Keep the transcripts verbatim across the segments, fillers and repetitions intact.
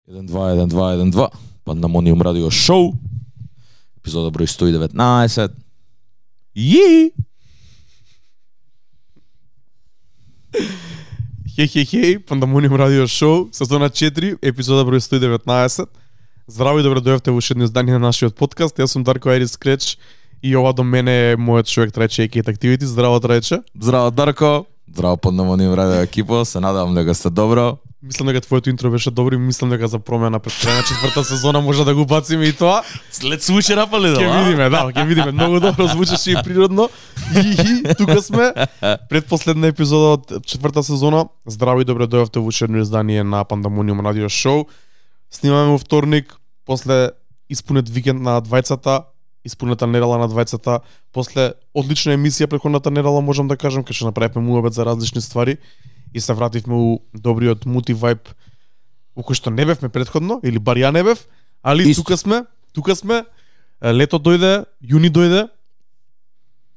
еден два еден два еден два Пандамониум радио шоу. Епизода број сто и деветнаесет. Ји! Хеј, хеј, хеј, Пандамониум радио шоу, сезона четири, епизода број сто и деветнаесет. Здраво и добро дојавте во уште едно издание на нашиот подкаст. Јас сум Дарко Айрис Креч и ова до мене е мојот човек Трајче Екейт Activity. Здраво, Трајче. Здраво, Дарко. Здраво, Пандамониум радио екипа. Се надевам дека сте добро. Мислам дека твоето интро беше добро и мислам дека за промена пред крај на четврта сезона може да го бациме и тоа. След случај напали да. Ќе видиме, да, ќе видиме. Многу добро звучеше и природно. И тука сме предпоследна епизода од четврта сезона. Здраво и добро дојавте во уште едно издание на Пандамониум радио шоу. Снимаме во вторник, после испунет викенд на двајцата, испунета недела на двајцата, после одлична емисија претходната недела, можам да кажам, кај што направивме муабет за различни ствари и се вративме у добриот мултивайб у кој што не бевме претходно, или бар ја не бев, али Исто. тука сме, тука сме, лето дојде, јуни дојде,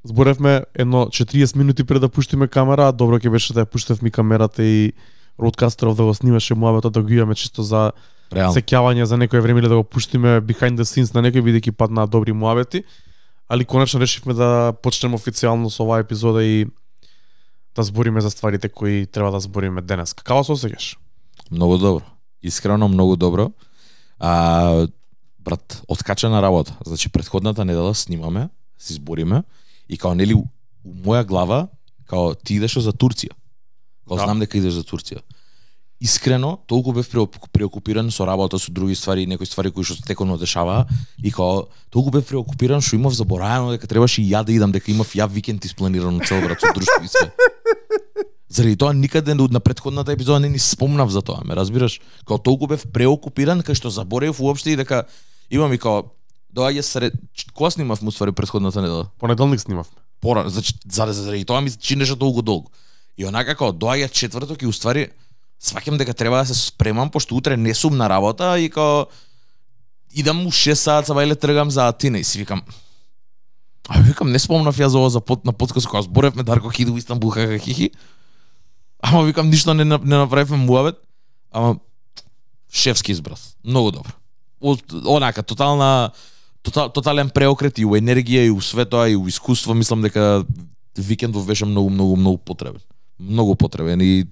зборевме едно четириесет минути пред да пуштиме камера, а добро ќе беше да ја пуштевме камерата и роудкастеров да го снимаше муабетот, да го имаме чисто за Реално. сеќавање за некој време или да го пуштиме behind the scenes на некој, бидејќи паднаа добри муабети, али конечно решивме да почнеме официјално со оваа епизода и да збориме за стварите кои треба да збориме денес. Како се осеќаш? Многу добро. Искрено многу добро. А, брат, откачана работа. Значи претходната недела снимаме, си збориме и као нели у моја глава као ти идеш за Турција. Као Да. знам дека идеш за Турција. Искрено, толку бев преокупиран со работа, со други ствари, некои ствари кои што теконо дешаваа и као толку бев преокупиран што имав забораено дека требаше и ја да идам, дека имав ја викенд испланирано цел брат со друштво и све. Заради тоа никаде на претходната епизода не ни спомнав за тоа, ме разбираш? Као толку бев преокупиран кај што заборев уопште и дека имам и као доаѓа сред кога снимав му ствари претходната недела? Понеделник снимавме. Пора, значи заради, заради тоа ми се чинеше толку долго. И онака као доаѓа четврток и уствари сваќам дека треба да се спремам пошто утре не сум на работа и као идам у шест саат сабајле тргам за Атина и си викам а викам не спомнав ја за ова за под на подкаст кога зборевме Дарко ќе иде у Истанбул хаха хихи. Ама викам ништо не не направивме муабет. Ама шефски избрат. Многу добро. О, онака тотална тотал, тотален преокрет и у енергија и у све тоа и у искуство, мислам дека викендов беше многу многу многу потребен. Многу потребен и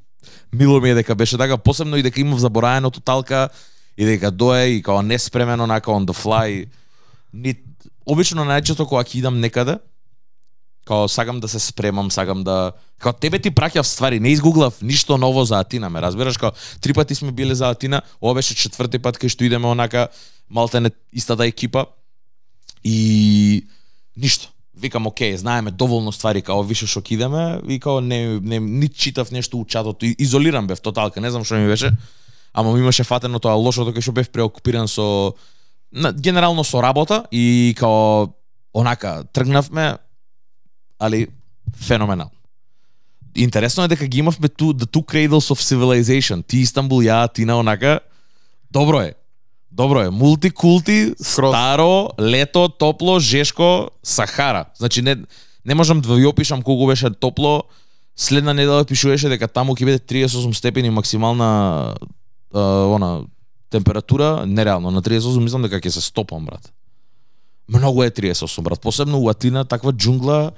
мило ми е дека беше така, посебно и дека имав забораено тоталка и дека дое и као неспремено онака on the fly. Ни обично најчесто кога ќе идам некаде, као сакам да се спремам, сакам да као тебе ти праќав ствари, не изгуглав ништо ново за Атина, ме разбираш, као три пати сме биле за Атина, ова беше четврти пат кај што идеме онака малтене истата екипа и ништо. Викам окей, знаеме доволно ствари као више што ќе идеме и као не не ни читав нешто у чатот, изолиран бев тоталка, не знам што ми беше, ама ми имаше фатено тоа лошото кај што бев преокупиран со на, генерално со работа и као онака тргнавме, али феноменално. Интересно е дека ги имавме ту the two cradles of civilization, ти Истанбул, ја Атина, онака добро е. Добро е, мултикулти, старо, лето, топло, жешко, Сахара. Значи не не можам да ви опишам колку беше топло. Следна недела пишуваше дека таму ќе биде триесет и осум степени максимална а, она температура, нереално. На триесет и осум мислам дека ќе се стопам, брат. Многу е триесет и осум, брат. Посебно у Атина, таква џунгла,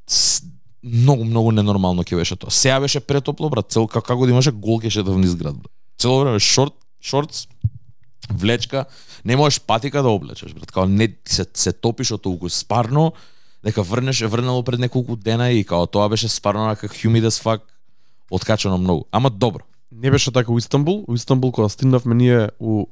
с- многу многу ненормално ќе беше тоа. Сеја беше претопло, брат. Цел како, како да имаше гол ќе шетав низ град, брат. Цело време шорт, шортс, влечка, не можеш патика да облечеш, брат. Као не се се топиш од толку спарно, дека врнеш е врнало пред неколку дена и као тоа беше спарно на как humid as fuck, откачано многу. Ама добро. Не беше така у Истанбул. У Истанбул кога стигнавме ние у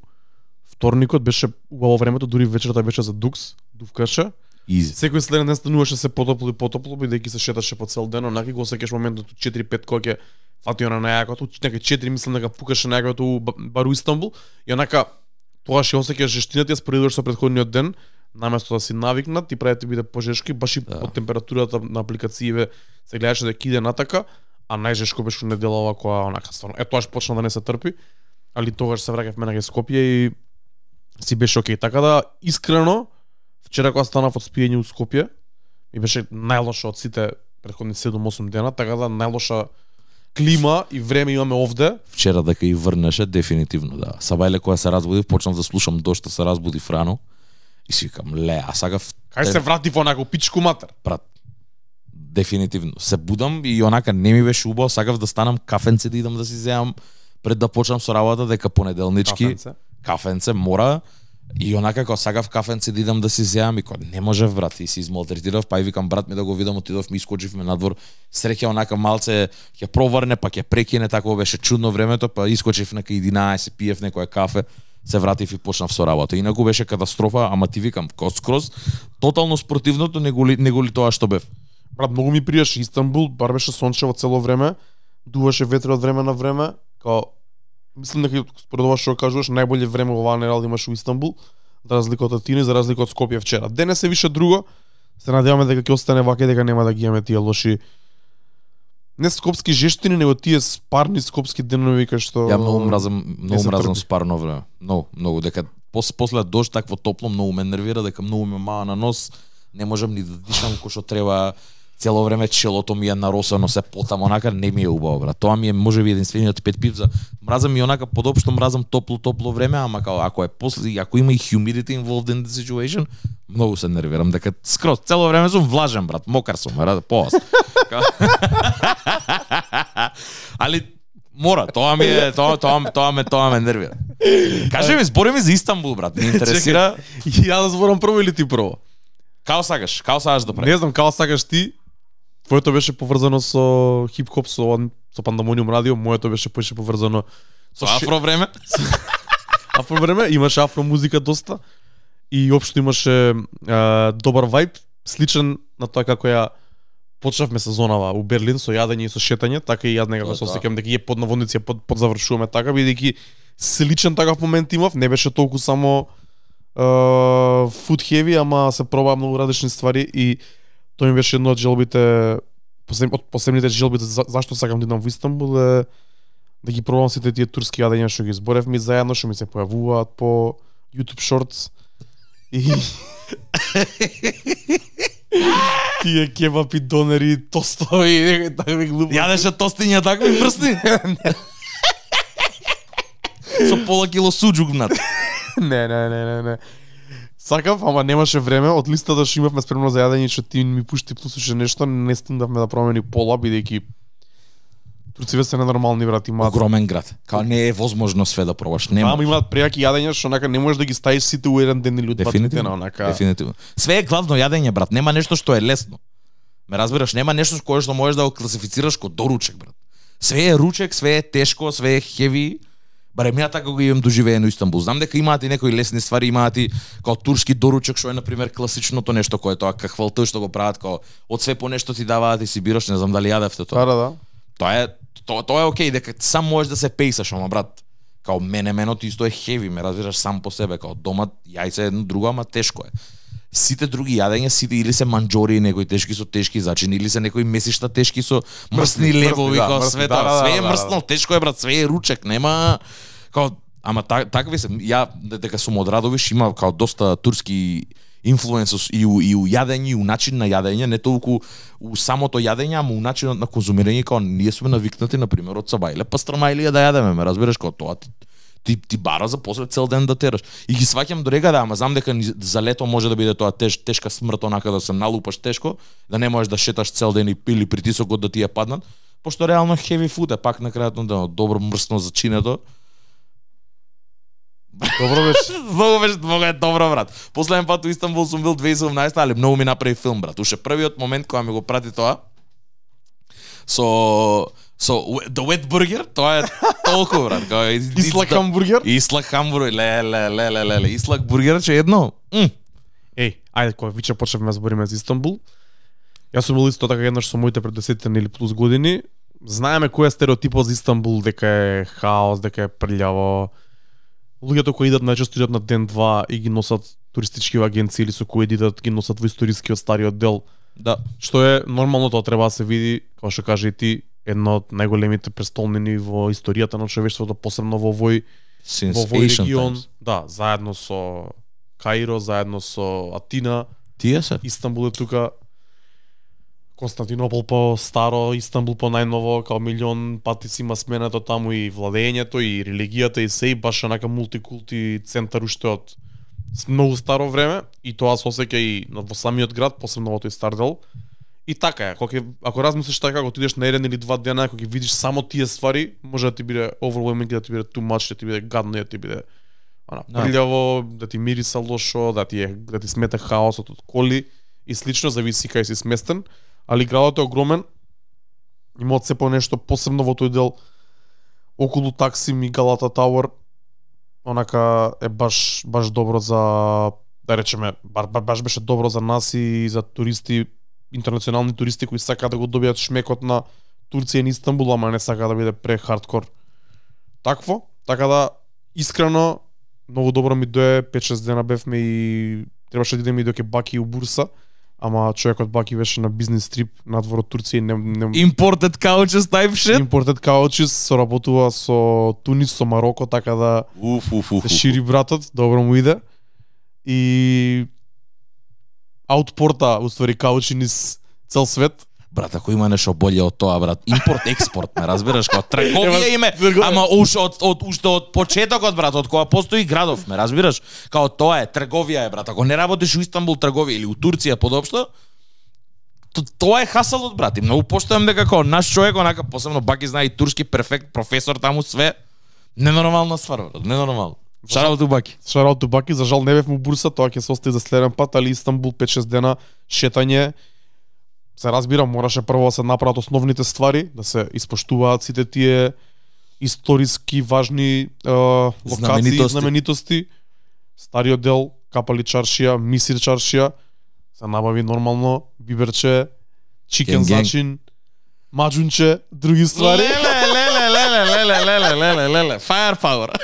вторникот беше убаво времето, дури вечерта беше за дукс, дувкаше. Изи. Секој следен ден стануваше се потопло и потопло, бидејќи се шеташе по цел ден, онаки го осеќаш моментот у четири пет кога ќе фати она најакото, некај четири мислам дека пукаше најакото у ба- бар у Истанбул и онака тогаш ја осеќаш жештината, ја споредуваш со претходниот ден, наместо да си навикнат, ти прави да биде пожешко и баш и Да. од температурата на апликацииве се гледаше дека иде натака, а најжешко беше неделава која онака стварно. Е тоаш почна да не се трпи, али тогаш се враќавме на Скопје и си беше окей. Така да искрено вчера кога станав од спиење у Скопје, ми беше најлоша од сите претходни седум осум дена, така да најлоша клима и време имаме овде. Вчера дека и врнеше дефинитивно, да. Сабајле кога се разбудив, почнав да слушам дошто се разбудив рано и си викам, ле, а сакав Кај се врати во онако пичку матер? брат. Дефинитивно. Се будам и онака не ми беше убаво, сакав да станам кафенце да идам да си земам пред да почнам со работа, дека понеделнички Кафенце. кафенце мора и онака кога сакав кафенце да идам да си земам и кога не можев брат и си измалтретирав, па и викам брат ми да го видам, отидов ми искочивме надвор. Среќа онака малце ќе проврне, па ќе прекине, тако беше чудно времето, па искочив на единаесет, пиев некое кафе, се вратив и почнав со работа. Инаку беше катастрофа, ама ти викам, скроз тотално спротивното него ли, него ли тоа што бев. Брат, многу ми пријаше Истанбул, бар беше сончево цело време, дуваше ветер од време на време, као мислам дека според ова што кажуваш, најболje време во оваа недела имаш во Истанбул, за разлика од Атина и за разлика од Скопје вчера. Денес е више друго. Се надеваме дека ќе остане вака и дека нема да ги имаме тие лоши не скопски жештини, него тие спарни скопски денови кај што Ја многу мразам, многу се мразам трпи. спарно време. Многу, многу дека после после дожд такво топло многу ме нервира, дека многу ме маа на нос, не можам ни да дишам кој што треба. Цело време челото ми е наросено, се потам, онака не ми е убаво, брат. Тоа ми е можеби единствениот пет пивца. Мразам и онака подопшто мразам топло топло време, ама као ако е после, ако има и humidity involved in the situation, многу се нервирам дека скроз цело време сум влажен, брат, мокар сум, брат, поас. Али мора, тоа ми е, тоа тоа тоа ме тоа ме нервира. Кажи ми, збори ми за Истанбул, брат, ме интересира. Чекай, ја да зборам прво или ти прво? Као сакаш, као сакаш да прави. Не знам, као сакаш ти. Твоето беше поврзано со хип-хоп, со со Пандамониум радио, моето беше беше поврзано Со афро време? афро време, имаше афро музика доста и општо имаше а, добар вајб, сличен на тоа како ја почнавме сезонава у Берлин со јадење и со шетање, така и јас некако се осеќам дека ја под наводници ја под, подзавршуваме така, бидејќи сличен такав момент имав, не беше толку само uh, food heavy, ама се пробаа многу различни ствари и тоа ми беше едно од желбите, посеб, од посебните желби за, зашто сакам да идам во Истанбул е да ги пробам сите тие турски јадења што ги зборевме заедно, што ми се појавуваат по YouTube Shorts и тие кебапи, донери, тостови, такви глупости. Јадеше тостиња такви мрсни? Со пола кило суџук внатре. Не, не, не, не, не. Сакав, ама немаше време. Од листата што имавме спремно за јадење, што ти ми пушти пуснеше нешто, не стигнавме да промени пола, бидејќи турциве се ненормални, брат, имаат. Огромен град. Као не е возможно све да пробаш. Нема. Ама имаат прејаки јадења што онака не можеш да ги ставиш сите у еден ден или у два дена, онака. Дефинитивно. Све е главно јадење, брат. Нема нешто што е лесно. Ме разбираш, нема нешто кое што можеш да го класифицираш како доручек, брат. Све е ручек, све е тешко, све е хеви. Барем ја така го имам доживеено Истанбул. Знам дека имаат и некои лесни ствари, имаат и као турски доручек што е на пример класичното нешто кое тоа кахвалту што го прават као од све по нешто ти даваат и си бираш, не знам дали јадевте тоа. Да, да. Тоа е тоа, тоа е окей дека сам можеш да се пејсаш, ама брат, као мене меното исто е хеви, ме разбираш сам по себе, као дома јајце едно друго, ама тешко е. Сите други јадења, сите или се манџори, некои тешки со тешки зачини, или се некои месишта тешки со мрсни лебови, да, као мрсни, све да, тоа, да, све е да, мрсно, да. тешко е брат, све е ручек, нема као ама так, такви се ја дека сум од Радовиш има као доста турски инфлуенсос и у, и у јадење, и у начин на јадење, не толку у самото јадење, ама у начинот на конзумирање, као ние сме навикнати на пример од сабајле пастрамајлија да јадеме, ме разбираш, као тоа ти ти, ти бара за после цел ден да тераш. И ги сваќам до рега да, ама знам дека за лето може да биде тоа теж, тешка смрт, онака да се налупаш тешко, да не можеш да шеташ цел ден или притисокот да ти ја паднат, пошто реално heavy food е пак на крајот на добро мрсно зачинето. Добро беше. Многу беше, многу е добро, брат. Последен пат у Истанбул сум бил две тисечи и седумнаесета, али многу ми направи филм, брат. Уште првиот момент кога ми го прати тоа со со The Wet Burger, тоа е толку, брат. Кога Ислак хамбургер? Ислак хамбургер, ле ле ле ле ле, Ислак бургер че едно. М. Еј, ајде кога виче почнавме да збориме за Истанбул. Јас сум бил исто така еднаш со моите пред десет или плюс години. Знаеме кој е стереотипот за Истанбул, дека е хаос, дека е прљаво. Луѓето кои идат најчесто идат на ден-два и ги носат туристички агенции или со кои идат ги носат во историскиот стариот дел. Да. Што е нормално, тоа треба да се види, како што кажа и ти, едно од најголемите престолнини во историјата на човештвото, посебно во овој Since во овој ancient регион, times. да, заедно со Каиро, заедно со Атина, Тие се. Истанбул е тука. Константинопол по старо, Истанбул по најново, као милион пати си има сменато таму и владењето, и религијата, и се, и баш онака мултикулти центар уште од многу старо време, и тоа се осеќа и во самиот град, посебно во тој стар дел. И така е, кога ќе, ако размислиш така, кога отидеш на еден или два дена, кога ќе видиш само тие ствари, може да ти биде overwhelming, да ти биде too much, да ти биде гадно, да ти биде она прљаво, да ти мириса лошо, да ти е, да ти смета хаосот од коли и слично, зависи кај си сместен. Али градот е огромен, има од се по нешто посебно во тој дел околу Таксим и Галата Тауер, онака е баш баш добро за, да речеме, баш, баш беше добро за нас и за туристи, интернационални туристи кои сакаат да го добијат шмекот на Турција и Истанбул, ама не сакаат да биде пре хардкор. Такво, така да искрено многу добро ми дое, пет-шест дена бевме и требаше да идеме и до Баки у Бурса. Ама човекот Баки беше на бизнес трип надвор од Турција и не, не... Imported couches type shit? Imported couches, соработува со Тунис, со Мароко, така да уф, уф, уф, се шири братот, добро му иде. И аутпорта, уствари, каучи низ цел свет. Брат, ако има нешто боле од тоа, брат, импорт-експорт, ме разбираш, како трговија име, ама уште од, од, уште од почетокот, брат, од кога постои градов, ме разбираш, као тоа е, трговија е, брат, ако не работиш у Истанбул трговија или у Турција подопшто, то, тоа е хасалот, брат, и многу поштојам дека како наш човек, онака, посебно Баки знае и турски перфект, професор таму све, ненормална ствар, брат, ненормално. Шараут у Баки. Шараут у Баки, за жал не бев му Бурса, тоа ќе се остави за следен пат, али Истанбул пет-шест дена шетање. Се разбира, мораше прво да се направат основните ствари, да се испоштуваат сите тие историски важни е, локации, знаменитости. знаменитости. Стариот дел, Капали чаршија, Мисир чаршија, се набави нормално, биберче, чикен зачин, маџунче, други ствари. Леле, леле, леле, леле, леле, леле, леле, firepower.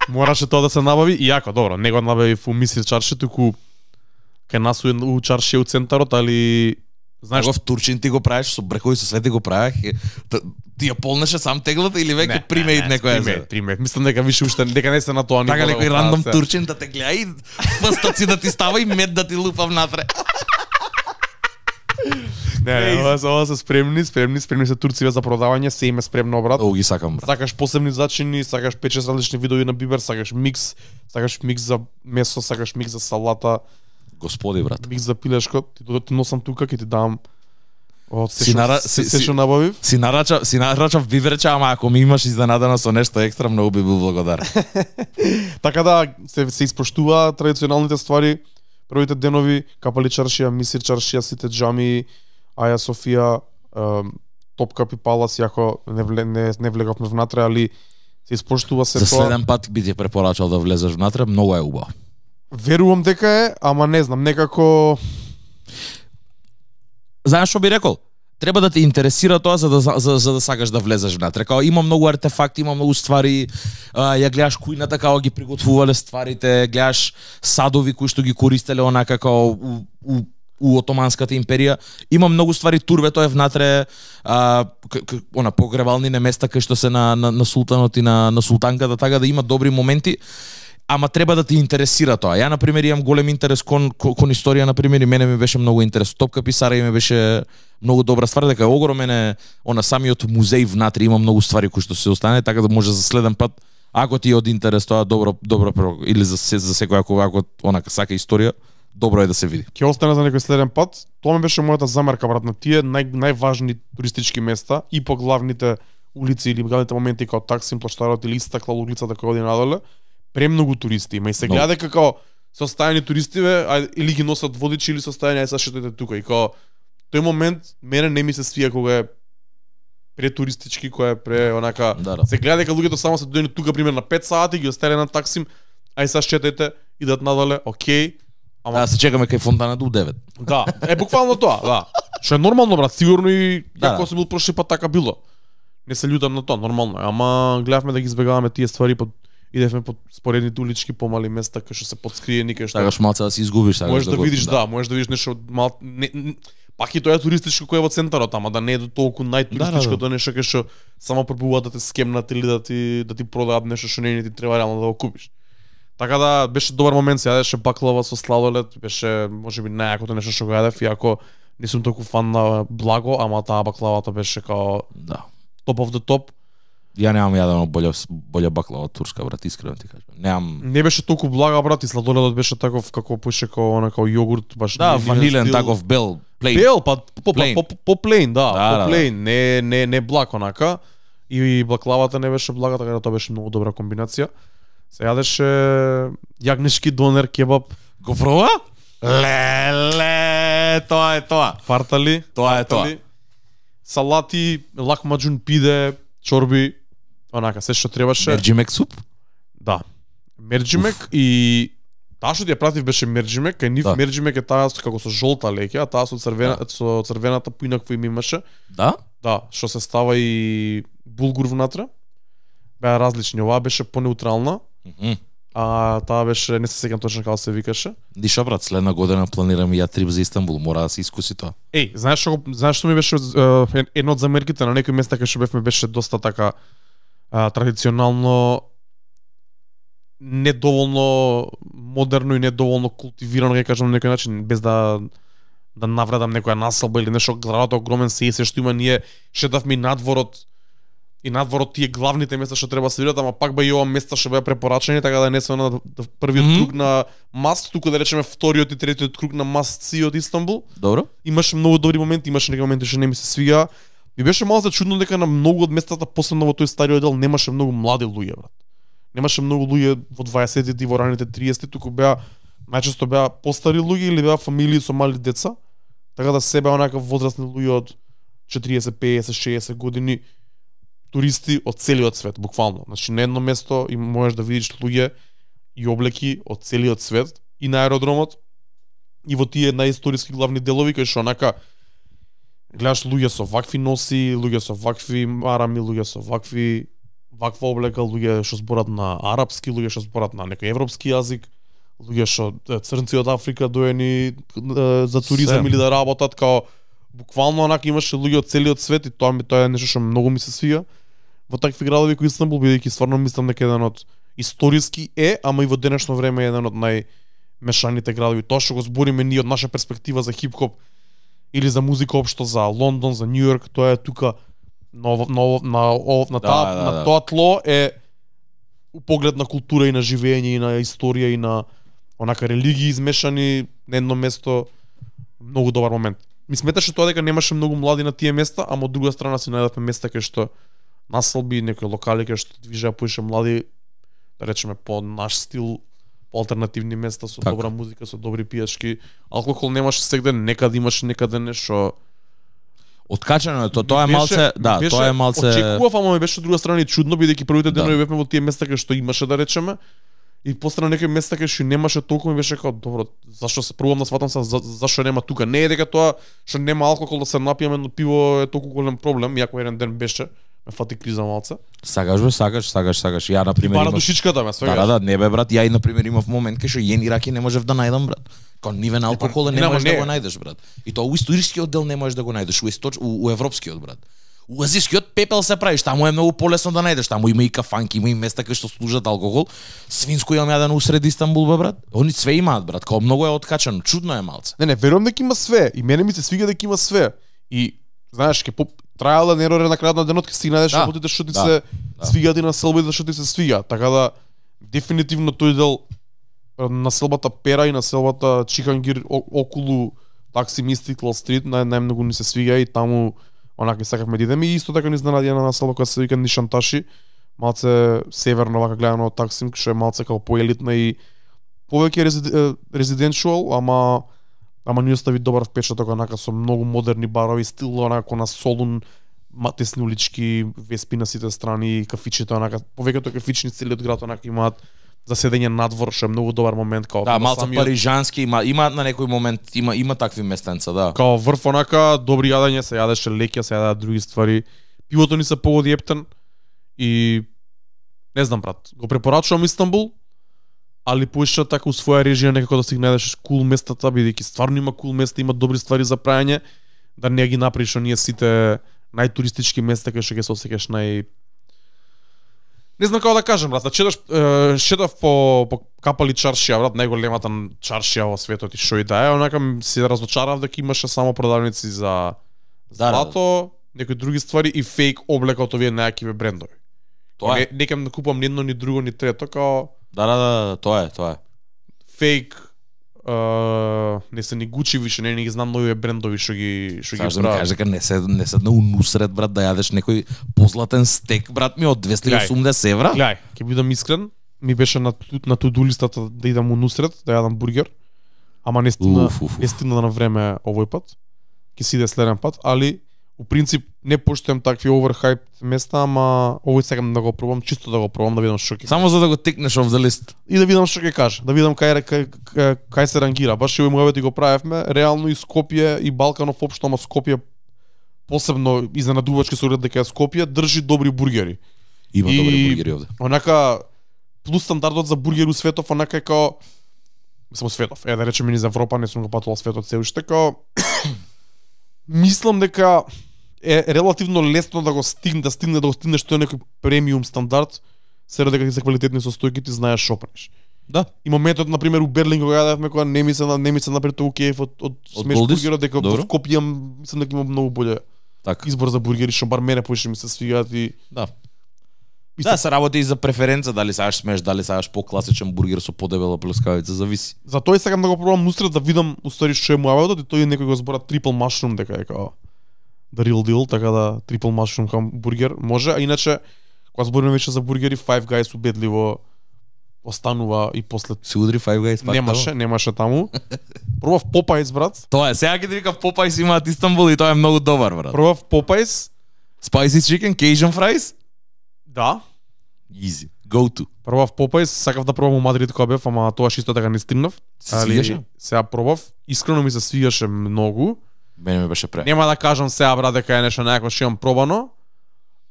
Мораше тоа да се набави, иако, добро, не го набави у Мисир чаршија, туку кај нас у чаршија у центарот, али знаеш, в Турчин ти го правиш со бркови со све ти го правиш, ти ја полнеше сам теглата или веќе примеид некоја? Примеид, примеид. Мислам дека више уште дека не се на тоа ниво. Така некој рандом турчин да те гледа и пстаци да ти става и мед да ти лупа внатре. Не, не, ова, ова се спремни, спремни, спремни се турциве за продавање, се име спремно, брат. О, ги сакам, брат. Сакаш посебни зачини, сакаш пет-шест различни видови на бибер, сакаш микс, сакаш микс за месо, сакаш микс за салата. Господи, брат. Микс за пилешко, ти додоти носам тука, ќе ти дам од се си, нара... се, си, се што набавив. Си нарачав, си нарачав биберче, ама ако ми имаш изненадано со нешто екстра, многу би бил благодарен. Така да се се испоштува традиционалните ствари. Првите денови Капали чаршија, Мисир чаршија, сите џами, Аја Софија, Топкапи Палас, јако не, вле, не, не влеговме внатре, али се испоштува се За тоа. За следен пат би ти препорачал да влезеш внатре, многу е убаво. Верувам дека е, ама не знам, некако... Знаеш што би рекол? Треба да те интересира тоа за да, за, за да сакаш да влезеш внатре. Као има многу артефакти, има многу ствари, а, ја гледаш кујната како ги приготвувале стварите, гледаш садови кои што ги користеле онака како у, у, у Отоманската империја. Има многу ствари, турбето е внатре, а, к, к, она погребални места кај што се на, на, на султанот и на, на султанката, така да има добри моменти. Ама треба да ти интересира тоа. Ја, например, имам голем интерес кон, кон, кон историја, например, и мене ми беше многу интерес. Топка Писара и ми беше многу добра ствар, дека е огромен е, она самиот музеј внатре, има многу ствари кои што се остане, така да може за следен пат, ако ти е од интерес тоа, добро, добро, или за, за секој, ако, ако онака сака историја, добро е да се види. Ќе остане за некој следен пат. Тоа ми беше мојата замерка, брат, на тие нај, најважни туристички места и по главните улици или главните моменти како Таксим, плаштарот или Истаклал улицата која оди надоле. Премногу туристи има и се гледа дека како состојани туристиве, а, или ги носат водичи или состојани, ај сашто тука и како тој момент мене не ми се свија кога е претуристички, која е пре онака да, да. Се гледа дека луѓето само се дојдени тука пример на пет сати, ги остеле на Таксим, ај сега четете, идат надале, окей. Ама да се чекаме кај фонтана до девет. Да, е буквално тоа, да. Што е нормално, брат, сигурно и да, ако да. се бил прошли пат така било. Не се љутам на тоа, нормално е, ама гледавме да ги избегаваме тие ствари под идевме по споредните улички, помали места кај што се подскриени, кај што сакаш малце да се изгубиш, сакаш можеш да, да видиш, да. да, можеш да видиш нешто мал не, не, пак и тоа е туристичко кој е во центарот, ама да не е до толку најтуристичко, да, да. тоа нешто кај што само пробуваат да те скемнат или да ти да ти продаат нешто што не ти треба реално да го купиш. Така да беше добар момент, се јадеше баклава со сладолед, беше можеби најакото нешто што го јадев, иако не сум толку фан на благо, ама таа баклавата беше као Да. топ of the top. Ја немам јадено болја болја баклава од турска, брат, искрено ти кажам. Немам. Не беше толку блага, брат, и сладоледот беше таков како пуше као она као јогурт, баш Да, нивен ванилен стил. таков бел, плейн. Бел, па по Plain. по по плейн, да, Да, да, по плейн, не не не благ онака. И баклавата не беше блага, така да тоа беше многу добра комбинација. Се јадеше јагнешки донер, кебаб, Го проба? Леле, тоа е тоа. фартали, Тоа е тоа. фартали, салати, лакмаџун, пиде, чорби, онака се што требаше. Мерџимек суп? Да. Мерџимек и таа што ти ја пратив беше мерџимек, кај нив Да. мерџимек е таа со- како со жолта леќа, а таа со црвена со црвената поинакво им имаше. Да? Да, што се става и булгур внатре. Беа различни, оваа беше понеутрална, Мгм. а таа беше, не се сеќам точно како се викаше. Диша, брат, следна година планирам и ја трип за Истанбул, мора да се искуси тоа. Еј, знаеш што го- знаеш што ми беше е, едно од замерките на некои места кај што бевме беше доста така а, традиционално недоволно модерно и недоволно култивирано, ќе кажам на некој начин, без да да навредам некоја населба или нешто, градот е огромен, се и се што има, ние шетавме и надворот и надворот тие главните места што треба да се видат, ама пак ба и ова места што беа препорачени, така да не се на да, првиот Мгм. круг на маст, туку да речеме вториот и третиот круг на маст си од Истанбул. Добро? Имаше многу добри моменти, имаше некои моменти што не ми се свига. Ми беше малку чудно дека на многу од местата, посебно во тој стариот дел, немаше многу млади луѓе, брат. Немаше многу луѓе во дваесеттите и во раните триесетти, туку беа најчесто беа постари луѓе или беа фамилии со мали деца. Така да се беа онакав возрастни луѓе од четириесет, пеесет, шеесет години, туристи од целиот свет, буквално. Значи на едно место и можеш да видиш луѓе и облеки од целиот свет и на аеродромот и во тие наисториски главни делови кај што онака гледаш луѓе со вакви носи, луѓе со вакви марами, луѓе со вакви ваква облека, луѓе што зборат на арапски, луѓе што зборат на некој европски јазик, луѓе што е, црнци од Африка доени е, за туризам Се. или да работат, као буквално онака имаше луѓе од целиот свет и тоа ми тоа е нешто што многу ми се свига во такви градови кои Истанбул, бидејќи стварно мислам дека еден од историски е, ама и во денешно време е еден од најмешаните градови. Тоа што го збориме ние од наша перспектива за хип-хоп или за музика општо, за Лондон, за Њу Йорк, тоа е тука на ово- на ово- на ово- на Да, таа да, на да. тоа тло е у поглед на култура и на живење и на историја и на онака религии измешани на едно место, многу добар момент. Ми сметаше тоа дека немаше многу млади на тие места, ама од друга страна си најдовме места кај што населби, некои локали кај што движеа поише млади, да речеме по наш стил, по алтернативни места со Така. добра музика, со добри пијачки. Алкохол немаше сегде, некаде имаше некаде нешто. Откачено е тоа, тоа е Беше- малце, да, беше- тоа е малце. Очекував, ама ми беше од друга страна и чудно, бидејќи првите Да. денови бевме во тие места кај што имаше, да речеме. И после на некои места кај што немаше толку, ми беше како добро, зашто се пробувам да сватам се за, зашто нема тука. Не е дека тоа што нема алкохол да се напиеме, но пиво е толку голем проблем, иако еден ден беше, ме фати криза малце. Сакаш бе, сакаш, сакаш, сакаш. Ја на пример Пара имав... душичката ме, свега. Да, да, да, не бе брат, ја и на пример имав момент кај што јен и раки не можев да најдам брат. Као нивен алкохол па, не нема, можеш да не. го најдеш брат. И тоа у историскиот дел не можеш да го најдеш, у, источ... у, у европскиот брат. У азискиот пепел се правиш, таму е многу полесно да најдеш, таму има и кафанки, има и места кај што служат алкохол. Свинско имам јадено усред Истанбул бе брат. Они све имаат брат, као многу е откачено, чудно е малце. Не, не, верувам дека има све. И мене ми се свига дека има све. И знаеш, ке по трајал да нерор на крајот на денот ке си најдеш Да, работите што ти да, се да. свигаат и на селбите што ти се свигаат. Така да дефинитивно тој дел на селбата Пера и на селбата Чихангир о- околу Таксим Истиклал Стрит нај најмногу ни се свига и таму онака сакавме да идеме и исто така ни изненади една населба која се вика Нишанташи, малце северно вака гледано од Таксим, што е малце како поелитна и повеќе резиденчуал, ама ама ни остави добар впечаток онака со многу модерни барови, стил онака на Солун, тесни улички, веспи на сите страни, кафичите онака, повеќето кафични целиот град онака имаат за седење надвор, што е многу добар момент као Да, на малце самиот- парижански има, има на некој момент, има има такви местенца, да. Као врв онака, добри јадење, се јадеше леќа, се јадеа други ствари. Пивото ни се погоди ептен и не знам брат, го препорачувам Истанбул, али поише така у своја режија некако да си ги најдеш кул местата, бидејќи стварно има кул места, има добри ствари за прајање, да не ги направиш оние сите најтуристички места кај што ќе се осеќаш нај Не знам како да кажам, брат, да четаш, е, шетав по, по Капали чаршија, брат, најголемата чаршија во светот и шо и да е, онака се разочарав дека имаше само продавници за Да, злато, некои други ствари и фейк облека од овие најакиве брендови. Тоа Не, е. не кем да купам ни едно, ни друго, ни трето, као Да, да, да, тоа е, тоа е. фейк, uh, не се ни Гучи више, не, не ги знам нови брендови што ги што ги Саш да ми прават. кажеш дека не се не седна у нусрет, брат, да јадеш некој позлатен стек, брат ми, од двесте и осумдесет евра. Гледај, ќе бидам искрен, ми беше на на туду листата да идам у нусрет, да јадам бургер. Ама не стигна, Уф, уф, уф. не стигна на време овој пат. Ќе си иде следен пат, али у принцип не поштуjem такви оверхайп места, ама овој сакам да го пробам, чисто да го пробам да видам што ќе. Само за да го тикнеш off the list. И да видам што ќе каже, да видам кај кај, кај, кај се рангира. Баш и овој муавет го правевме, реално и Скопје и Балканов општо, ама Скопје посебно изненадувачки со оглед дека Скопје држи добри бургери. Има И- добри бургери овде. Онака плюс стандардот за бургери у светов, онака е као само светов. Е да речеме низ Европа, не сум го патувал светот се уште, као мислам дека е релативно лесно да го стигне, да стигне да го стигнеш тој некој премиум стандард, се дека ти се квалитетни состојки, ти знаеш шо правиш. Да. И моментот на пример у Берлин кога јадевме, кога не ми се на не ми се напред толку кеф од од смеш Голдис? бургерот, дека во Добро. Скопје имам- мислам дека има многу боле Така. избор за бургери, што бар мене поише ми се свигаат и Да. И Да, се- се работи и за преференца, дали сакаш смеш, дали сакаш покласичен бургер со подебела плескавица, зависи. За тој сакам да го пробам нустрет да видам уствари што е муаветот и тој некој го збора triple mushroom дека е као the real deal, така да triple mushroom хамбургер може, а иначе кога збориме веќе за бургери, Five Guys убедливо останува и после Се удри Five Guys пак. немаше, таму? немаше таму. Пробав Popeyes, брат. Тоа е, сега ќе ти викам Popeyes имаат Истанбул и тоа е многу добар, брат. Пробав Popeyes. Spicy chicken, Cajun fries? Да. Easy. Go to. Пробав Popeyes, сакав да пробам у Мадрид кога бев, ама тоа исто така не стигнав. Се свигаше? Сега пробав, искрено ми се свигаше многу. Мене ми беше пре. Нема да кажам сега брат дека е нешто најако што имам пробано,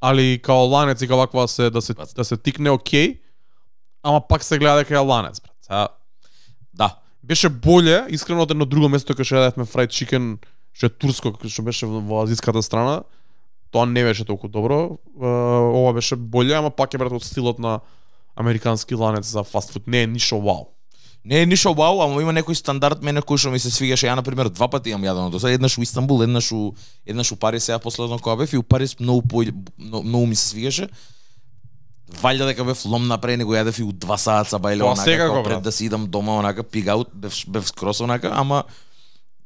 али као ланец и као ваква се да се да се тикне окей. Ама пак се гледа дека е ланец, брат. Сега Да. беше боле, искрено од едно друго место кај што јадевме fried chicken, што е турско, што беше во во азиската страна. Тоа не беше толку добро. Е, ова беше боле, ама пак е брат од стилот на американски ланец за фастфуд. Не е ништо вау. Не е ништо вау, ама има некој стандард мене кој што ми се свигаше. Ја на пример два пати имам јадено до сега, еднаш у Истанбул, еднаш у еднаш у Париз, сега последно кога бев и у Париз многу по многу, многу ми се свигаше. Валјда дека бев лом напред, него јадев и у два саат бајле Тоа онака секако, како брат. пред да си идам дома онака пигаут, бев бев скрос онака, ама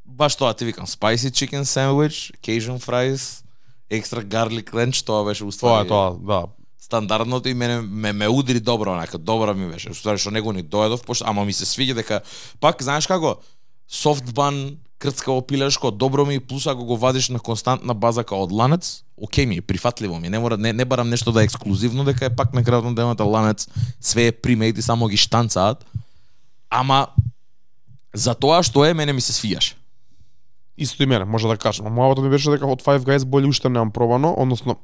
баш тоа ти викам, spicy chicken sandwich, Cajun fries, extra garlic ranch, тоа беше Тоа уствари е тоа, да. стандардното и мене ме, ме удри добро онака, добра ми беше. Уствари што него ни доедов, пошто ама ми се свиѓа дека пак знаеш како soft bun, крцкаво пилешко, добро ми, плюс ако го вадиш на константна база као од ланец, окей ми, прифатливо ми. Не мора не, не барам нешто да е ексклузивно, дека е пак на крајот на дената ланец, све е примейт и само ги штанцаат. Ама за тоа што е мене ми се свиѓаше. Исто и мене, може да кажам. Мојавото ми беше дека од Five Guys боле уште немам пробано, односно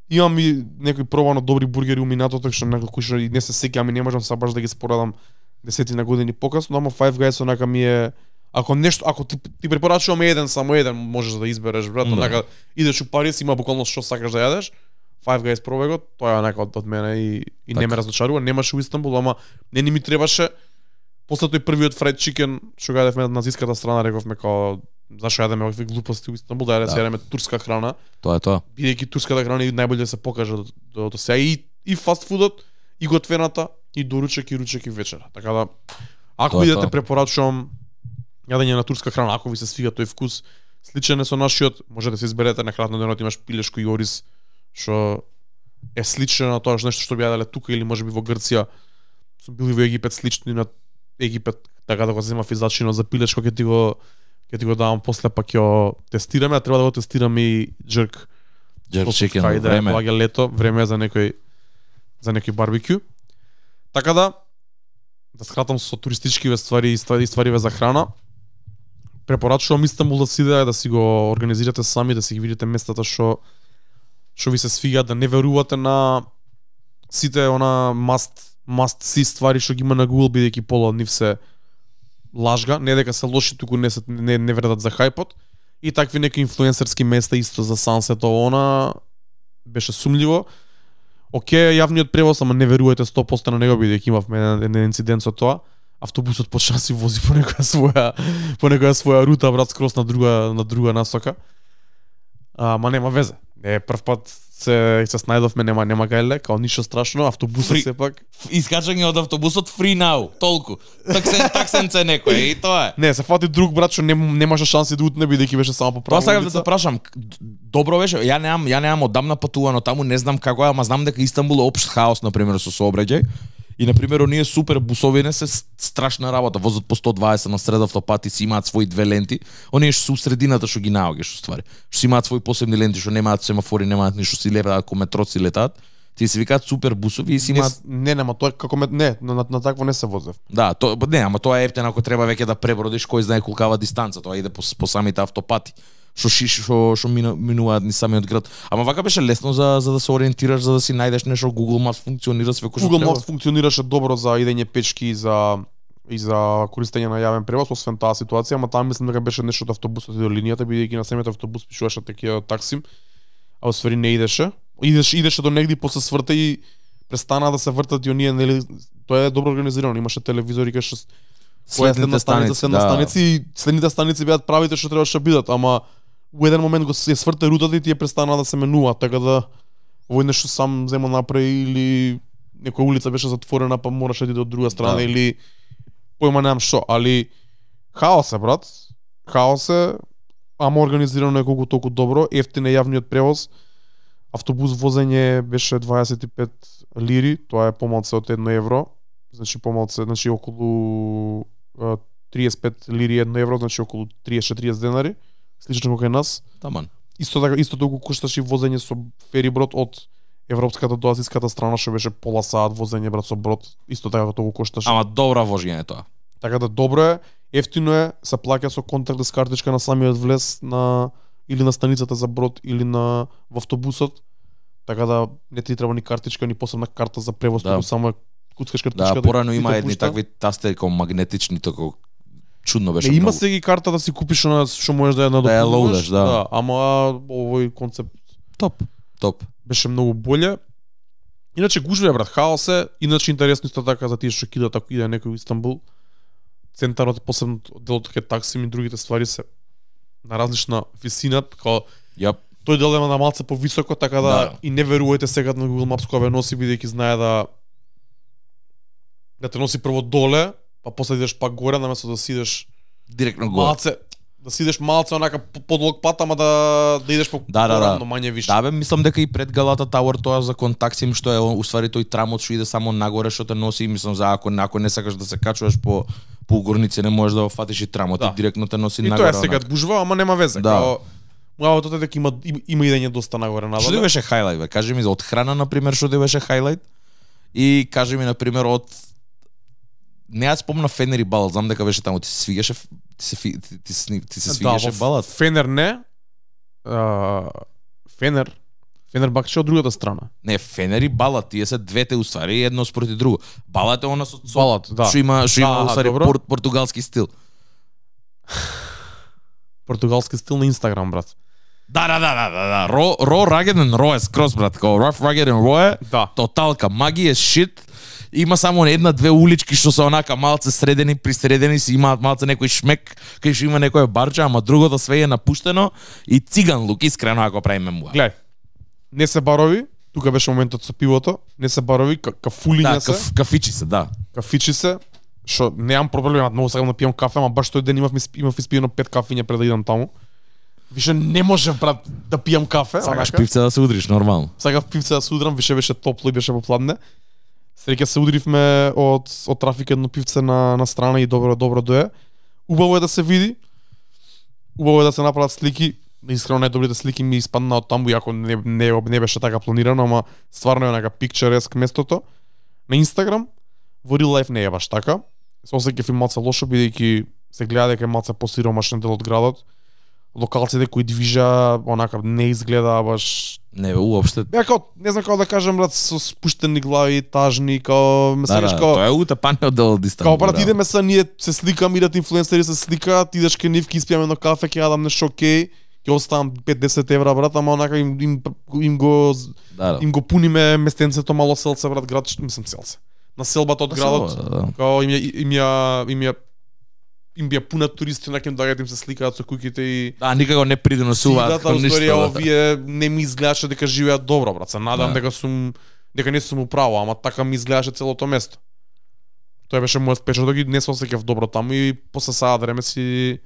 имам и некои пробано добри бургери у минатото што некои што и не се сеќавам и не можам са баш да ги споредам десетина години покасно, ама Five Guys онака ми е ако нешто, ако ти, ти препорачувам еден, само еден можеш да избереш, брат, Да. онака идеш у Париз, има буквално што сакаш да јадеш. Five Guys пробај го, тоа е онака од, од мене и, и не Така. ме разочарува, немаше у Истанбул, ама не ни ми требаше. После тој првиот fried chicken што го јадевме на назиската страна, рековме као зашо јадеме овакви глупости у Истанбул, да Да. јадеме турска храна, Тоа е тоа. бидејќи турската храна и најболе да се покаже до, до, до сега и, и фастфудот, и готвената, и доручек, и ручек, и вечера. Така да, ако Тоа е идете, тоа. препорачувам јадење на турска храна, ако ви се свига тој вкус, сличен е со нашиот, можете да се изберете на крајот на денот имаш пилешко и ориз, што е слично на тоа што нешто што би јаделе тука или можеби во Грција. Сум бил и во Египет, слично и на Египет, така да го земав и зачинот за пилешко, ќе ти го ќе ти го давам после, па ќе го тестираме, а треба да го тестираме и джерк. Jerk После chicken, кај да време. доаѓа лето, време е за некој за некој барбекю. Така да да скратам со туристички ствари и ствари, ствариве за храна. Препорачувам Истанбул да си идете, да си го организирате сами, да си ги видите местата што што ви се свигаат, да не верувате на сите она must must see ствари што ги има на Google, бидејќи пола од нив се лажга, не дека се лоши, туку не се не, не вредат за хајпот. И такви некои инфлуенсерски места исто за сансет, она беше сумливо. Океј, јавниот превоз, ама не верувајте сто проценти на него бидејќи имавме еден инцидент со тоа. Автобусот почна си вози по некоја своја по некоја своја рута, брат, скрос на друга на друга насока. Ама нема везе. Е, прв пат се се снајдовме, нема нема гајле, као ништо страшно, автобусот Фри... сепак. Искачање од автобусот free now, толку. Таксен таксенце некој и тоа е. Не, се фати друг брат што нем, немаше шанси да утне бидејќи беше само по Тоа правилница. сакам да те прашам, добро беше, ја немам, ја немам одамна патувано таму, не знам како е, ама знам дека Истанбул е општ хаос на пример со сообраќај. И на пример оние супер бусовине се страшна работа, возат по сто дваесет на сред автопати, си имаат свои две ленти. Оние што се у средината што ги наоѓаш уствари. Што си имаат свои посебни ленти, што немаат семафори, немаат ништо, си летаат ко метро си летаат. Ти се викаат супер бусови и си имаат Не, не, нема тоа како ме не, на, на, на такво не се возев. Да, то не, ама тоа е ептено ако треба веќе да пребродиш кој знае колкава дистанца, тоа иде по, по самите автопати. Што шиш што што мину, минуваат ни самиот град. Ама вака беше лесно за за да се ориентираш, за да си најдеш нешто. Google Maps функционира све кој што Google треба. Maps функционираше добро за идење пешки и за и за користење на јавен превоз, освен таа ситуација, ама таа мислам дека беше нешто од автобусот и до линијата, бидејќи на самиот автобус пишуваше такива таксим, а освари не идеше. Идеше идеше до негде после сврта и престана да се вртат и оние, нели, тоа е добро организирано, имаше телевизори кај што Следните станици, следна да. станици и следните станици беат правите што требаше да бидат, ама у еден момент го се сврте рутата и тие престана да се менува, така да овој нешто сам зема направи или некоја улица беше затворена па мораше да иде од друга страна Да. или појма немам што, али хаос е, брат. Хаос е, ама организирано е колку толку добро, ефтин е јавниот превоз. Автобус возење беше дваесет и пет лири, тоа е помалце од едно евро, значи помалце, значи околу а, триесет и пет лири едно евро, значи околу триесет до четириесет денари, слично како кај нас. Таман. Исто така, исто толку кошташе и возење со фериброд од европската до азиската страна, што беше пола саат возење, брат, со брод, исто така толку кошташе. Ама добра вожење е тоа. Така да добро е, ефтино е, се плаќа со контактлес картичка на самиот влез на или на станицата за брод или на во автобусот. Така да не ти треба ни картичка, ни посебна карта за превоз, Да. туку само куцкаш картичка. Да, порано и има те едни пушта. такви тастери како магнетични, тако чудно беше. Не, има многу. се ги карта да си купиш она што можеш да ја Да ја надопунуваш. лоудаш, да. да. Ама овој концепт топ. Топ. беше многу боле. Иначе гужве, брат, хаос е. Иначе интересно исто така за тие што кидат ако иде некој во Истанбул. Центарот, посебно делот кај таксими и другите ствари се на различна висина, како Јап. тој дел е на малце повисоко, така да, Да. и не верувајте сега на Google Maps кога ве носи, бидејќи знае да да те носи прво доле, па после идеш пак горе, наместо да сидеш Директно горе. малце, да сидеш малце онака по- подолг пат, ама да да идеш по Да, да, да. но мање више. Да бе, мислам дека и пред Галата Тауер тоа за контаксим што е уствари тој трамот што иде само нагоре што те носи, мислам за ако ако не сакаш да се качуваш по по горници не можеш да го фатиш и трамот, Да. и директно те носи И нагоре. тоа е сега бужва, ама нема везе. Да. Као Муавото е дека има има- има идење доста нагоре Што надоле. ти беше хајлајт бе? Кажи ми за од храна на пример што ти беше хајлајт и кажи ми на пример од не ја спомна Фенер и Балат, знам дека беше таму, ти се свигаше ти се фи- ти, ти, се- ти се свигаше Да, во Балат. Фенер не. А, Фенер Фенер бакче од другата страна. Не, Фенер и Балат, тие се двете уствари едно спроти друго. Балат е она со со- Балат, да. што има што Да, има аха, уствари добро. пор, португалски стил. Португалски стил на Инстаграм, брат. Да, да, да, да, да, да. Ро, ро, rugged and raw е скрос, брат. Као rough, rugged and raw е Да. тоталка. Маги е shit. Има само една-две улички што се онака малце средени, пристредени, си имаат малце некој шмек, кај што има некоја барча, ама другото све е напуштено и циган лук, искрено ако правиме муа. Гледај. Не се барови, тука беше моментот со пивото, не се барови, ка, кафулиња Да, се, каф, кафичи се, да. кафичи се, што немам проблем, многу сакам да пијам кафе, ама баш тој ден имав имав испиено пет кафиња пред да идам таму. Више не можев, брат, да пијам кафе. Сакаш онака. пивце да се удриш нормално. Сакав пивце да се удрам, више беше топло и беше попладне. Среќа се удривме од од трафик едно пивце на на страна и добро добро дое. Убаво е да се види. Убаво е да се направат слики. Искрено најдобрите слики ми испадна од таму, иако не, не, не беше така планирано, ама стварно е онака picturesque местото. На Инстаграм, во real life не е баш така. Се осеќав и малце лошо, бидејќи се гледа дека е малце посиромашен дел од градот. Локалците кои движа, онака не изгледа баш. Не бе, уопште. Беа као, не знам како да кажам, брат, со спуштени глави, тажни, као ме Да, сакаш да, као. тоа е утепаниот дел од Истанбул. Као брат, да. идеме са ние се сликам, идат инфлуенсери се сликаат, идеш кај нив, ки испијаме едно кафе, ќе јадам нешто окей, ќе оставам пет до десет евра брат, ама онака им им, им го Да, да. им го пуниме местенцето мало селце брат, град, мислам селце. На селбата од На градот, селба, да. као им ја им ја им ја им бија пуна туристи, на кем доаѓаат им се сликаат со куќите и Да, никако не придонесуваат да, кон ништо. историја Да. овие не ми изгледаше дека живеат добро брат. Се надам Да. дека сум дека не сум управо, ама така ми изгледаше целото место. Тоа беше мојот впечаток и не се осеќав добро таму и после саат време си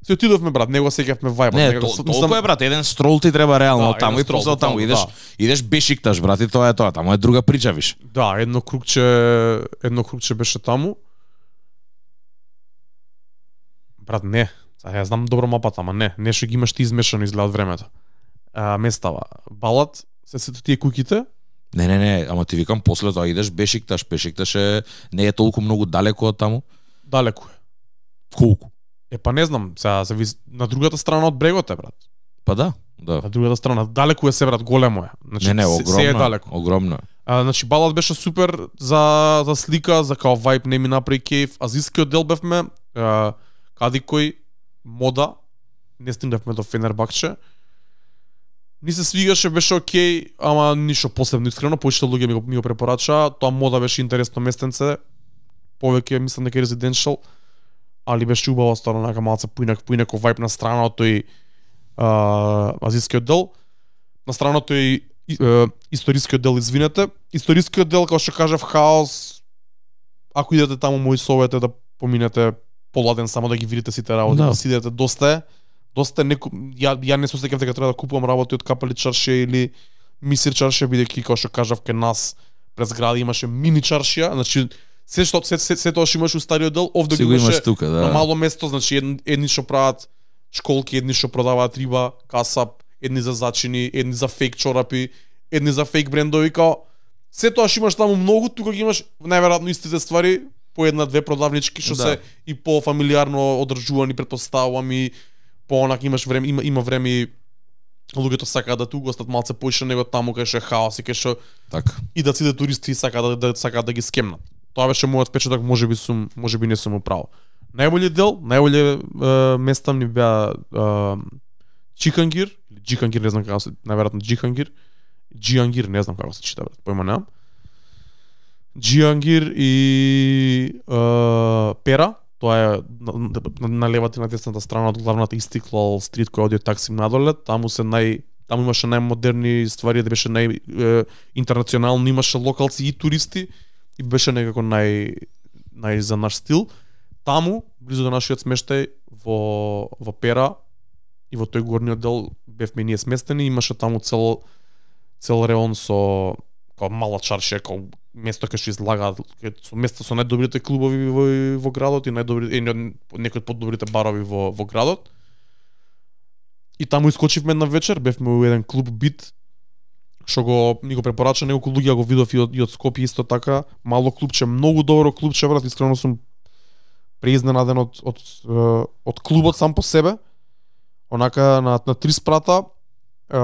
си отидовме брат, него сеќавме вајбот. Не, него, то, толку е брат, еден строл ти треба реално Да, таму еден и строл, после таму буквално, идеш, да. идеш бешикташ брат и тоа е тоа, таму е друга прича виш. Да, едно кругче, едно кругче беше таму. Брат, не. Сега ја знам добро мапата, ама не. Нешто ги имаш ти измешано изгледа од времето. А, местава. Балат, се сето тие куќите. Не, не, не, ама ти викам после тоа идеш бешикташ, бешикташ е не е толку многу далеко од таму. Далеко е. Колку? Е, па не знам, сега се виз... на другата страна од брегот е, брат. Па да, да. На другата страна. Далеко е се, брат, големо е. Значи, Не, не, се- огромно. се е далеко. Огромно. е. А, значи, балат беше супер за, за слика, за као вајб, не ми направи кеф. Азискиот дел бевме, а, кади кој мода, не стигнавме до Фенербахче. Ни се свигаше, беше окей, ама ништо посебно искрено, повеќето луѓе ми го, ми го препорачаа. Тоа мода беше интересно местенце, повеќе мислам дека е резиденшал, али беше убаво стварно, нака малце поинак, поинако вајб на страното и а, азискиот дел. На страното и и, е, историскиот дел, извинете. Историскиот дел, како што кажав, хаос. Ако идете таму, мој совет е да поминете поладен само да ги видите сите работи, Да. да си идете доста е. Доста е неку... ја ја не се осеќав дека треба да купувам работи од Капали чаршија или Мисир чаршија, бидејќи како што кажав ке нас през град имаше мини чаршија, значи се што се се, се тоа што имаш у стариот дел, овде Си го го имаш имаше тука, да. на мало место, значи едни, едни што прават школки, едни што продаваат риба, касап, едни за зачини, едни за фейк чорапи, едни за фейк брендови, као се тоа што имаш таму многу, тука ги имаш најверојатно истите ствари, по една-две продавнички што Да. се и по фамилиарно одржувани, претпоставувам и по онак имаш време, има има време и луѓето сакаат да ту гостат малце поише него таму кај што е хаос и кај што Така. и да сите туристи и сакаат да, да сакаат да ги скемнат. Тоа беше мојот впечаток, можеби сум, можеби не сум управо. Најбољи дел, најбољи е, места ми беа е, Чикангир, или Джикангир, не знам како се, најверојатно Джикангир, Джиангир, не знам како се чита, брат, појма немам. Джиангир и е, Пера, тоа е на, на, на левата и на десната страна од главната Истиклал стрит која оди од Таксим надоле, таму се нај таму имаше најмодерни ствари, да беше нај е, интернационално, имаше локалци и туристи и беше некако нај нај за наш стил. Таму, близу до нашиот смештај во во Пера и во тој горниот дел бевме ние сместени, имаше таму цел цел реон со као мала чаршија, као место кај што излагаат, кај- со место со најдобрите клубови во, во градот и најдобри едни од некои од подобрите барови во во градот. И таму искочивме една вечер, бевме во еден клуб Бит, што го ни го препорача неколку луѓе, го видов и од, и од Скопје исто така, мало клубче, многу добро клубче, брат, искрено сум преизненаден од од од, од клубот сам по себе. Онака на на три спрата, е,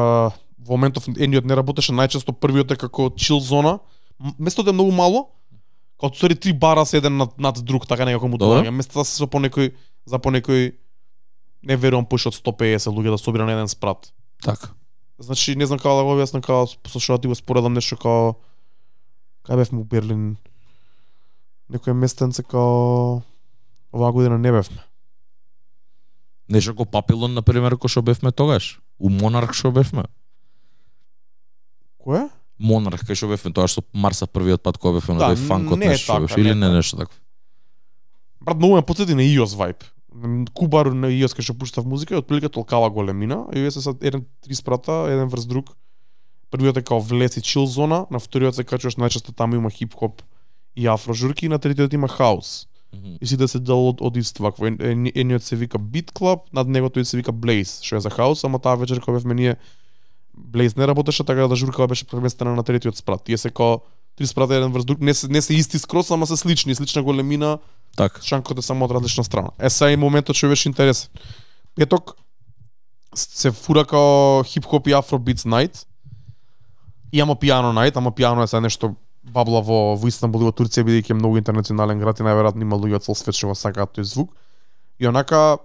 во моментов едниот не работеше, најчесто првиот е како чил зона. М- Местото е многу мало, како стори три бара се еден над, над друг, така некако му Добро. доаѓа. Местата се со по некој за по некој не верувам поише од сто и песет луѓе да собира на еден спрат. Така. Значи не знам како да го објаснам, како со што да ти го споредам нешто како кај бевме у Берлин. Некој местенце како оваа година не бевме. Нешто како Папилон на пример кој што бевме тогаш. У Монарх што бевме. Кој? Монарх кај што бевме тоа што Марса првиот пат кога бевме на Да, тој фанкот не е нешто што така, беше не или е не така. нешто такво. Брат, многу ме потсети на Иос вајб. Кубар на Иос кај што пуштав музика и отприлика толкава големина, и вие се сад еден три спрата, еден врз друг. Првиот е као влез и чил зона, на вториот се качуваш најчесто таму има хип-хоп и афро журки, и на третиот има хаус. Мгм. И сите се дел од, од ист вакво. Ен- ен- Едниот се вика Beat Club, над него тој се вика Blaze, што е за хаус, ама таа вечер кога бевме ние Blaze не работеше, така да журкава беше преместена на третиот спрат. Тие се као три спрата еден врз друг, не се не се исти скрос, ама се слични, слична големина, Така. шанкот е само од различна страна. Е, сега и моментот што беше интересен. Петок се фура као хип-хоп и афробитс најт. И ама пиано најт, ама пиано е сега нешто бабла во, во Истанбул и во Турција, бидејќи е многу интернационален град и најверојатно има луѓе од цел свет што го сакаат тој звук. И онака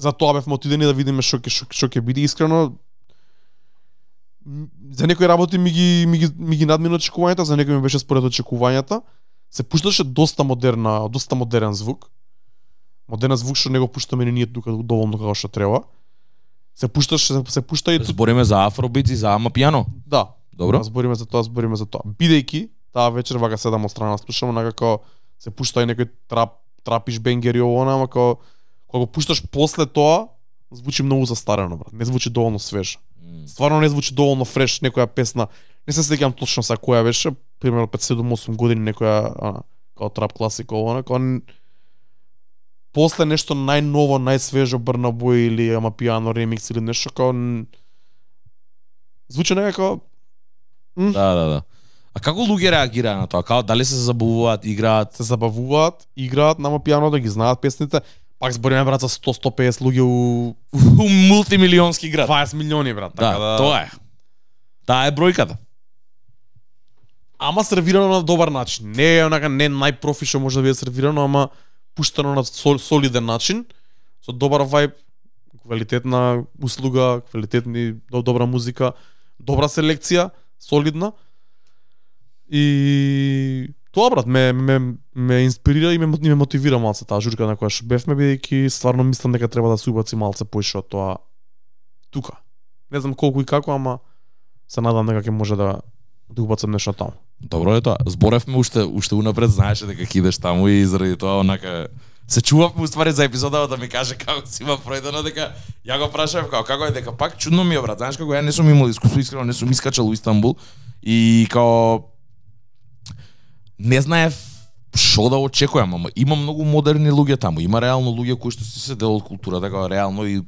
За тоа бевме отидени да видиме што ќе што, што ќе биде искрено. За некои работи ми ги ми ги ми ги надмина очекувањата, за некои ми беше според очекувањата. Се пушташе доста модерна, доста модерен звук. Модерен звук што не го пуштаме ни ние тука доволно како што треба. Се пушташе, се, се пушта и Збориме за афробит и за амапијано. да. Добро. Збориме за тоа, збориме за тоа. Бидејќи таа вечер вака седам од страна слушам, онака како се пушта и некој трап трапиш бенгери ово, ама како кога го пушташ после тоа звучи многу застарено, брат. Не звучи доволно свеж. Стварно не звучи доволно фреш некоја песна. Не се сеќавам точно са која беше, примерно пет седум осум години некоја а, како трап класика ово, како после нешто најново, најсвежо Burna Boy или Amapiano ремикс или нешто како звучи некако Да, да, да. А како луѓе реагираат на тоа? Како дали се забавуваат, играат? Се забавуваат, играат на Amapiano да ги знаат песните. Пак збориме брат за сто до сто песет луѓе у У мултимилионски град. дваесет милиони брат, така Да, да. тоа е. Таа е бројката. Ама сервирано на добар начин. Не е онака не најпрофи што може да биде сервирано, ама пуштано на сол, солиден начин, со добар вајб, квалитетна услуга, квалитетни добра музика, добра селекција, солидна. И тоа брат ме ме ме инспирира и ме, ме мотивира малце таа журка на која што бевме, бидејќи стварно мислам дека треба да се убаци малце поише од тоа тука. Не знам колку и како, ама се надам дека ќе може да да убацам нешто таму. Добро е тоа. Зборевме уште уште унапред, знаеше дека ќе идеш таму и заради тоа онака се чувавме уствари за епизодава да ми каже како си има пројдено, дека ја го прашав како како е, дека пак чудно ми е брат. Знаеш како ја не сум имал искуство, искрено не сум искачал у Истанбул и као не знаев што да очекувам, ама има многу модерни луѓе таму. Има реално луѓе кои што си се дел од културата, како реално и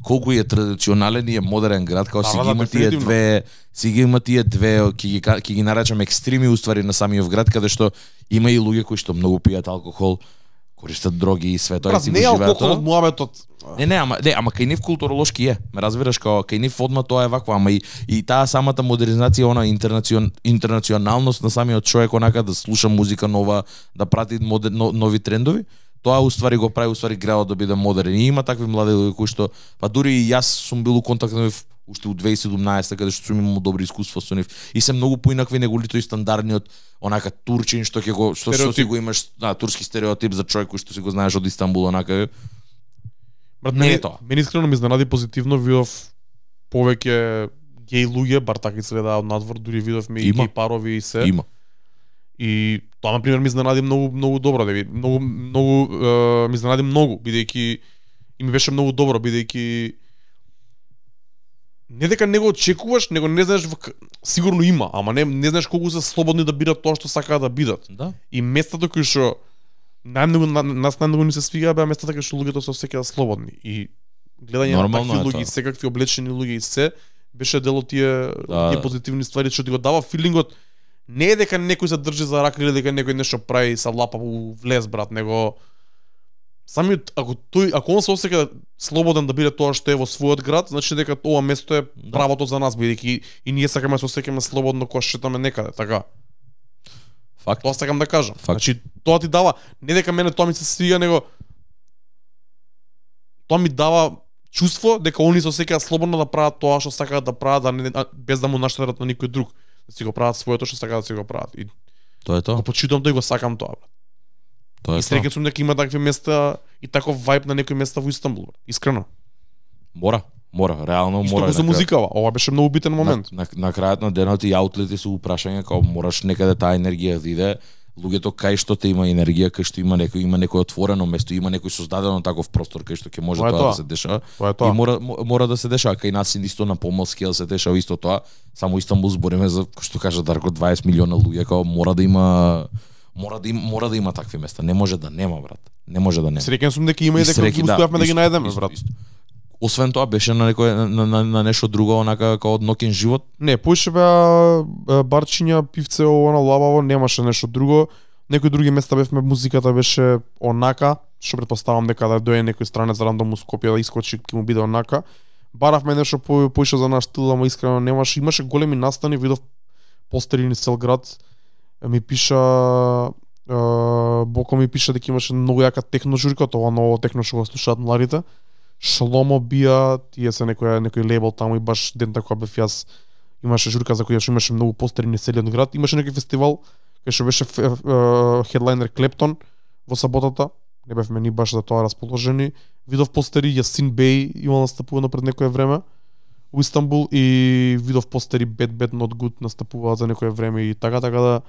колку е традиционален и е модерен град, како си ги има тие две, си ги има тие две, ќе ги ќе ги наречам екстреми уствари на самиот град, каде што има и луѓе кои што многу пијат алкохол, користат дроги и све тоа и си го живеат. Не живеат. алкохол од муабетот. Не, не, ама не, ама кај нив културолошки е. Ме разбираш како кај нив одма тоа е вакво, ама и и таа самата модернизација, она интернацион интернационалност на самиот човек, онака да слуша музика нова, да прати модер, но, нови трендови. Тоа уствари го прави уствари градот да биде модерен. И има такви млади луѓе кои што па дури и јас сум бил у контакт на нив уште у две тисаји и седумнаесета каде што сум имал добри искуства со нив и се многу поинакви него тој стандардниот онака турчин што ќе го што, што си го имаш, да, турски стереотип за човек кој што си го знаеш од Истанбул, онака. Брат, не не е тоа. Мене искрено ме изненади позитивно, видов повеќе геј луѓе, бар така изгледа од надвор, дури видовме и геј парови и се. Има. И тоа на пример ми изненади многу многу добро, да ви многу многу е, ми изненади многу, бидејќи и ми беше многу добро, бидејќи не дека не го очекуваш, него не знаеш, сигурно има, ама не не знаеш колку се слободни да бидат тоа што сакаат да бидат. Да. И местата кои што најмногу на, нас најмногу ни се свига беа местата кај што луѓето се осеќаат слободни. И гледање на такви луѓе, секакви облечени луѓе и се беше дел од тие, да, тие позитивни ствари што ти го дава филингот. Не е дека некој се држи за рака или дека некој нешто прави са лапа у влез, брат, него самиот ако тој ако он се осеќа слободен да биде тоа што е во својот град, значи дека ова место е правото за нас, бидејќи и ние сакаме да се осеќаме слободно кога шетаме некаде, така. Факт. Тоа сакам да кажам. Факт. Значи тоа ти дава, не дека мене тоа ми се свига, него тоа ми дава чувство дека они се осеќаат слободно да прават тоа што сакаат да прават, да не, без да му наштетат на никој друг. Да си го прават своето што сакаат да си го прават. И тоа е тоа. Го почитам тоа и го сакам тоа, брат. Тоа е и среќен сум дека има такви места и таков вајб на некои места во Истанбул, брат. Искрено. Мора, мора, реално Исто мора. Исто со музикава, ова беше многу битен момент. На, на, на крајот на денот и аутлети се упрашање како мораш некаде таа енергија да иде. Луѓето кај што те има енергија, кај што има некој има некој отворено место, има некој создадено таков простор кај што ќе може тоа, тоа да се дешава. И мора мора да се дешава кај нас исто на помалски да се дешава исто тоа. Само Истанбул збориме за што кажа Дарко дваесет милиона луѓе, како мора да има мора да има мора да има такви места. Не може да нема, брат. Не може да нема. Среќен сум дека има и дека ги успеавме да ги најдеме, брат. Освен тоа беше на некој на, на, на нешто друго, онака како од ноќен живот. Не, поише беа барчиња, пивце, ово на лабаво, немаше нешто друго. Некои други места бевме, музиката беше онака, што претпоставам дека да дојде некој странец рандом у Скопје да искочи, ќе му биде онака. Баравме нешто по, поише за наш стил, ама искрено немаше. Имаше големи настани, видов постери низ цел град. Ми пиша Боко ми пиша дека имаше многу јака техно журка, тоа ново техно што го слушаат младите, Шломо бија, тие се некој некој лейбл таму и баш дента кога бев јас имаше журка за која што имаше многу постери низ целиот град, имаше некој фестивал кај што беше хедлайнер Клептон во саботата. Не бевме ни баш за тоа расположени. Видов постери Јасин Бей имал настапувано пред некое време во Истанбул и видов постери Bad Bad Not Good настапуваат за некое време и така така да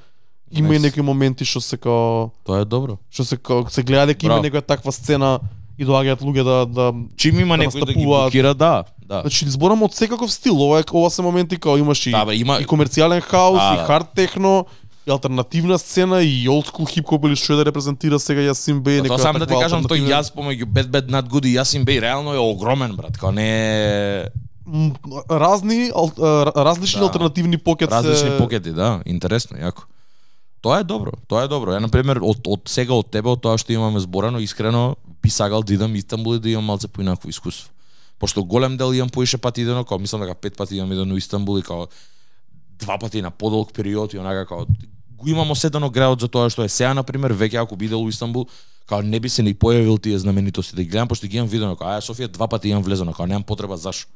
има nice. И некои моменти што се као Тоа е добро. Што се као се гледа дека има некоја таква сцена и доаѓаат луѓе да да чим има да некој да ги блокира, да, да. Значи зборам од секаков стил, ова е ова се моменти као имаш и, да, бе, има... и комерцијален хаус, да, и да. хард техно, и алтернативна сцена и old school хип-хоп или што да репрезентира сега Јасин Бей, некоја. Тоа сам да ти кажам, тој јас помеѓу Bad Bad Not Good и Јасин Бей реално е огромен, брат, као не е разни ал, различни да. Алтернативни покет различни се... покети, да, интересно, јако. Тоа е добро, тоа е добро. Ја на пример од од сега од тебе, од тоа што имаме зборено, искрено би сагал да идам Истанбул и да имам малце поинаково искуство. Пошто голем дел имам поише пати идено, као мислам дека пет пати имам идено во Истанбул и као два пати на подолг период и онака као го имам осетено градот за тоа што е сега на пример, веќе ако би идел во Истанбул, као не би се ни појавил тие знаменитости да ги гледам, пошто ги имам видено, као ај Софија два пати имам влезено, као немам потреба зашо.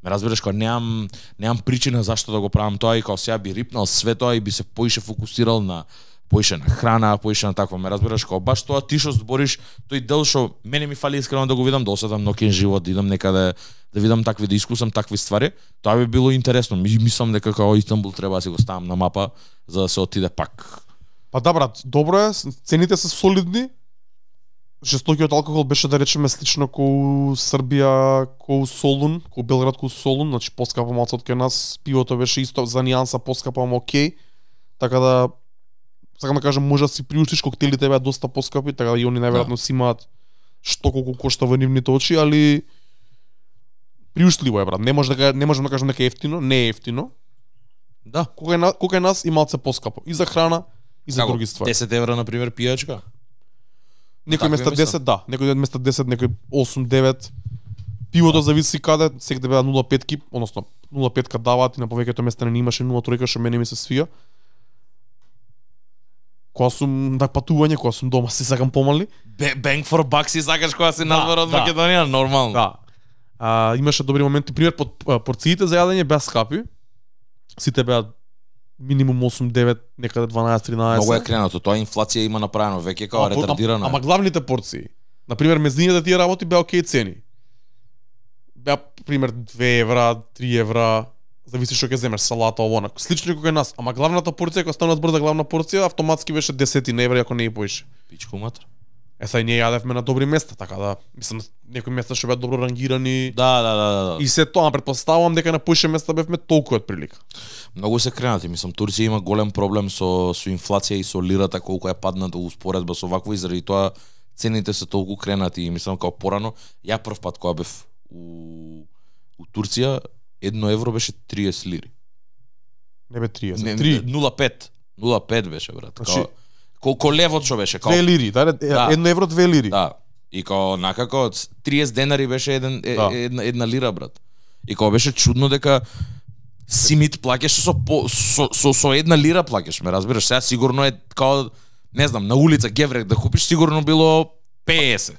Ме разбираш, као немам немам причина зашто да го правам тоа и као сега би рипнал све тоа и би се поише фокусирал на поише на храна, поише на такво, ме разбираш, као баш тоа ти што збориш, тој дел што мене ми фали искрено да го видам, да осетам ноќен живот, да идам некаде, да видам такви, да искусам такви ствари, тоа би било интересно. Мислам дека као Истанбул треба да си го ставам на мапа за да се отиде пак. Па да брат, добро е, цените се солидни. Жестокиот алкохол беше да речеме слично ко Србија, ко Солун, ко Белград, ко Солун, значи поскапа малку од кај нас, пивото беше исто за нијанса поскапа, ама окей. Така да сакам да кажам, може да си приуштиш, коктелите беа доста поскапи, така да и они најверојатно си имаат што колку кошта во нивните очи, али приуштливо е брат. Не може да не можам да кажам дека е ефтино, не е ефтино. Да, кога е кога е нас и малце поскапо и за храна и за Како, други ствари. десет евра на пример пијачка. Некој места десет, да, некој места десет, некој осум девет. Пивото зависи каде, секаде беа нула пет, односно нула пет даваат и на повеќето места не имаше нула три, што мене ми се свија. Кога сум на патување, кога сум дома, си сакам помали. Bang for buck си сакаш кога си надвор од Македонија, нормално. Да. А, имаше добри моменти, пример под порциите за јадење беа скапи. Сите беа минимум осум девет, некаде дванаесет тринаесет. Многу е кренато, тоа инфлација има направено веќе како ретардирана. Ама главните порции, на пример мезнината тие работи беа окей цени. Беа пример две евра, три евра, зависи што ќе земеш, салата ово, слично како кај нас, ама главната порција кога станува збор за главна порција, автоматски беше десет евра ако не и поише. Пичко матер. Е, сај ние јадевме на добри места, така да, мислам, некои места што беа добро рангирани. Да, да, да, да. И се тоа, претпоставувам дека на поише места бевме толку од прилика. Многу се кренати, мислам, Турција има голем проблем со со инфлација и со лирата колку е падната во споредба со вакво и заради тоа цените се толку кренати и мислам како порано, ја прв пат кога бев у у Турција едно евро беше триесет лири. Не бе триесет, не, три. нула пет, нула пет беше брат. Значи, као колку левот што беше, као две лири, да, да, едно евро две лири. Да. И као накако триесет денари беше еден да. една една лира брат. И као беше чудно дека симит плаќаш со по, со, со со една лира плаќаш, ме разбираш? Сега сигурно е као не знам, на улица геврек да купиш сигурно било песет.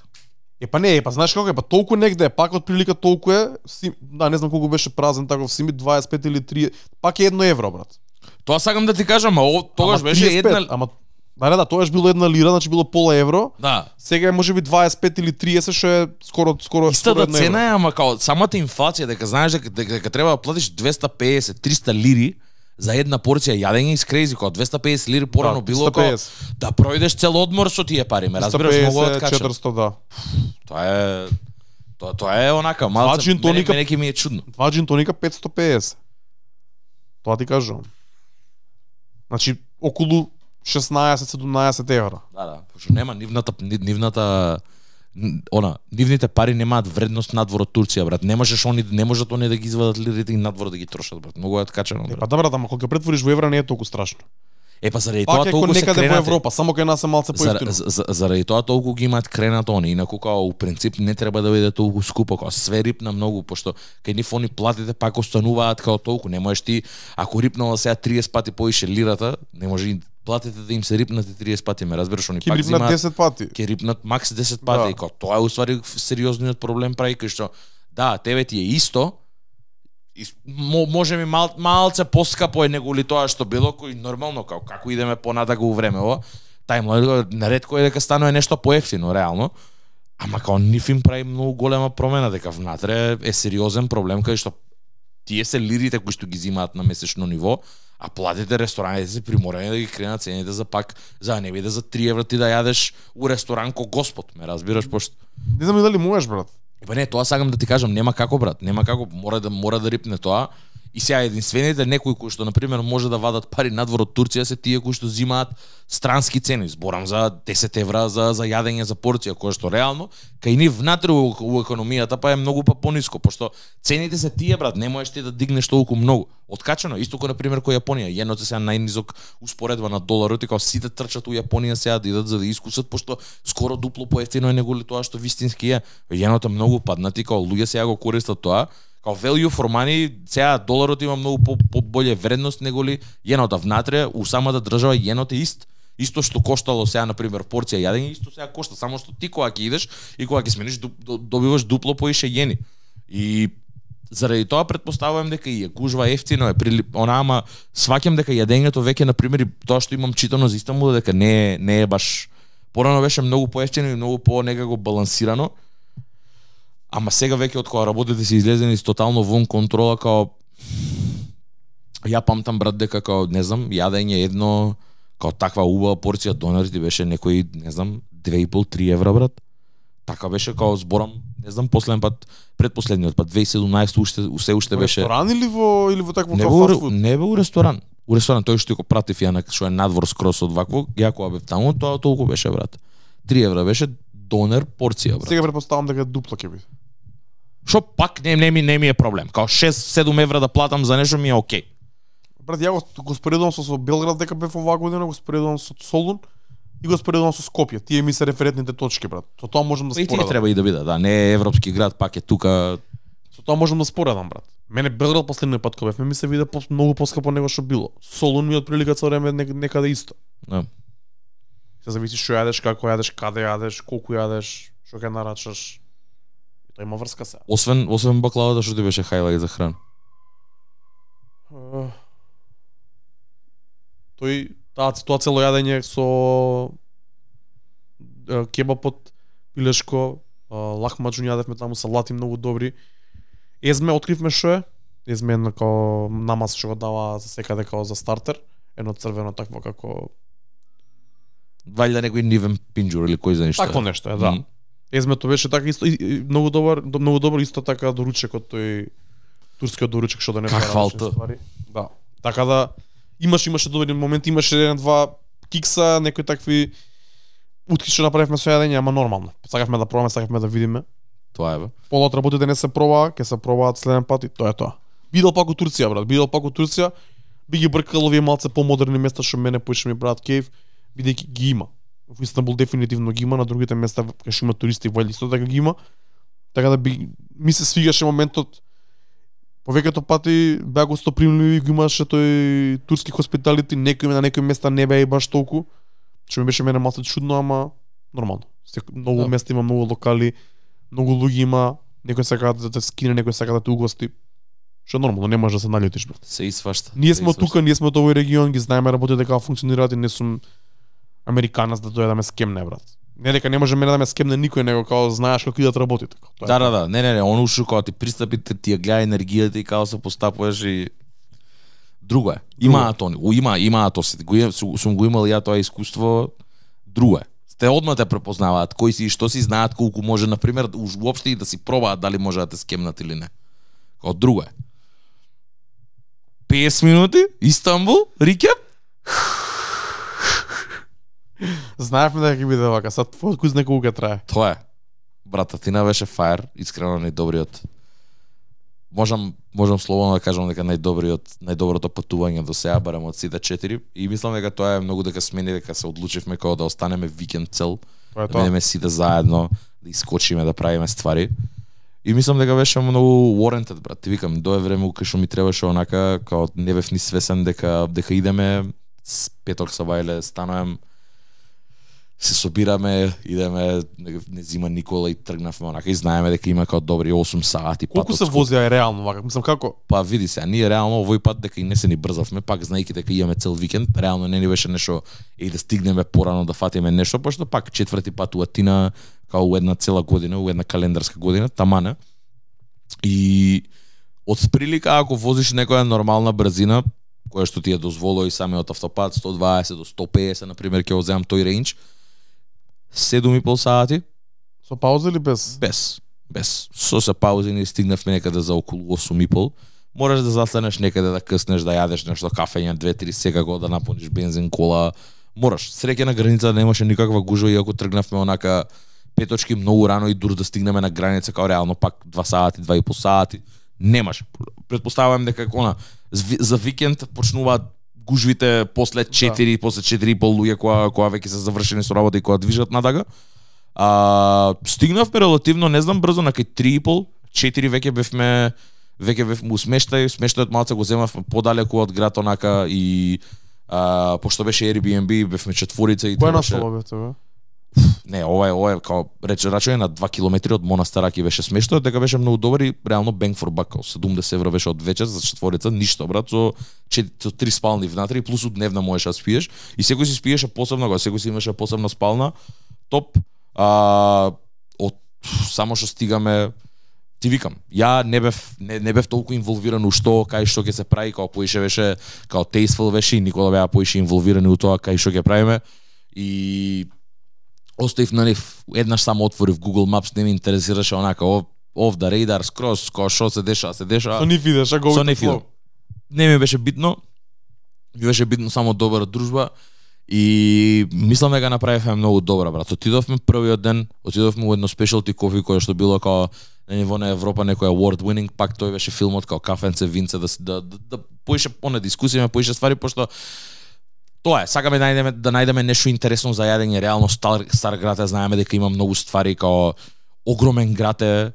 Е па не, е па знаеш како е, па толку негде е, пак од прилика толку е, си, да, не знам колку беше празен таков симит, дваесет пет или три, пак е едно евро брат. Тоа сакам да ти кажам, а тогаш беше тридесет пет, една. Ама да, да, да, тогаш било една лира, значи било пола евро. Да. Сега е можеби дваесет пет или триесет, што е скоро скоро истата цена е, ама као самата инфлација дека знаеш дека, дека, дека треба да платиш двесте песет триста лири за една порција јадење из крейзи, кога двесте песет лири порано да, било као да пројдеш цел одмор со тие пари, ме разбираш, многу откача. четиристо, да. Тоа е тоа тоа е онака малце мене, мене ке ми е чудно. Два джин тоника петстотин и песет. Тоа ти кажувам. Значи околу шеснаесет седумнаесет евра. Да, да, пошто нема нивната нивната она нивните пари немаат вредност надвор од Турција, брат. Не можеш они не можат они да ги извадат лирите и надвор да ги трошат, брат. Многу е откачено, брат. Е, па да, брат, ама кога ги претвориш во евра не е толку страшно. Е па заради тоа Пак е толку кон се некаде во кренати. Европа, само кај нас е малце За, поевтино. за, заради тоа толку ги имаат кренато они, инаку као у принцип не треба да биде толку скупо, као све рипна многу, пошто кај нив они платите пак остануваат као толку, не можеш ти, ако рипнала сега триесет пати поише лирата, не може и платите да им се рипнате триесет пати, ме разбираш, они Ки пак рипнат земаат, десет пати. ќе рипнат макс десет пати, Да. и као тоа е уствари сериозниот проблем прави, кај што, да, тебе ти е исто, и мо, може ми мал, малце поскапо е него ли тоа што било, кој нормално као како идеме понатаку у времево, тајмлайнот наредко е дека станува нешто поевтино реално, ама као нив им прави многу голема промена дека внатре е сериозен проблем кај што тие се лирите кои што ги зимаат на месечно ниво, а платите рестораните се приморени да ги кренат цените за пак за да не биде за три евра ти да јадеш у ресторан ко Господ, ме разбираш пошто. Не знам и дали можеш, брат. Па не, тоа сакам да ти кажам, нема како брат, нема како, мора да мора да рипне тоа. И сега единствените некои кои што на пример може да вадат пари надвор од Турција се тие кои што зимаат странски цени. Зборам за десет евра за за јадење за порција, кое што реално кај нив внатре у, у економијата па е многу па пониско, пошто цените се тие брат, не можеш ти да дигнеш толку многу. Откачено, исто кој на пример кој Јапонија, јенот е сега најнизок успоредба на доларот и као сите трчат у Јапонија сега да идат за да искусат, пошто скоро дупло поевтино е него ли тоа што вистински е. Јенот е многу паднати, као луѓе сега го користат тоа. Као value for money, сега доларот има многу по, по боле вредност него ли јенота внатре, у самата држава јенот е ист. Исто што коштало сега на пример порција јадење, исто сега кошта, само што ти кога ќе идеш и кога ќе смениш добиваш дупло поише јени. И заради тоа претпоставувам дека и е гужва ефтино е прилип, она ама сваќам дека јадењето веќе на пример и тоа што имам читано за Истанбул дека не е не е баш порано беше многу поевтино и многу по некако балансирано. Ама сега веќе од кога работите се излезени с тотално вон контрола, као ја памтам брат дека као не знам, јадење едно као таква убава порција донер ти беше некои, не знам, две и пол до три евра брат. Така беше као зборам, не знам, последен пат, предпоследниот пат две илјади и седумнаесета уште усе уште Во беше ресторан или во или во такво не као во, фаст фуд? не бе у ресторан. У ресторан тој што го пратив ја на што е надвор скрос од вакво, ја кога бев таму, тоа толку беше брат. три евра беше донер порција брат. Сега претпоставам дека дупло ќе биде. Што пак не, не ми не ми е проблем. Као шест седум евра да платам за нешто ми е окей. Брат, ја го, го споредувам со, со Белград дека бев оваа година, го споредувам со Солун и го споредувам со Скопје. Тие ми се референтните точки, брат. Со тоа можам да И тие споредам. треба и да биде, да, не е европски град, пак е тука. Со тоа можам да споредам, брат. Мене Белград последниот пат кога бевме ми се виде по, многу поскапо него што било. Солун ми од прилика цело време нек, некаде исто. Да. Се зависи што јадеш, како јадеш, каде јадеш, колку јадеш, што ќе нарачаш. Тоа има врска се. Освен освен баклавата што ти беше хајлајт за храна. Uh, тој таа тоа цело јадење со uh, кебап од пилешко, uh, лахмаџун јадевме таму, салати многу добри. Езме откривме што е. Езме едно као намаз што го дава за секаде као за стартер, едно црвено такво како Вајда некој нивен пинџур или кој знае што. такво нешто е, да. Мм. Езмето беше така исто и, и, многу добар, до- многу добро исто така доручекот тој турскиот доручек што донесе Каква различни алта. ствари. Да. Така да имаш имаше добри моменти, имаше еден два кикса, некои такви утки што направивме со јадење, ама нормално. Сакавме да пробаме, сакавме да видиме. Тоа е бе. Полот работите не се пробаа, ќе се пробаат следен пат и тоа е тоа. Бидел пак у Турција, брат, бидел пак у Турција. Би ги бркал овие малце помодерни места што мене поише ми брат Кейв, бидејќи ги има. Во Истанбул дефинитивно ги има, на другите места кај што има туристи во исто така ги има. Така да би ми се свигаше моментот повеќето пати беа гостопримливи, го имаше тој турски хоспиталити, некои на некои места не беа и баш толку. Што ми беше мене малку чудно, ама нормално. Сек- Многу Да. места има, многу локали, многу луѓе има, некој сака да те скине, некој сака да те угости. Што е нормално, не можеш да се налютиш, брат. Се исвашта. Ние се сме од исвашта. тука, ние сме од овој регион, ги знаеме работите како функционираат и не сум американец да дојде да ме скемне, брат. Не дека не може мене да ме скемне никој, него као знаеш како идат работите. Тоа е Да, да, тоа. да. Не, не, не, он ушо кога ти пристапи, ти ти ја гледа енергијата и како се постапуваш и друго е. Имаат они, у- има имаат тоа, си- го, им- су- сум го имал ја тоа искуство, друго е. Те одма те препознаваат кој си и што си, знаат колку може на пример уж уопште и да си пробаат дали може да те скемнат или не. Као друго е. песет минути, Истанбул, рикеп. Знаевме дека ќе биде вака, сад твојот куз неколку ќе трае. Тоа е. Брата, Тина беше фаер, искрено најдобриот можам можам слободно да кажам дека најдобриот најдоброто патување до сега барем од сите четири и мислам дека тоа е многу дека смени дека се одлучивме како да останеме викенд цел. Тоа е Да тоа. бидеме сите заедно, да искочиме да правиме ствари. И мислам дека беше многу warranted, брат. Ти викам, дое време кај што ми требаше онака, као не бев ни свесен дека дека идеме с петок са вајле, станувам, се собираме, идеме, не, не зима Никола и тргнавме онака и знаеме дека има као добри осум сати пат. Колку се возија е реално вака? Мислам како? Па види се, а ние реално овој пат дека и не се ни брзавме, пак знаејќи дека имаме цел викенд, реално не ни беше нешто и да стигнеме порано да фатиме нешто, пошто пак четврти пат у Атина као у една цела година, у една календарска година, тамане. И од прилика ако возиш некоја нормална брзина, која што ти е дозволува и самиот автопат сто дваесет до сто педесет на пример, ќе го земам тој рейндж, седум и пол сати Со пауза или без? без без со се паузи ни стигнавме некаде за околу осум и пол. Мораш да застанеш некаде да къснеш, да јадеш нешто кафење две-три секако, да напуниш бензин, кола. Мораш. Среќа на граница немаше никаква гужва иако тргнавме онака пет точки многу рано и дур да стигнеме на граница као реално пак два сати, два и пол сати. Немаше. Предпоставувам дека она за викенд почнуваат гужвите после четири, да. После четири и пол луѓе која која веќе се завршени со работа и која движат надага. А, стигнавме релативно, не знам, брзо на кај три и пол, четири веќе бевме веќе бевме у смештај, смештајот малце го земавме подалеку од град онака и а, пошто беше Airbnb, бевме четворица и Кој требаше... наслова бе тоа? Не, ова е ова е као рече рачање на два километри од Монастараки беше смештајот, дека беше многу добар и реално bang for buck, седумдесет евра беше од вечер за четворица, ништо брат, со со три спални внатре и плюс дневна можеш да спиеш и секој си спиеше посебно, кога секој си имаше посебна спална, топ. А, од само што стигаме, ти викам, ја не бев не, не бев толку инволвиран у што, кај што ќе се прави, као поише беше, као Tasteful беше и Никола беа поише инволвирани у тоа кај што ќе правиме и оставив на нив, еднаш само отворив Google Maps, не ме интересираше онака off the radar, скроз, као што се деша, се деша. Со нив идеш, а го Со нив идам. Не ми беше битно, ми беше битно само добра дружба и мислам дека направивме многу добра, брат. Отидовме првиот ден, отидовме у едно specialty кофи кое што било као на ниво на Европа некој award winning, пак тој беше филмот као кафенце, винце, да да да, да поише поне дискусија, поише ствари, пошто тоа е, сакаме да најдеме да најдеме нешто интересно за јадење, реално стар стар град, знаеме дека има многу ствари, као огромен град е.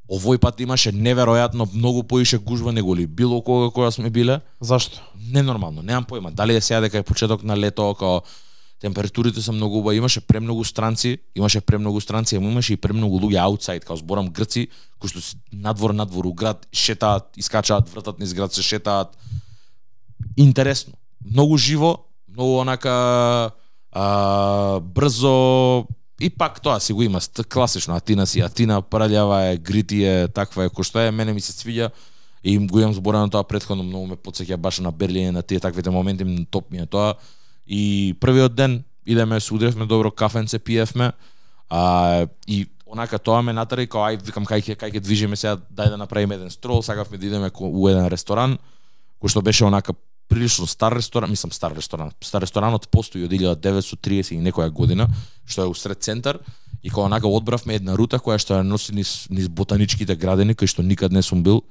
Овој пат имаше неверојатно многу поише гужва него ли било кога кога сме биле. Зашто? Ненормално, немам појма. Дали е сега дека е почеток на лето, као температурите се многу убави, имаше премногу странци, имаше премногу странци, ама имаше и премногу луѓе аутсайд, као зборам грци, кои што надвор надвор у град шетаат, искачаат, вртат низ град, се шетаат. Интересно, многу живо, многу онака а, брзо и пак тоа си го има класично. Атина си Атина, прљава е, грити е, таква е кој што е, мене ми се свиѓа и им го имам зборено тоа претходно, многу ме потсеќа баш на Берлин, на тие таквите моменти, топ ми е тоа. И првиот ден идеме, се удревме добро кафенце, пиевме, а, и онака тоа ме натера и као ај викам кај ќе кај ќе движиме сега, дај да направиме еден строл, сакавме да идеме у еден ресторан кој што беше онака прилично стар ресторан, мислам стар ресторан. Стар ресторанот постои од илјада деветстотини и триесет и некоја година, што е усред центар, и кога онака одбравме една рута која што ја носи низ, низ ботаничките градини, кај што никад не сум бил.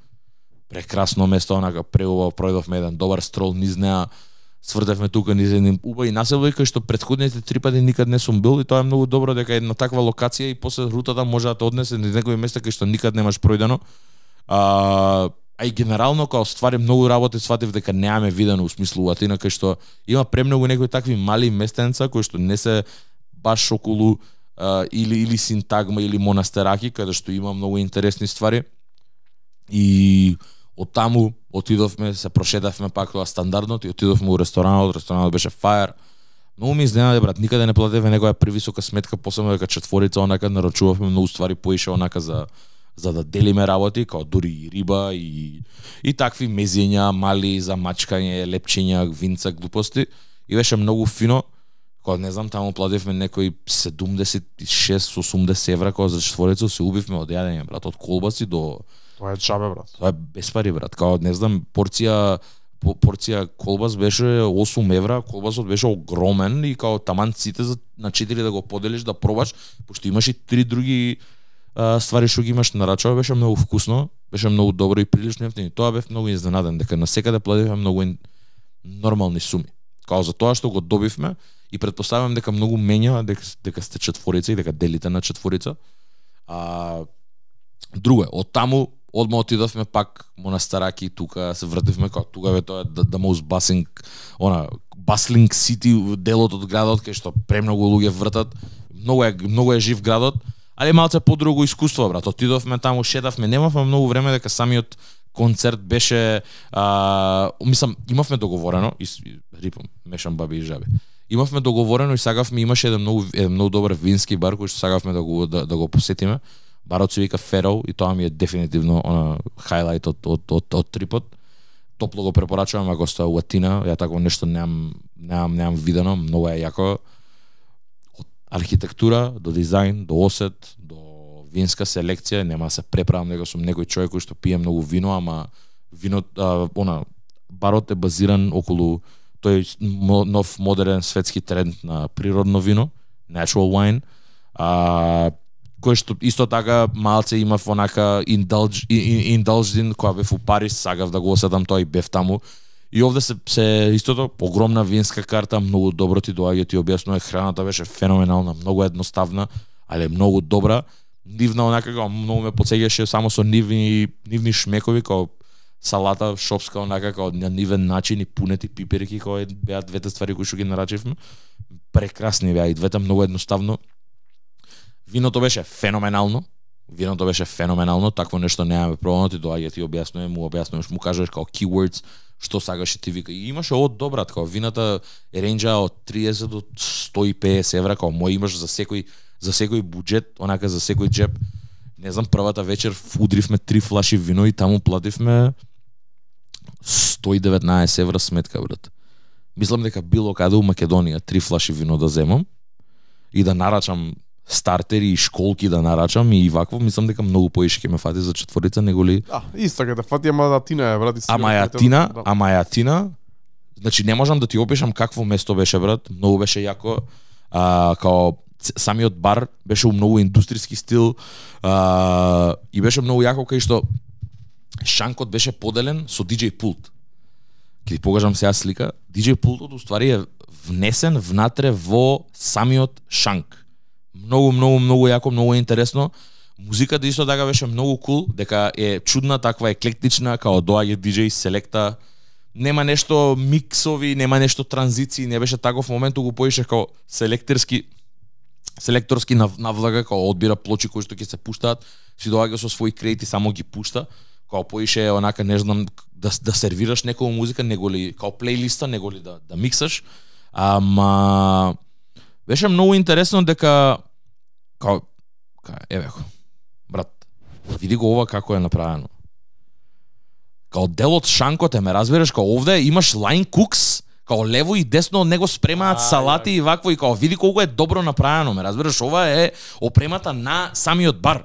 Прекрасно место, онака преубаво, пројдовме еден добар строл низ неа, свртевме тука низ еден убави населби кај што претходните три пати никад не сум бил и тоа е многу добро дека една таква локација и после рутата може да те однесе низ некои места кај што никад немаш пројдено. А, а и генерално као ствари многу работи сватив дека немаме видено у смислу Атина, кај што има премногу некои такви мали местенца кои што не се баш околу а, или или Синтагма или Монастераки, каде што има многу интересни ствари. И од таму отидовме, се прошетавме пак тоа стандардно и отидовме у ресторанот, ресторанот беше фаер. Многу ми изненади, брат, никаде не платевме некоја превисока сметка, посебно дека четворица онака нарачувавме многу ствари поише онака за за да делиме работи, као дури и риба и и такви мезења, мали за мачкање, лепчења, винца, глупости и беше многу фино. Кога не знам, таму плативме некои седумдесет и шест осумдесет евра кога за четворица, се убивме од јадење, брат, од колбаси до Тоа е чабе, брат. Тоа е без пари, брат. Као не знам, порција по, порција колбас беше осум евра, колбасот беше огромен и као таман сите за на четири да го поделиш да пробаш, пошто имаше три други а, ствари што ги имаш нарачува, беше многу вкусно, беше многу добро и прилично ефтино. Тоа бев многу изненаден дека насекаде плативме многу ин... нормални суми. Као за тоа што го добивме и претпоставувам дека многу менја дека, дека сте четворица и дека делите на четворица. А друго е, од таму одма отидовме пак Монастараки, тука се вртивме кога тука бе тоа да, да most bustling, она bustling city делот од градот кај што премногу луѓе вртат. Многу е многу е жив градот, али малце подруго искуство брат. Отидовме таму, шетавме, немавме многу време дека самиот концерт беше а, мислам имавме договорено и рипам мешам баби и жаби. Имавме договорено и сагавме имаше еден многу еден многу добар вински бар кој што сагавме да го да, да го посетиме. Барот се вика Ферол и тоа ми е дефинитивно она хайлайт од од од, од трипот. Топло го препорачувам ако сте у Атина, ја такво нешто немам немам немам видено, многу е јако. Од архитектура до дизајн, до осет, до винска селекција, нема да се преправам дека сум некој човек кој што пие многу вино, ама вино а, она барот е базиран околу тој нов модерен светски тренд на природно вино, natural wine. А кој што исто така малце имав онака indulge indulged кога бев у Париз, сагав да го осетам тоа и бев таму. И овде се, се истото огромна винска карта, многу добро ти доаѓа, ти објаснува, храната беше феноменална, многу едноставна, али многу добра. Нивна онака како многу ме потсеќаше само со нивни нивни шмекови како салата шопска онака како на нивен начин и пунети пиперки кои беа двете ствари кои што ги нарачивме. Прекрасни беа и двете, многу едноставно. Виното беше феноменално. Виното беше феноменално, такво нешто немаме пробано, ти доаѓа ти објаснувам, му објаснуваш, му кажеш како keywords што сагаш и ти вика. И имаше од добра, како вината ренџа од триесет до сто и педесет евра, како мој имаш за секој за секој буџет, онака за секој џеб. Не знам, првата вечер удривме три флаши вино и таму плативме сто и деветнаесет евра сметка, брат. Мислам дека било каде у Македонија три флаши вино да земам и да нарачам стартери и школки да нарачам и вакво, мислам дека многу поише ќе ме фати за четворица него ли. Да, исто ќе те фати, ама Атина е, брат. Ама е Атина, да. ама е Атина. Значи не можам да ти опишам какво место беше, брат. Многу беше јако. А, као самиот бар беше у многу индустријски стил а, и беше многу јако кај што шанкот беше поделен со диџеј пулт. Ќе ти покажам сега слика. диџеј пултот уствари е внесен внатре во самиот шанк. Многу, многу, многу јако, многу интересно. Музиката исто така беше многу кул, дека е чудна, таква еклектична, као доаѓа диџеј, селекта. Нема нешто миксови, нема нешто транзиции, не беше таков момент, го поише као селекторски селекторски навлага, као одбира плочи кои што ќе се пуштаат, си доаѓа со своји кредити, само ги пушта. Као поише онака, не знам, да да сервираш некоја музика, него ли као плейлиста, него ли да да миксаш. Ама беше многу интересно дека као ка еве го. Брат, види го ова како е направено. Као дел од шанкот е, ме разбираш, као овде имаш лайн кукс, као лево и десно од него спремаат салати и вакво и као види колку е добро направено, ме разбираш, ова е опремата на самиот бар.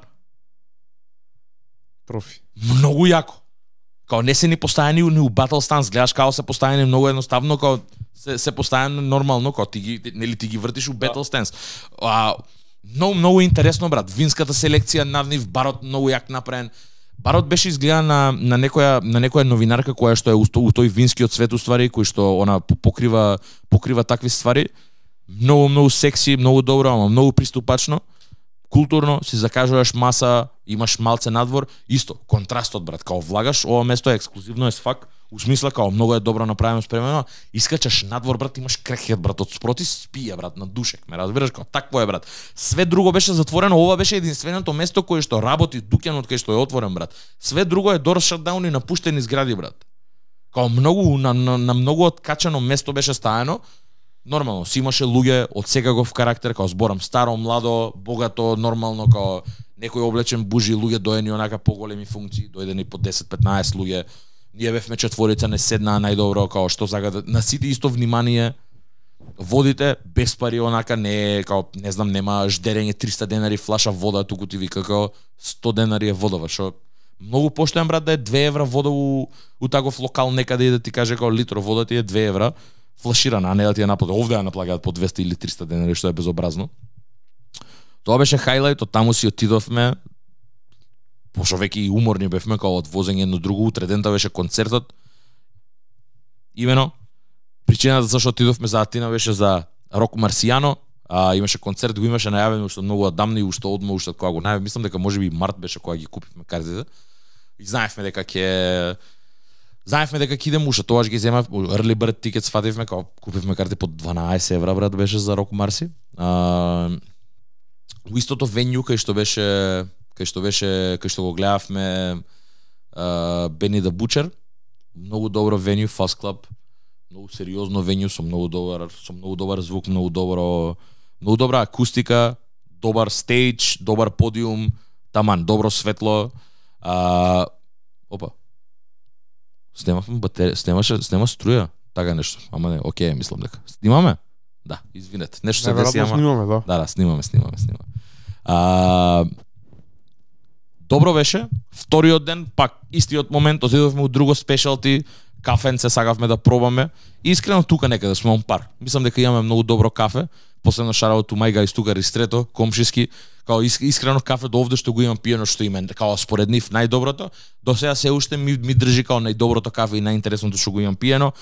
Профи. Многу јако. Као не се ни поставени ни у battle stance, гледаш како се поставени многу едноставно, као се се поставени нормално, као ти ги нели ти ги вртиш у battle stance. А многу многу интересно, брат. Винската селекција на нив, барот многу јак направен. Барот беше изгледа на на некоја на некоја новинарка која што е у тој винскиот свет уствари, кој што она покрива покрива такви ствари. Многу многу секси, многу добро, ама многу приступачно. Културно, си закажуваш маса, имаш малце надвор, исто, контрастот, брат, као влагаш, ова место е ексклузивно as fuck, у смисла као многу е добро направено спремено, искачаш надвор, брат, имаш крекет, брат, од спроти спија, брат, на душек, ме разбираш, као такво е, брат. Све друго беше затворено, ова беше единственото место кое што работи, дуќанот кај што е отворен, брат. Све друго е door shutdown и напуштени згради, брат. Као многу на, на, на многу откачено место беше стаено. Нормално, си имаше луѓе од секаков карактер, као зборам старо, младо, богато, нормално, као некој облечен бужи, луѓе доени онака поголеми функции, дојдени по десет-петнаесет луѓе. Ние бевме четворица, не седнаа најдобро, као што сакате, на сите исто внимание. Водите без пари, онака не е као не знам, нема ждерење триста денари флаша вода, туку ти вика као сто денари е водова, што многу поштоен, брат, да е две евра вода у, у таков локал некаде и да ти каже као литро вода ти е две евра. Флаширана, а не да ти ја наплатат. Овде ја наплаќаат по двесте или триста денари, што е безобразно. Тоа беше хајлајт, од таму си отидовме, пошто веќе и уморни бевме као од возење едно друго, утре дента беше концертот. Имено причината зашто отидовме за Атина беше за Рок Марсијано, а имаше концерт, го имаше најавено уште многу одамна и уште одма уште кога го најавив, мислам дека можеби март беше кога ги купивме картите. И знаевме дека ќе знаевме дека ќе идеме уште тогаш ги земав early bird tickets, фативме кога купивме карти по дванаесет евра брат беше за Рок Марси. А, у истото венју кај што беше кај што беше кај што го гледавме Бени да Бучер, многу добро венју, Fast Club, многу сериозно венју со многу добар со многу добар звук, многу добро многу добра акустика, добар стејдж, добар подиум, таман, добро светло. А, опа. Снемавме батерија, снемаше, снема струја, така нешто. Ама не, окей, мислам дека. Снимаме? Да, извинете. Нешто се деси, ама снимаме, да. Да, да, снимаме, снимаме, снимаме. А, добро беше. Вториот ден, пак истиот момент, отидовме у друго спешалти, кафенце сакавме да пробаме. И искрено тука некаде сме он пар. Мислам дека имаме многу добро кафе. Последно шараот у мајга из тука Ристрето, комшиски, као искрено кафе до овде што го имам пиено што име, као според нив најдоброто. До сега се уште ми, ми држи као најдоброто кафе и најинтересното што го имам пиено.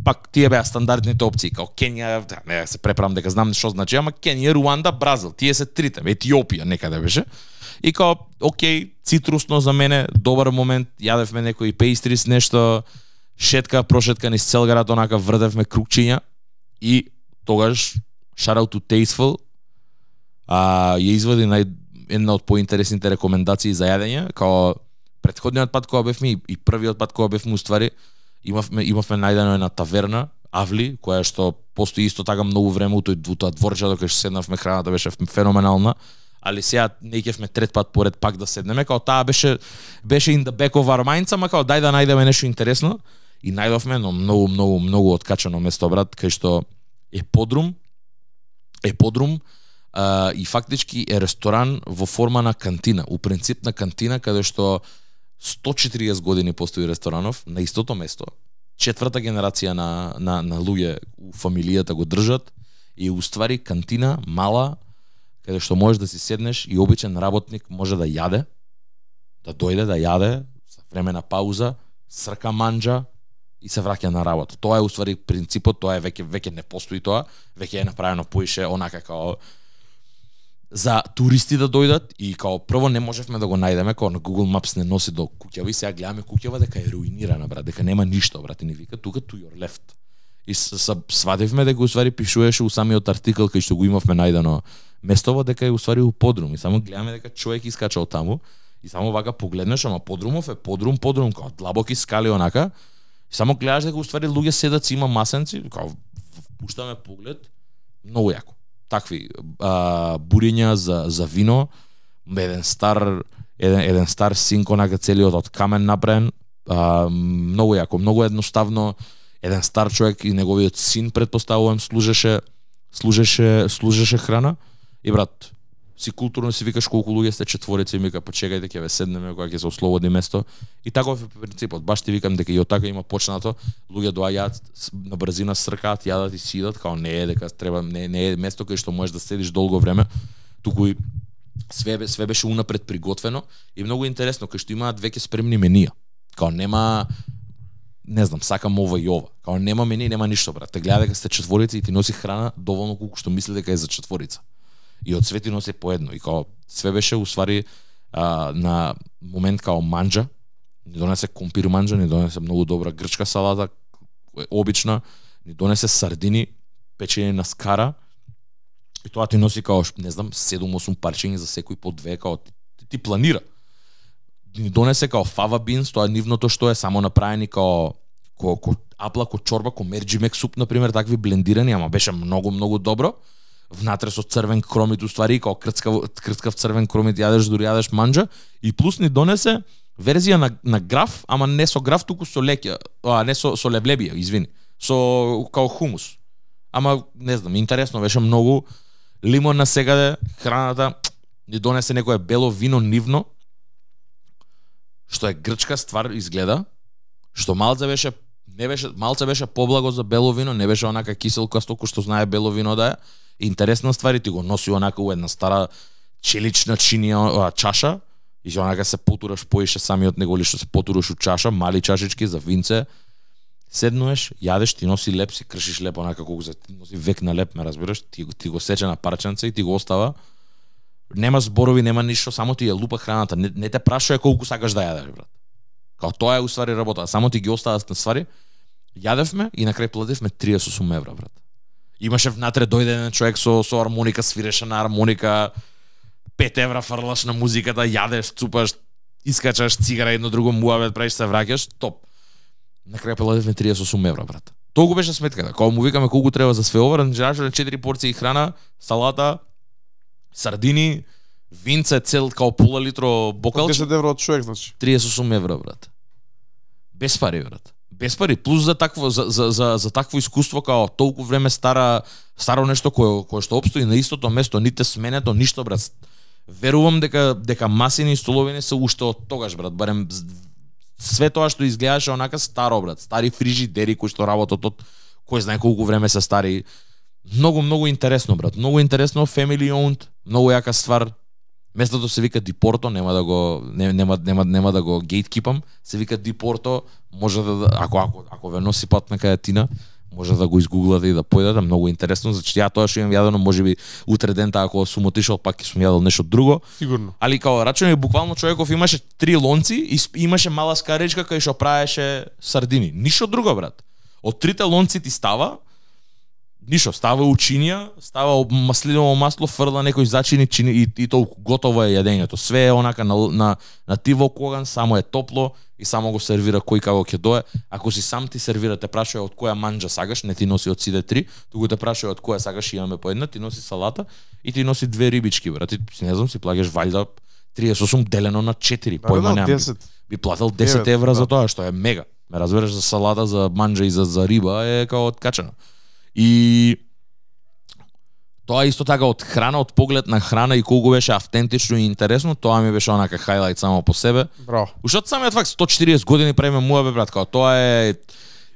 Пак тие беа стандардните опции, као Кенија, да, не се преправам дека знам што значи, ама Кенија, Руанда, Бразил, тие се трите, Етиопија некаде беше. И као, окей, цитрусно за мене, добар момент, јадевме некои пейстрис, нешто, шетка, прошетка низ цел град, онака врдевме крукчиња и тогаш shout out to Tasteful, а ја извади нај една од поинтересните рекомендации за јадење, као претходниот пат кога бевме и првиот пат кога бевме уствари, имавме имавме најдено една таверна, Авли, која што постои исто така многу време у тој тоа дворчето кај што седнавме, храната беше феноменална. Али сега не ќевме трет пат поред пак да седнеме, као таа беше беше in the back of our minds, ама као дај да најдеме нешто интересно и најдовме едно многу многу многу откачано место брат, кај што е подрум е подрум а, и фактички е ресторан во форма на кантина, у принцип на кантина каде што сто и четириесет години постои ресторанов на истото место. Четврта генерација на на на луѓе у фамилијата го држат и уствари кантина мала каде што можеш да си седнеш и обичен работник може да јаде, да дојде да јаде за време на пауза, срка манџа и се враќа на работа. Тоа е уствари принципот, тоа е веќе веќе не постои тоа, веќе е направено поише онака као за туристи да дојдат и као прво не можевме да го најдеме, као на Google Maps не носи до куќава и сега гледаме куќава дека е руинирана брат, дека нема ништо брат, и ни вика тука to your left. И свадевме дека уствари пишуваше у самиот артикл кај што го имавме најдено местово дека е уствари у подрум и само гледаме дека човек искача од таму и само вака погледнеш, ама подрумов е подрум, подрум као длабоки скали онака. И само гледаш дека уствари луѓе седат си има масенци, као пуштаме поглед, многу јако. Такви а, буриња за за вино, еден стар еден еден стар синк онака целиот од камен направен, а, многу јако, многу едноставно. Еден стар човек и неговиот син претпоставувам служеше служеше служеше храна и брат си културно си викаш колку луѓе сте четворица и мика почекајте ќе ве седнеме кога ќе се ослободи место и таков е принципот. Баш ти викам дека и од така има почнато, луѓе доаѓаат на брзина, сркаат, јадат и сидат, као не е дека треба не, не е место кај што можеш да седиш долго време, туку и све све беше унапред приготвено и многу интересно кај што имаат веќе спремни менија. Као нема не знам, сакам ова и ова. Као нема мени, нема ништо брат. Те гледа дека сте четворица и ти носи храна доволно колку што мисли дека е за четворица. И од свети носи по едно. И као све беше уствари а, на момент као манџа. Ни донесе компир манџа, ни донесе многу добра грчка салата, обична, ни донесе сардини, печени на скара. И тоа ти носи као, не знам, седум-осум парчиња за секој по две, као ти, ти планира. Ни донесе као фава бинс, тоа е нивното што е само направени као ко, ко апла, ко чорба, ко мерџимек суп, например, такви блендирани, ама беше многу, многу добро. Внатре со црвен кромит, уствари, као крцкав, крцкав црвен кромит, јадеш дури јадеш манџа. И плюс ни донесе верзија на, на граф, ама не со граф, туку со лекја, а не со, со леблебија, извини, со као хумус. Ама, не знам, интересно беше многу. Лимон на секаде, храната, ни донесе некое бело вино нивно, што е грчка ствар изгледа, што малце беше не беше малце беше поблаго за бело вино, не беше онака киселкасто кој што знае бело вино да е. Интересна ствар, ти го носи онака у една стара челична чинија чаша, И што онака се потураш поише самиот него ли што се потураш у чаша, мали чашички за винце. Седнуеш, јадеш, ти носи леп, си кршиш леп онака колку за ти носи век на леп, ме разбираш, ти, ти го сече на парченце и ти го остава. Нема зборови, нема ништо, само ти ја лупа храната, не, не те прашува колку сакаш да јадеш, брат. Као тоа е уствари работа, само ти ги остава на ствари. Јадевме и на крај плативме триесет и осум евра, брат. Имаше внатре дојде еден човек со со армоника, свиреше на армоника, пет евра фрлаш на музиката, јадеш, цупаш, искачаш цигара едно друго муавет, правиш се враќаш, топ. На крај плативме триесет и осум евра, брат. Толку беше сметката. Кога му викаме колку треба за све ова, значи четири порции храна, салата, сардини, винце цел као пола литро бокалче. десет евра од човек, значи. триесет и осум евра, брат. Без пари, брат. Без пари, плюс за такво за за за, за такво искуство као толку време стара старо нешто кое кое што опстои на истото место, ните сменето, ништо, брат. Верувам дека дека масини и столовини се уште од тогаш, брат, барем све тоа што изгледаше онака старо, брат, стари фрижидери кои што работат од кој знае колку време се стари. Многу многу интересно, брат. Многу интересно, family owned, многу јака ствар. Местото се вика Дипорто, нема да го не, нема нема нема да го гейткипам, се вика Дипорто, може да ако ако ако ве носи пат на кајатина, може да го изгуглате и да појдете, многу интересно, зашто ја тоа што имам јадено, можеби утре дента ако сум отишол пак ќе сум јадел нешто друго. Сигурно. Али као рачуме буквално човеков имаше три лонци и имаше мала скаречка кај што правеше сардини. Ништо друго, брат. Од трите лонци ти става ништо, става учинија, става маслиново масло, фрла некој зачини чини, и, и толку готово е јадењето. Све е онака на на на тиво коган, само е топло и само го сервира кој како ќе дое. Ако си сам ти сервира, те прашува од која манџа сакаш, не ти носи од сите три, туку те прашува од која сакаш, имаме по една, ти носи салата и ти носи две рибички, брат. Ти не знам, си плаќаш ваljda триесет и осум делено на четири, појма немам. Би платил десет евра за тоа, што е мега. Ме разбереш, за салата, за манџа и за за риба е као откачено. И тоа исто така од храна, од поглед на храна и колку беше автентично и интересно, тоа ми беше онака хајлајт само по себе. Браво. Уште самиот факт сто и четириесет години правиме муабе, брат, као тоа е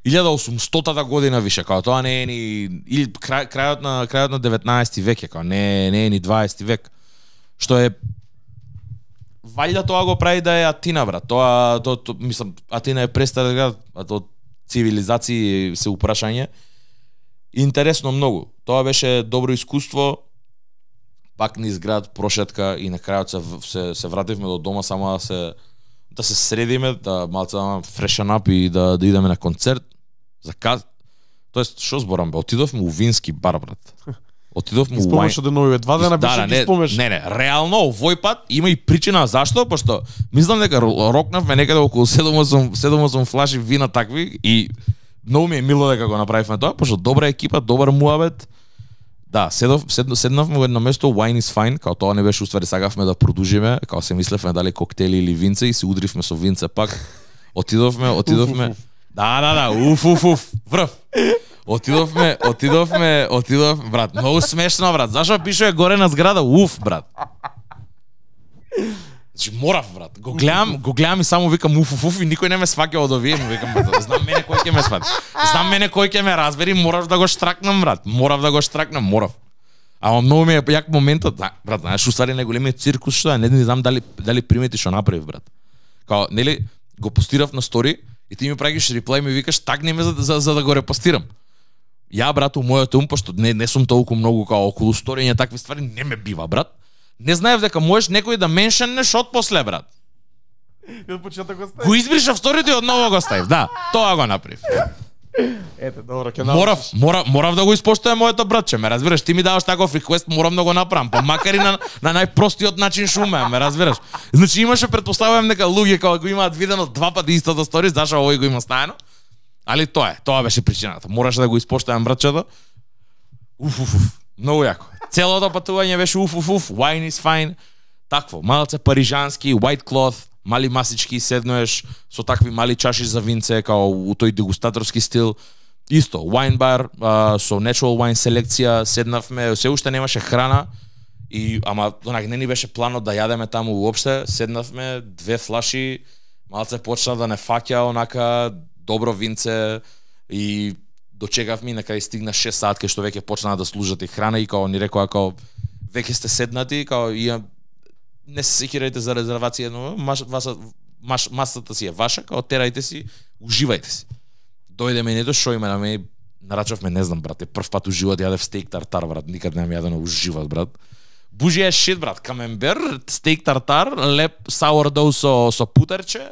илјада и осумстотата година више, као тоа не е ни или крај, крајот на крајот на деветнаесети век е, као не не е ни дваесети век. Што е ваljda тоа го прави да е Атина, брат. Тоа то, то мислам Атина е престар град, а то цивилизации се упрашање. Интересно многу. Тоа беше добро искуство. Пак низ град, прошетка и на крајот се, се се вративме до дома само да се да се средиме, да малце да фрешен ап и да да идеме на концерт. За каз... Тоест што зборам бе, отидовме у вински бар, брат. Отидовме у Спомнеш од нови два дена беше да, ги не, спомнеш. Не, не, реално овој пат има и причина зашто, пошто мислам дека рокнавме некаде околу седум осум флаши вина такви и многу ми е мило дека го направивме тоа, пошто добра екипа, добар муабет. Да, седов, сед, седнавме во едно место, wine is fine, као тоа не беше уствари, сакавме да продужиме, као се мислевме дали коктели или винце и се удривме со винце пак. Отидовме, отидовме. Уф, уф, уф. Да, да, да, уф, уф, уф, врв. Отидовме, отидовме, отидовме, брат, многу смешно, брат. Зашо пишува горе на зграда, уф, брат. Значи морав, брат. Го гледам, го гледам и само викам уф, уф, уф и никој не ме сваќа од овие, му викам, брат, знам мене кој ќе ме свати. Знам мене кој ќе ме разбери, морав да го штракнам, брат. Морав да го штракнам, морав. Ама многу ми е јак моментот, да, брат, знаеш, уствари најголемиот циркус што е, не знам дали дали примети што направив, брат. Као, нели, го постирав на стори и ти ми праќаш реплай и ми викаш тагни ме за, за, за да го репостирам. Ја, брат, у мојот ум, пошто не, не сум толку многу као околу сториња такви ствари, не ме бива, брат. Не знаев дека можеш некој да меншеннеш од после, брат. И од почеток го ставив. Го избришав сторито и одново го ставив. Да, тоа го направив. Ете, добро, ќе Морав, морав, морав да го испоштувам моето братче, ме разбираш, ти ми даваш таков реквест, морам да го направам, па макар и на, на најпростиот начин што умеам, ме разбираш. Значи имаше, претпоставувам дека луѓе кога го имаат видено два пати истото стори, зашо овој го има стаено. Али тоа е, тоа беше причината. Мораше да го испоштувам братчето. Уф, уф, уф, многу јако. Целото патување беше уф, уф, уф, wine is fine. Такво, малце парижански, white cloth, мали масички, седнуеш со такви мали чаши за винце, као у тој дегустаторски стил. Исто, wine bar, а, со natural wine селекција, седнавме, се уште немаше храна, и, ама онак не ни беше планот да јадеме таму уопште, седнавме, две флаши, малце почна да не фаќа, онака, добро винце, и дочекавме и на кај стигна шест саат кај што веќе почнаа да служат и храна и као ни рекоа као веќе сте седнати, као и не се секирајте за резервација, но маш, васа, маш, масата си е ваша, као терајте си, уживајте си. Дојде менето, шо има на мене, нарачавме, не знам, брате, прв пат у живот јадев стейк тартар, брат, никад не ми јадено у живот, брат. Бужија шит, брат, камембер, стейк тартар, леп саурдоу со, со путерче,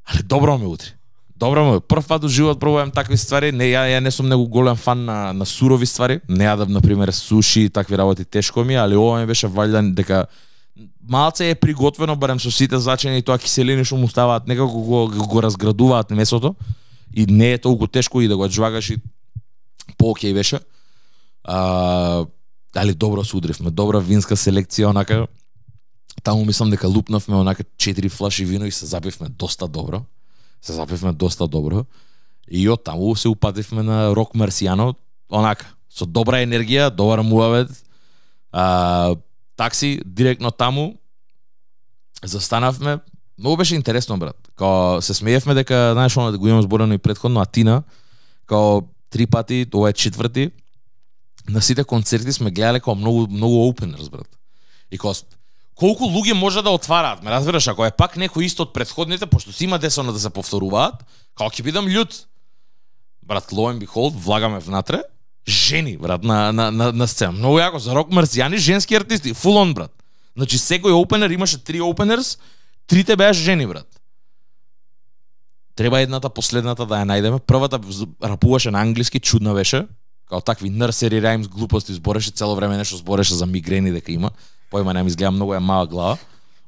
але добро ме утре. Добро ме, прв пат у живот пробувам такви ствари, не, ја, ја не сум многу голем фан на, на сурови ствари, не јадам, например, суши и такви работи тешко ми, али ова ми беше валјдан дека малце е приготвено, барем со сите зачини и тоа киселини што му ставаат, некако го, го, го разградуваат месото и не е толку тешко и да го джвагаш и по-окей беше. А, али добро се удривме, добра винска селекција, онака, таму мислам дека лупнавме онака четири флаши вино и се запивме доста добро. Се запивме доста добро. И од таму се упативме на Рок Марсијано, онака, со добра енергија, добар муавет. А, такси, директно таму, застанавме. Многу беше интересно, брат. Као се смеевме дека, знаеш, оно да го имам зборено и претходно, Атина, као три пати, ова е четврти, на сите концерти сме гледале као многу, многу openers, брат. И као, колку луѓе може да отвараат, ме разбираш, ако е пак некој исто од претходните, пошто си има десона да се повторуваат, као ќе бидам љут. Брат, lo and behold, влагаме внатре, жени, брат, на, на, на, на сцена. Многу јако, за Рок Марсијани, женски артисти, full on, брат. Значи, секој опенер, имаше три опенерс, трите беа жени, брат. Треба едната, последната да ја најдеме. Првата рапуваше на англиски, чудна беше, као такви nursery rhymes, глупости збореше, цело време нешто збореше за мигрени дека има. Појма не ми изгледа, многу е мала глава.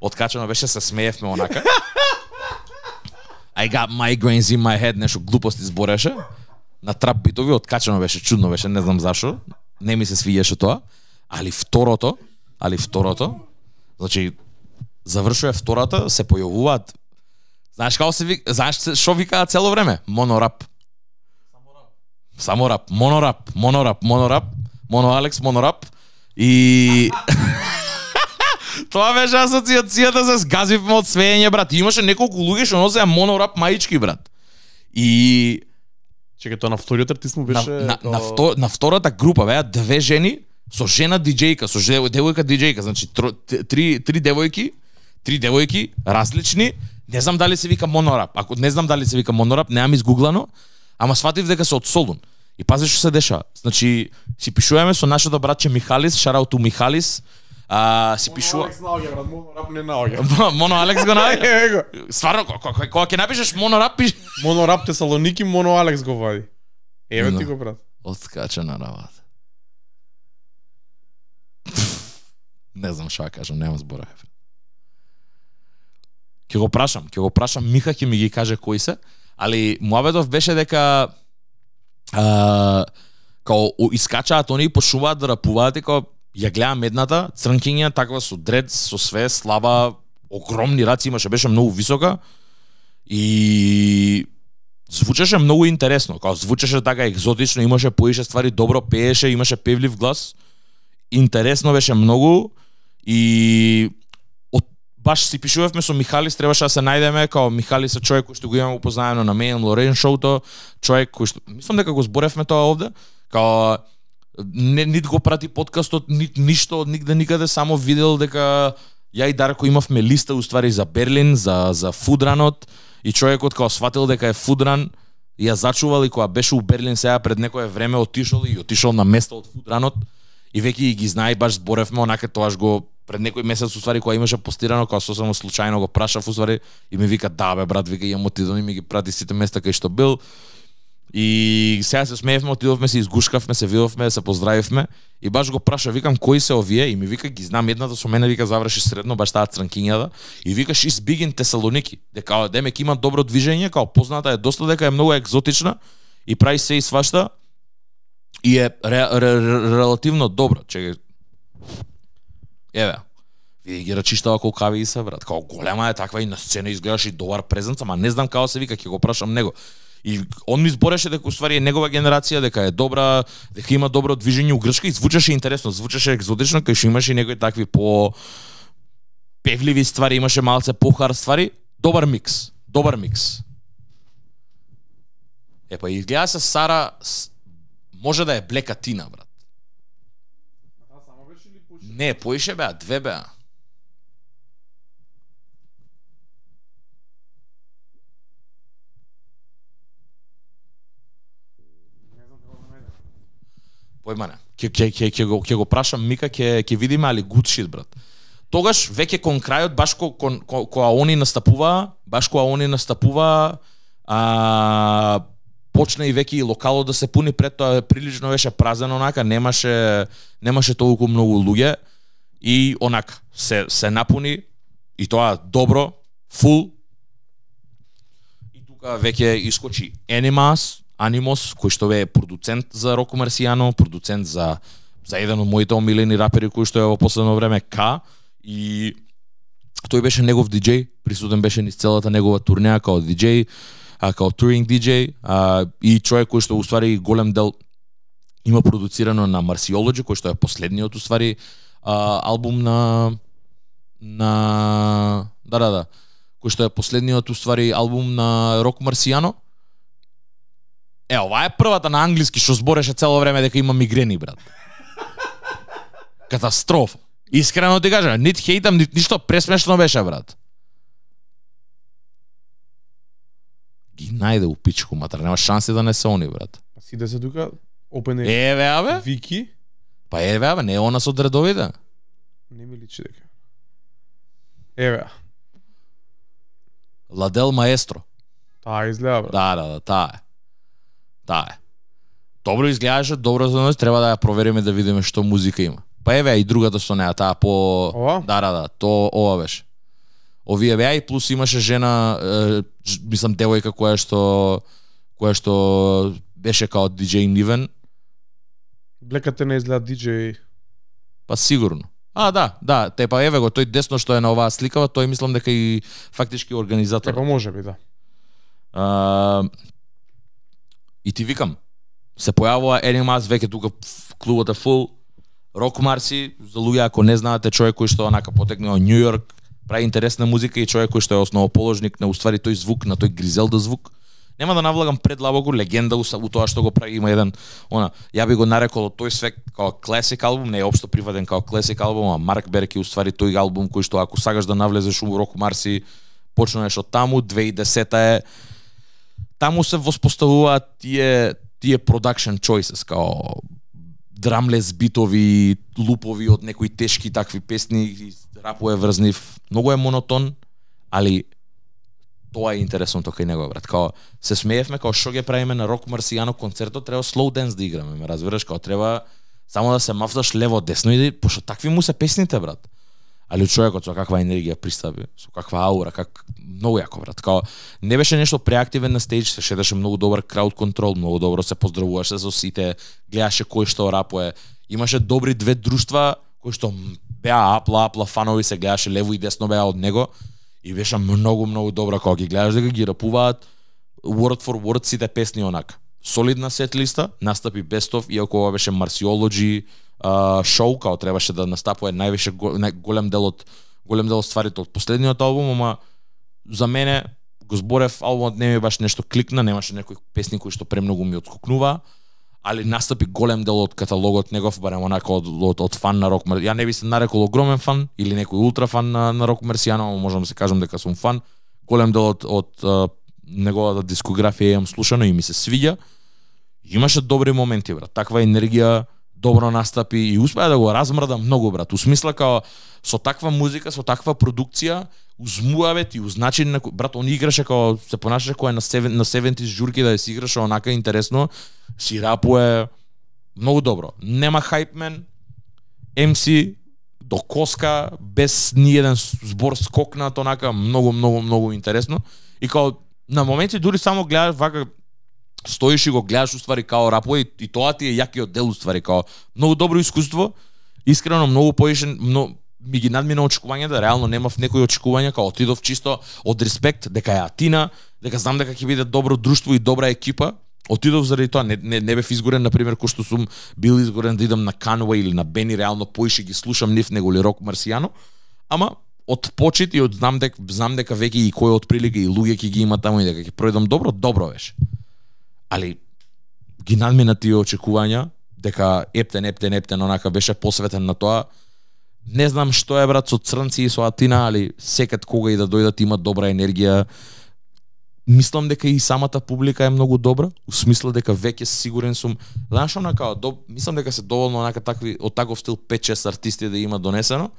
Откачено беше, се смеевме онака. I got migraines in my head, нешто глупости збореше. На трап битови, откачено беше, чудно беше, не знам зашо. Не ми се свиѓаше тоа. Али второто, али второто, значи, завршува втората, се појавуваат. Знаеш како се вика, знаеш шо викаат цело време? Монорап. Само рап, монорап, монорап, монорап, моно Алекс, монорап. И тоа беше асоциацијата, се сгазивме од свеење, брат. И имаше неколку луѓе што носеа монорап маички, брат. И чекај, тоа на вториот артист му беше на, на, на, втор, на втората група беа две жени со жена диџејка, со девојка диџејка, значи три три девојки, три девојки различни. Не знам дали се вика монорап. Ако не знам дали се вика монорап, неам изгуглано, ама сватив дека се од Солун. И пази што се деша. Значи, си пишуваме со нашето братче Михалис, шараут у Михалис. А, си пишува. Алекс наоѓа, брат, монорап не наоѓа. Моно Алекс го наоѓа. Стварно, кога ќе напишеш монорап, пиш монорап Тесалоники, моно Алекс го вади. Еве ти го, брат. Откача на работа. Не знам што да кажам, нема збора. Ќе го прашам, ќе го прашам, Миха ќе ми ги каже кои се, али муабетов беше дека а, као искачаат они и почнуваат да рапуваат и као ја гледам едната, црнкиња, таква со дред, со све, слаба, огромни раци имаше, беше многу висока и звучеше многу интересно, као звучеше така екзотично, имаше поише ствари, добро пееше, имаше певлив глас, интересно беше многу и баш си пишувавме со Михалис, требаше да се најдеме, као Михалис е човек кој што го имаме упознаено на Мејн Лорен шоуто, човек кој што мислам дека го зборевме тоа овде, као не нит го прати подкастот, нит ништо од нигде никаде, само видел дека ја и Дарко имавме листа уствари за Берлин, за за фудранот и човекот као сватил дека е фудран, ја зачувал и кога беше у Берлин сега пред некое време отишол и отишол на место од фудранот и веќе ги знае, баш зборевме онака, тоаш го пред некој месец уствари кога имаше постирано, кога сосема случајно го прашав уствари и ми вика да бе брат, вика имам отидон и ми ги прати сите места кај што бил. И сега се смеевме, отидовме се, изгушкавме се, видовме, се поздравивме и баш го праша, викам кои се овие и ми вика ги знам, едната со мене вика заврши средно, баш таа црнкињата и вика she's big in Тесалоники, дека демек има добро движење, као позната е доста, дека е многу екзотична и прави се и свашта и е ре, ре, ре, релативно добро. Чекај. Еве. Види ги рачиштава колкави и се, брат. Као голема е таква и на сцена изгледаш и добар презенц, ама не знам како се вика, ќе го прашам него. И он ми збореше дека уствари е негова генерација, дека е добра, дека има добро движење у Грчка и звучеше интересно, звучеше екзотично, кај што имаше некои такви по певливи ствари, имаше малце похар ствари, добар микс, добар микс. Епа изгледа се Сара може да е Блекатина, брат. А само беше ли поише? Не, поише беа, две беа. Појма не. Ќе ќе ќе ќе го ќе го прашам Мика, ќе ќе видиме, али good shit, брат. Тогаш веќе кон крајот баш ко, кон, ко, кога они настапува, баш кога они настапува, а почна и веќе и локалот да се пуни, пред тоа прилично беше празен онака, немаше немаше толку многу луѓе и онака се се напуни и тоа добро, фул. И тука веќе искочи Animas, Animos, кој што е продуцент за Роко Марсијано, продуцент за за еден од моите омилени рапери кој што е во последно време К, и тој беше негов диџеј, присутен беше низ целата негова турнеја као диџеј, а као туринг диџеј, а, и човек кој што уствари голем дел има продуцирано на Marciology, кој што е последниот уствари а, албум на на да да да, кој што е последниот уствари албум на Роко Марсијано. Е, ова е првата на англиски што збореше цело време дека има мигрени, брат. Катастрофа. Искрено ти кажам, нит хейтам, нит ништо, пресмешно беше, брат. Ги најде у пичку, матер, нема шанси да не се они, брат. Па сиде се тука, опен е Еве, абе. Вики. Па еве, абе, не е она со дредовите. Не ми личи дека. Еве. Ладел Маестро. Таа изгледа, брат. Да, да, да, таа е. Таа е. Добро изгледаше, добро за нас, треба да ја провериме да видиме што музика има. Па еве и другата што неа, таа по Ова? Да, да, да, то ова беше. Овие беа и плюс имаше жена, е, мислам девојка која што која што беше као диџеј Нивен. Блекате не изгледа диџеј. Па сигурно. А, да, да, те па еве го, тој десно што е на оваа сликава, тој мислам дека и фактички организатор. Како може би, да. А, и ти викам, се појавува Animas веќе тука клубот е фул. Роко Марси, за луѓе ако не знаете, човек кој што онака потекне од Њу Јорк, прави интересна музика и човек кој што е основоположник на уствари тој звук, на тој Гризелда звук. Нема да навлагам предлабоко, легенда у тоа што го прави, има еден, она, ја би го нарекол тој свек као класик албум, не е општо прифатен као класик албум, а Марк Берки уствари тој албум кој што ако сакаш да навлезеш у Роко Марси, почнеш од таму, две илјади и десета е, таму се воспоставуваат тие тие production choices, као драмлес битови, лупови од некои тешки такви песни, рапува врзнив, многу е монотон, али тоа е интересното кај него, брат. Као се смеевме као што ќе правиме на Роко Марсијано концертот, треба slow dance да играме, ме разбираш, као треба само да се мафташ лево десно и да, пошто такви му се песните, брат. Али човекот со каква енергија пристапи, со каква аура, как многу јако, брат. Као не беше нешто преактивен на стејдж, се шедеше многу добар крауд контрол, многу добро се поздравуваше со сите, гледаше кој што рапуе. Имаше добри две друштва кои што беа апла апла фанови, се гледаше лево и десно беа од него и беше многу многу добро кога ги гледаш дека ги рапуваат word for word сите песни онака. Солидна сет листа, настапи Бестов, иако ова беше Marciology Uh, шоу, као требаше да настапува највише го, нај, голем дел од голем дел од стварите од последниот албум, ама за мене го зборев, албумот не ми баш нешто кликна, немаше некои песни кои што премногу ми отскокнува, али настапи голем дел од каталогот негов, барем онака од, од, од фан на Роко Марсијано. Ја не би се нарекол огромен фан или некој ултра фан на, на Роко Марсијано, ама можам да се кажам дека сум фан. Голем дел од, од uh, неговата дискографија имам слушано и ми се свиѓа. Имаше добри моменти, брат. Таква енергија, добро настапи и успеа да го размрда многу, брат. У смисла као со таква музика, со таква продукција, узмуавет и узначин на брат, он играше као се понашаше кој на седем на седемдесет журки да се играше онака интересно, си рапуе многу добро. Нема хајпмен, ем си до коска без ниеден збор скокнат онака, многу многу многу интересно и као на моменти дури само гледаш вака стоиш и го гледаш уствари као рапува и, и тоа ти е јакиот дел уствари као многу добро искуство, искрено многу поишен, но ми ги надмина очекувањата, реално немав некои очекувања, као отидов чисто од респект дека е Атина, дека знам дека ќе биде добро друштво и добра екипа. Отидов заради тоа, не, не, не бев изгорен, например, кој што сум бил изгорен да идам на Кануе или на Бени, реално поише ги слушам нив него или Роко Марсијано, ама од почит и од знам дека знам дека веќе и кој од прилика и луѓе ќе ги има таму и дека ќе пројдам добро, добро беше. Али ги надмина тие очекувања дека ептен, ептен, ептен, онака беше посветен на тоа. Не знам што е, брат, со црнци и со Атина, али секад кога и да дојдат има добра енергија. мислам дека и самата публика е многу добра, у смисла дека веќе сигурен сум, знаеш онака, до, мислам дека се доволно онака такви од таков стил пет шест артисти да има донесено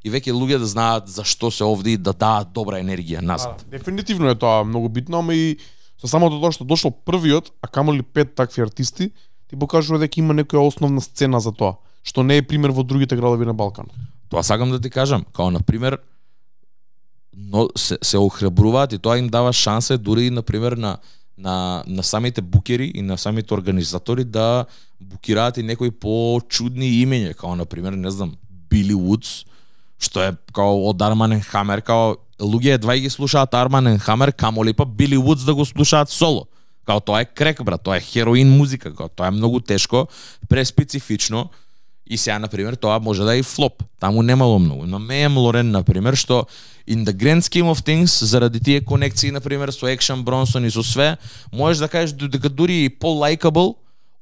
и веќе луѓе да знаат зашто се овде и да даат добра енергија назад. А, дефинитивно е тоа многу битно, ама и со самото тоа што дошол првиот, а камоли пет такви артисти, ти покажува дека има некоја основна сцена за тоа, што не е пример во другите градови на Балканот. Тоа сакам да ти кажам, као на пример но се, се охрабруваат и тоа им дава шанса дури и на пример на на на самите букери и на самите организатори да букираат и некои почудни имења, као на пример, не знам, Били Вудс, што е као од Арман енд Хамер, као луѓе едва ги слушаат Арман енд Хамер, камоли па Били Вудс да го слушаат соло. Као тоа е крек, брат, тоа е хероин музика, као тоа е многу тешко, преспецифично. И сега, например, тоа може да е и флоп. Таму немало многу. Но Меем Лорен, например, што in the grand scheme of things, заради тие конекции, например, со Екшн Бронсон и со све, можеш да кажеш дека дури и по-лайкабл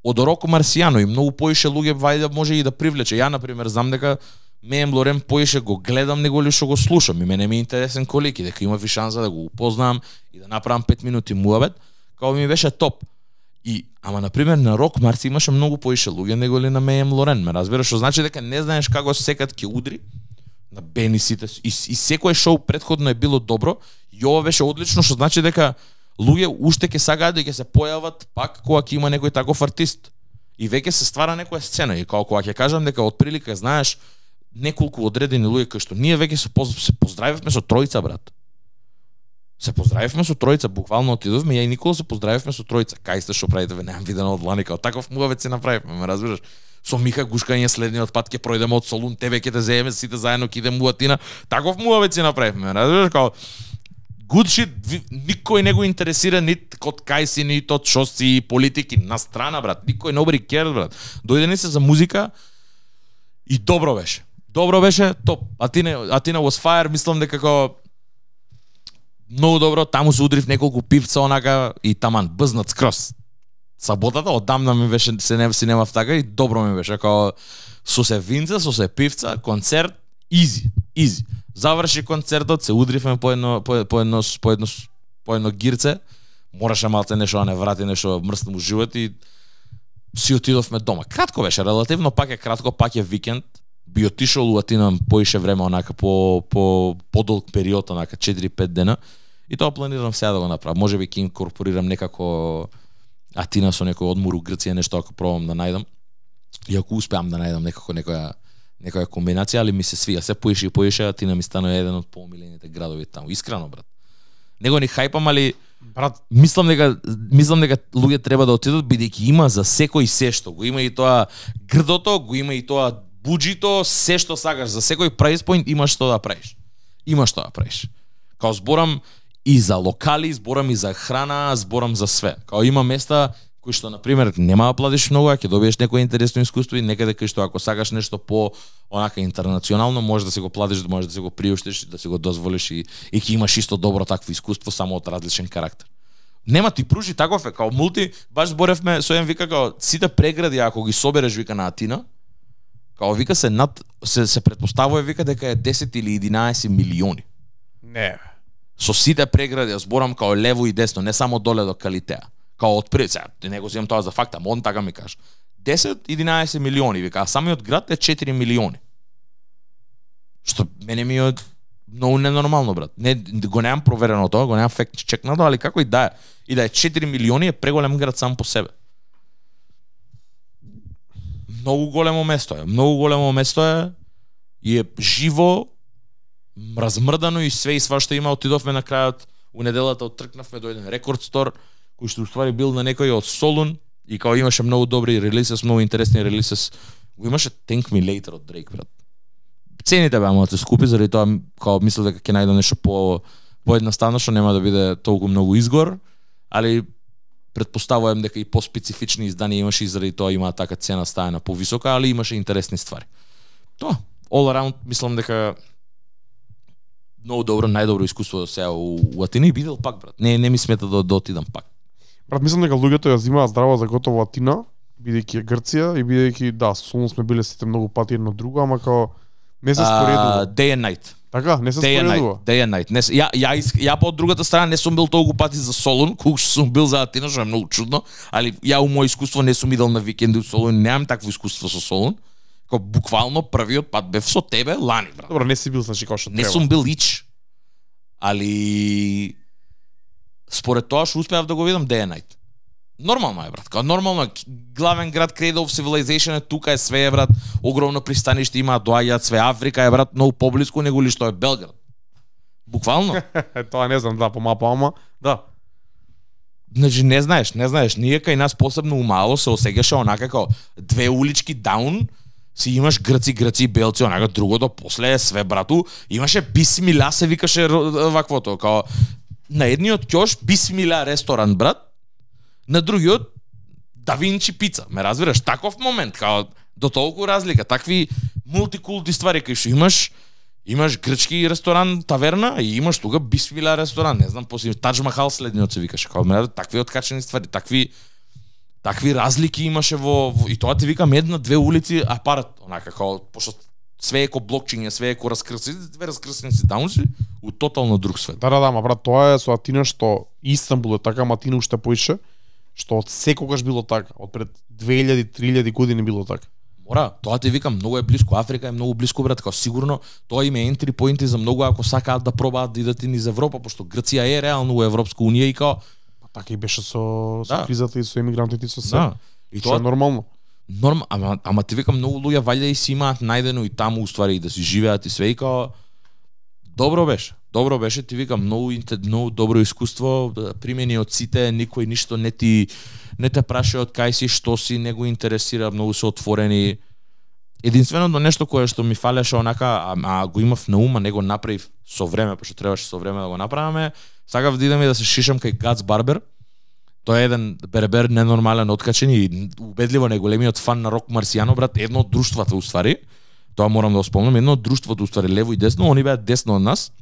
од Роко Марсијано и многу поише луѓе вајде може и да привлече. Ја, например, знам дека Меем Лорен поише го гледам него ли што го слушам и мене ми е интересен колики, дека има ви шанса да го упознам и да направам пет минути муабет, као ми беше топ. И, ама, например, на Рок Марси имаше многу поише луѓе него ли на Меем Лорен, ме разбираш, што значи дека не знаеш како секад ќе удри на Бени сите и, и секое шоу претходно е било добро и ова беше одлично, што значи дека луѓе уште ќе сакаат да ќе се појават пак кога ќе има некој таков артист и веќе се ствара некоја сцена и кога кога ќе кажам дека отприлика знаеш неколку одредени луѓе кои што ние веќе се, поз, се поздравивме со тројца, брат. Се поздравивме со тројца, буквално отидовме, ја и Никола се поздравивме со тројца. Кај сте што правите, ве немам видено од лани, као таков муавет се направивме, ме разбираш? Со Миха Гушкање следниот пат ќе пројдеме од Солун, тебе ќе те земеме сите заедно ќе идеме у Атина. Таков муавет се направивме, разбираш, као good shit, никој не го интересира нит код кај си, нит од шо си, политики, на страна, брат. Никој nobody cares, брат. Дојде ни се за музика и добро беше. Добро беше, топ. Атина, Атина was fire, мислам дека како многу добро, таму се удрив неколку пивца онака и таман бъзнат скрос. Саботата одамна ми беше се не си немав така и добро ми беше као со се винца, со се пивца, концерт изи, изи. Заврши концертот, се удривме по едно по, по едно по едно по едно гирце. Мораше малце нешто да не врати, нешто мрсно му живот и си отидовме дома. Кратко беше, релативно пак е кратко, пак е викенд. Би отишол у Атина поише време онака по по подолг период, онака четири пет дена. И тоа планирам сега да го направам. Можеби ќе инкорпорирам некако Атина со некој одмор у Грција, нешто ако пробам да најдам. И ако успеам да најдам некако некоја некоја комбинација, али ми се свија. Се поише и поише, Атина ми стана еден од поомилените градови таму. Искрено, брат. Него ни хајпам, али брат, мислам дека мислам дека луѓе треба да отидат бидејќи има за секој се што. Го има и тоа грдото, го има и тоа буџито, се што сакаш, за секој price point имаш што да правиш. Имаш што да правиш. Као зборам и за локали, зборам и за храна, зборам за све. Као има места кои што на пример нема да платиш многу, а ќе добиеш некој интересно искуство и некаде кај што ако сакаш нешто по онака интернационално, можеш да се го платиш, можеш да се го приуштиш, да се го дозволиш и и ќе имаш исто добро такво искуство само од различен карактер. Нема ти пружи таков е, као мулти, баш зборевме со еден вика као сите прегради ако ги собереш вика на Атина, као вика се над се се претпоставува вика дека е десет или единаесет милиони. Не. Со сите прегради, ја зборам као лево и десно, не само доле до Калитеа. Као од пред, сега, не го земам тоа за факт, ама он така ми кажа. десет единаесет милиони, вика, а самиот град е четири милиони. Што мене ми е многу ненормално, брат. Не, го немам проверено тоа, го немам факт чекнато, али како и да е. И да е четири милиони е преголем град сам по себе. Многу големо место е, многу големо место е и е живо, размрдано и све и свашто има. Отидовме на крајот, у неделата оттркнавме до еден рекорд стор, кој што уствари бил на некој од Солун и као имаше многу добри релисес, многу интересни релисес. Го имаше Thank Me Later од Drake, брат. Цените беа малку скупи, заради тоа као мислев дека ќе најдам нешто по поедноставно што нема да биде толку многу изгор, али претпоставувам дека и по-специфични изданија имаше и заради тоа има така цена стаена повисока, али имаше интересни ствари. Тоа, all around мислам дека многу добро, најдобро искуство сега у, у Атина и бидел пак, брат. Не не ми смета да, да отидам пак. Брат, мислам дека луѓето ја взимаат здраво за готово Атина, бидејќи е Грција и бидејќи да, Солун сме биле сите многу пати едно друго, ама као не се споредува. Uh, day and night. Така, не се Day and споредува. night, day and night. Не, се- ја, ја, ис- ја по другата страна не сум бил толку пати за Солун, колку што сум бил за Атина, што е многу чудно, али ја у мој искуство не сум идел на викенди у Солун, немам такво искуство со Солун. Ко буквално првиот пат бев со тебе лани, брат. Добро, не си бил значи како што Не треба. сум бил ич. Али според тоа што успеав да го видам day and night. Нормално е, брат. Као нормално е. Главен град Cradle of Civilization е тука, е све е, брат. Огромно пристаниште има, доаѓаат све. Африка е, брат, многу поблиску него ли што е Белград. Буквално. Тоа не знам, да, по мапа, ама да. Значи не знаеш, не знаеш. Ние кај нас посебно умало се осеќаше онака како две улички даун, си имаш грци, грци и белци, онака другото после е све, брату. Имаше Бисмила се викаше ро- ваквото, као на едниот ќош Бисмила ресторан, брат. На другиот Да Винчи пица. Ме разбираш, таков момент, као до толку разлика, такви мултикулти ствари кај што имаш имаш грчки ресторан, таверна и имаш тука Бисмила ресторан, не знам, после Тадж Махал следниот се викаше, као ме такви откачени ствари, такви такви разлики имаше во, во и тоа ти викам една две улици апарат, онака како пошто све е ко блокчиња, све е ко раскрсени, две раскрсени си даунси у тотално друг свет. Да, да, да, ма брат, тоа е со Атина што Истанбул е така, ама Атина уште поише, што од секогаш било така, од пред две илјади три илјади години било така. Мора, тоа ти викам, многу е блиску, Африка е многу блиску, брат, као сигурно тоа има ентри поинти за многу ако сакаат да пробаат да идат и низ Европа, пошто Грција е реално во Европска унија и као Па така и беше со, со Да. кризата и со емигрантите и со се. да. И Што е тоа нормално. норм, ама, ама ти викам многу луѓе валја и си имаат најдено и таму уствари и да си живеат и све и као добро беше. Добро беше, ти викам многу инте- многу добро искуство, да, примени од сите, никој ништо не ти не те праше од кај си, што си, не го интересира, многу се отворени. Единственото нешто кое што ми фалеше онака, а, а го имав на ума, не го направив со време, пошто требаше со време да го направиме, сакав да идам и да се шишам кај Гац Барбер. Тој е еден бербер ненормален, откачен и убедливо најголемиот фан на Рок Марсијано, брат, едно од друштвата уствари. Тоа морам да го спомнам, едно од друштвото уствари лево и десно, они беа десно од нас.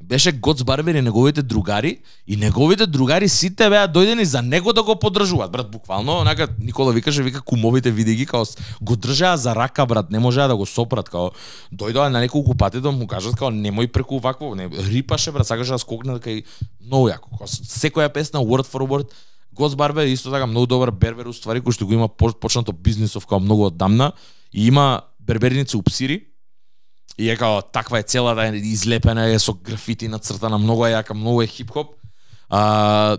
Беше Гоц Барбер и неговите другари, и неговите другари сите беа дојдени за него да го поддржуваат, брат, буквално, онака Никола викаше, вика кумовите види ги као с- го држаа за рака, брат, не можеа да го сопрат, као дојдоа на неколку пати да му кажат као немој преку вакво, не рипаше, брат, сакаше да скокне кај многу јако, као с- секоја песна word for word. Гоц Барбер е исто така многу добар бербер уствари кој што го има по- почнато бизнисов као многу оддамна и има берберници у Псири. И е као таква е целата е излепена е со графити нацртана, многу е јака, многу е хип-хоп. А,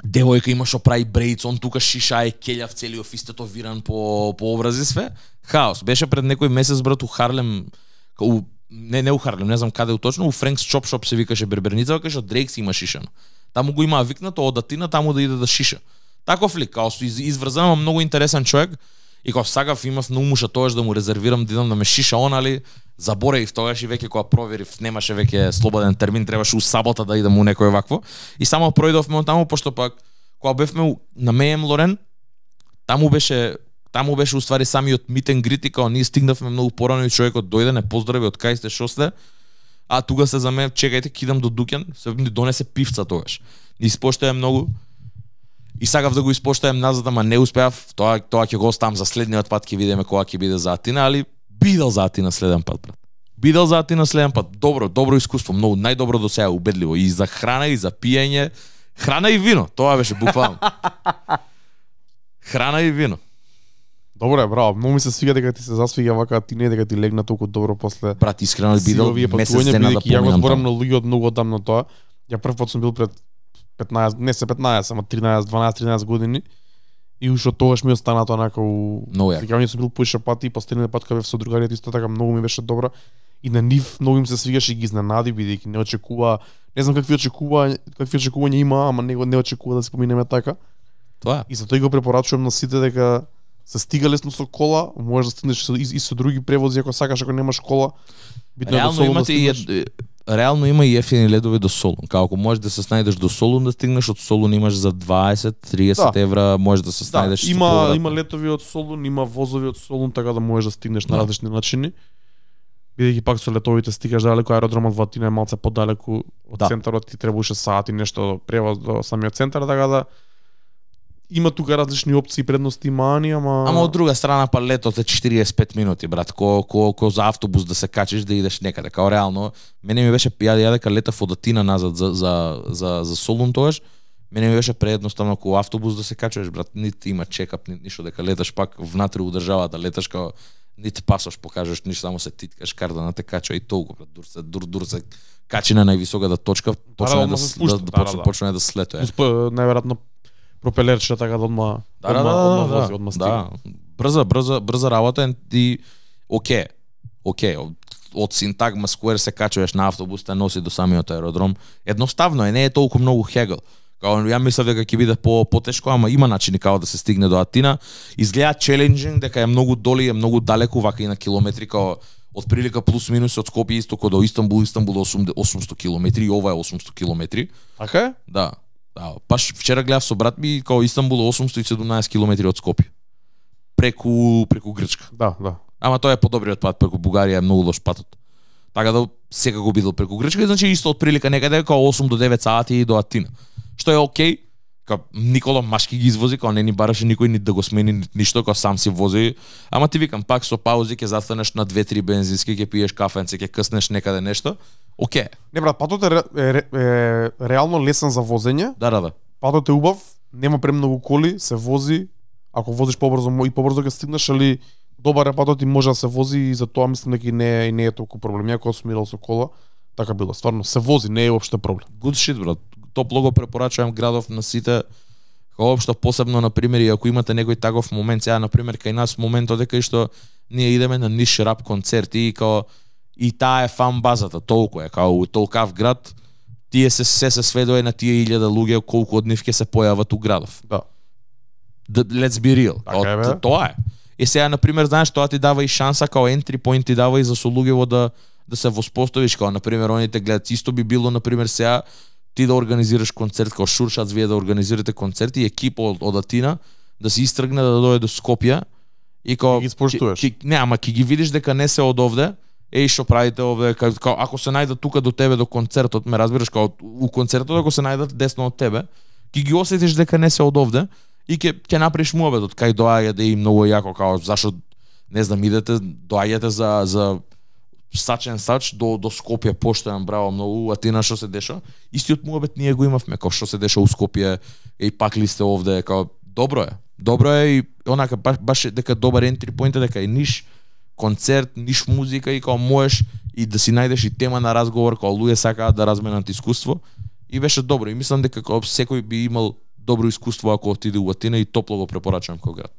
девојка има што прави брејц, он тука шиша е келјав целиот истетовиран по по образи све. Хаос. Беше пред некој месец, брат, у Харлем, у, не не у Харлем, не знам каде у точно, у Френкс Чоп Шоп се викаше берберница, кај што Дрейк си има шишано. Таму го имаа викнато од Атина таму да иде да шиша. Таков лик, као со из, изврзан, ама многу интересен човек. И кога сакав имав на умуша тоаш да му резервирам да идам да ме шиша он, али заборавив тогаш и веќе кога проверив немаше веќе слободен термин, требаше у сабота да идам у некој вакво. И само пројдовме од таму пошто пак кога бевме у- на Меем Лорен, таму беше таму беше уствари самиот meet and greet и као ние стигнавме многу порано и човекот дојде, не поздрави од кај сте, шо сте. А тука се за мене, чекајте, кидам до Дуќан, се ми донесе пивца тогаш. Ни испоштаја многу. И сакав да го испоштајам назад, ама не успеав. Тоа тоа ќе го оставам за следниот пат, ќе видиме кога ќе биде за Атина, али бидел за Атина следен пат, брат. Бидел за Атина следен пат. Добро, добро искуство, многу најдобро до сега, убедливо и за храна и за пиење, храна и вино. Тоа беше буквално. Храна и вино. Добро е, браво. Многу ми се свиѓа дека ти се засвиѓа вака, ти не дека ти легна толку добро после Брат, искрено бидел силовие месец патување, дена да бидејќи ја го поминам зборам таму. на луѓе од многу одамна тоа. Ја прв пат сум бил пред петнаесет, не се петнаесет, ама тринаесет, дванаесет, тринаесет години. И уште од тогаш ми остана тоа онака у Многу јако. Сега сум бил поише пати и последниот пат кога бев со другариите исто така многу ми беше добра. И на нив многу им се свигаше и ги изненади бидејќи не очекува, не знам какви очекува, какви очекувања има, ама него не очекува да се поминеме така. Тоа. И затоа го препорачувам на сите дека се стига лесно со кола, можеш да стигнеш со, и, и со други превози ако сакаш, ако немаш кола. Битно е до Реално Солун да имате и стигнеш. ед- реално има и ефтини ледови до Солун. Како ако можеш да се снајдеш до Солун да стигнеш, од Солун имаш за дваесет триесет Да. евра, можеш да се Да, снајдеш. со има повратно. има летови од Солун, има возови од Солун, така да можеш да стигнеш на Да. различни начини. Бидејќи пак со летовите стигаш далеку, аеродромот во Атина е малце подалеку од Да. центарот, ти требаше саат и нешто превоз до самиот центар, така да има тука различни опции, предности, мани, ама Ама од друга страна па летот е четириесет и пет минути, брат. Ко ко ко за автобус да се качиш да идеш некаде. Као реално, мене ми беше ја ја дека летав од Атина назад за за за за Солун тогаш. Мене ми беше преедноставно ко автобус да се качуваш, брат. Нити има чекап, нити ништо, дека леташ пак внатре у државата, леташ као нити пасош покажеш, ништо, само се титкаш карта на те качува и толку, брат. Дур се дур дур се качи на највисоката точка, почне да, да, се спушта, да, да, да, почне, да. почне да слетува. најверојатно пропелерче така да одма Да, да, одма, да, одма да, вози, да, одма да. стига. Брза, брза, брза работа и оке. Оке, од, од Синтагма Сквер се качуваш на автобус, те носи до самиот аеродром. Едноставно е, не е толку многу хегел. Као ја мислев дека ќе биде по потешко, ама има начини како да се стигне до Атина. Изгледа челенџинг, дека е многу доли, е многу далеку, вака и на километри, као од прилика плюс минус од Скопје исто до Истанбул, Истанбул осумсто километри, и ова е осумсто километри. Така е? Да. Да, паш вчера гледав со брат ми, као Истанбул осумсто и седумнаесет километри од Скопје. Преку преку Грчка. Да, да. Ама тоа е подобриот пат, преку Бугарија е многу лош патот. Така да секако бидел преку Грчка, значи исто од прилика некаде као осум до девет сати до Атина. Што е окей, као Никола Машки ги извози, као не ни бараше никој ни да го смени ни ништо, као сам си вози. Ама ти викам, пак со паузи ќе застанеш на две-три бензински, ќе пиеш кафенце, ќе къснеш некаде нешто. Окей. Не брат, патот е, ре- е, ре- е реално лесен за возење. Да, да, да. Патот е убав, нема премногу коли, се вози. Ако возиш побрзо мо- и побрзо ќе стигнеш, али добар е патот и може да се вози и за тоа мислам дека и не е, и не е толку проблем. Ја кога сум идел со кола, така било. Стварно се вози, не е уопште проблем. Good shit, брат. Топло го препорачувам градов на сите. Као општо посебно на пример, и ако имате некој таков момент, сега на пример кај нас моментот е кај што ние идеме на ниш рап концерти и као и таа е фан базата, толку е, као у толкав град, тие се се се сведува на тие илјада луѓе колку од нив ќе се појават у градов. Да. The, let's be real. Така е, бе. Као, тоа е. И сега на пример, знаеш, тоа ти дава и шанса као entry point ти дава и за со луѓево да да се воспоставиш, као на пример они те гледат, исто би било на пример сега ти да организираш концерт као Шуршац, вие да организирате концерти и екипа од, од Атина да се истргне да дојде до Скопје и као Ги споштуваш. ки- ки- не, ама ќе ги видиш дека не се од овде. Еј што правите овде, као, као ако се најдат тука до тебе до концертот, ме разбираш, као у концертот ако се најдат десно од тебе, ќе ги осетиш дека не се од овде и ќе ќе направиш муабетот кај доаѓа да и многу јако, као зашо не знам идете, доаѓате за за сачен сач до до Скопје поштојан браво многу, Атина што се деша. Истиот муабет ние го имавме, као што се деша у Скопје, и пак ли сте овде, као добро е. Добро е и онака баш, баш е дека добар entry point е дека е ниш концерт, ниш музика и као можеш и да си најдеш и тема на разговор, као луѓе сакаат да разменат искуство и беше добро и мислам дека као секој би имал добро искуство ако отиде у Атина и топло го препорачувам кој град.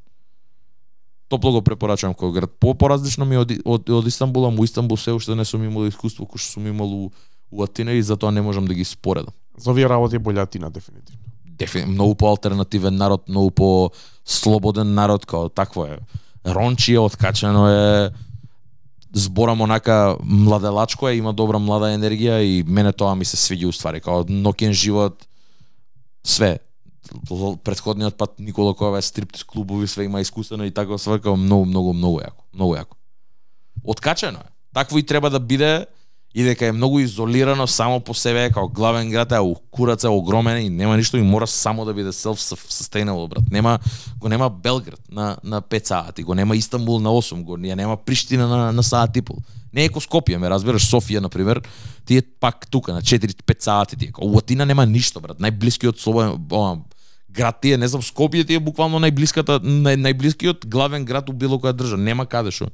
Топло го препорачувам кој град. По поразлично ми од, од, од Истанбул, му Истанбул се уште не сум имал искуство кој што сум имал у, у Атина и затоа не можам да ги споредам. За овие работи е болја Атина дефинитивно. Дефин, многу по-алтернативен народ, многу по-слободен народ, као такво е. Рончи е откачено е, зборам онака младелачко е, има добра млада енергија и мене тоа ми се свиѓа уствари, као ноќен живот, све. Претходниот пат Никола Којава е стриптиз клубови, све има искусено и така свркао многу, многу, многу јако, многу јако. Откачено е. Такво и треба да биде и дека е многу изолирано само по себе, као главен град е курац е огромен и нема ништо и мора само да биде self-sustainable, брат. Нема го нема Белград на на пет сати, го нема Истанбул на осум, го ја нема Приштина на на саат и пол. Не е ко Скопје, ме разбираш, Софија на пример, ти е пак тука на четири-пет сати ти е. У Атина нема ништо, брат. Најблискиот слободен град ти е, не знам, Скопје ти е буквално најблиската нај, најблискиот главен град у било која држава. Нема каде шо.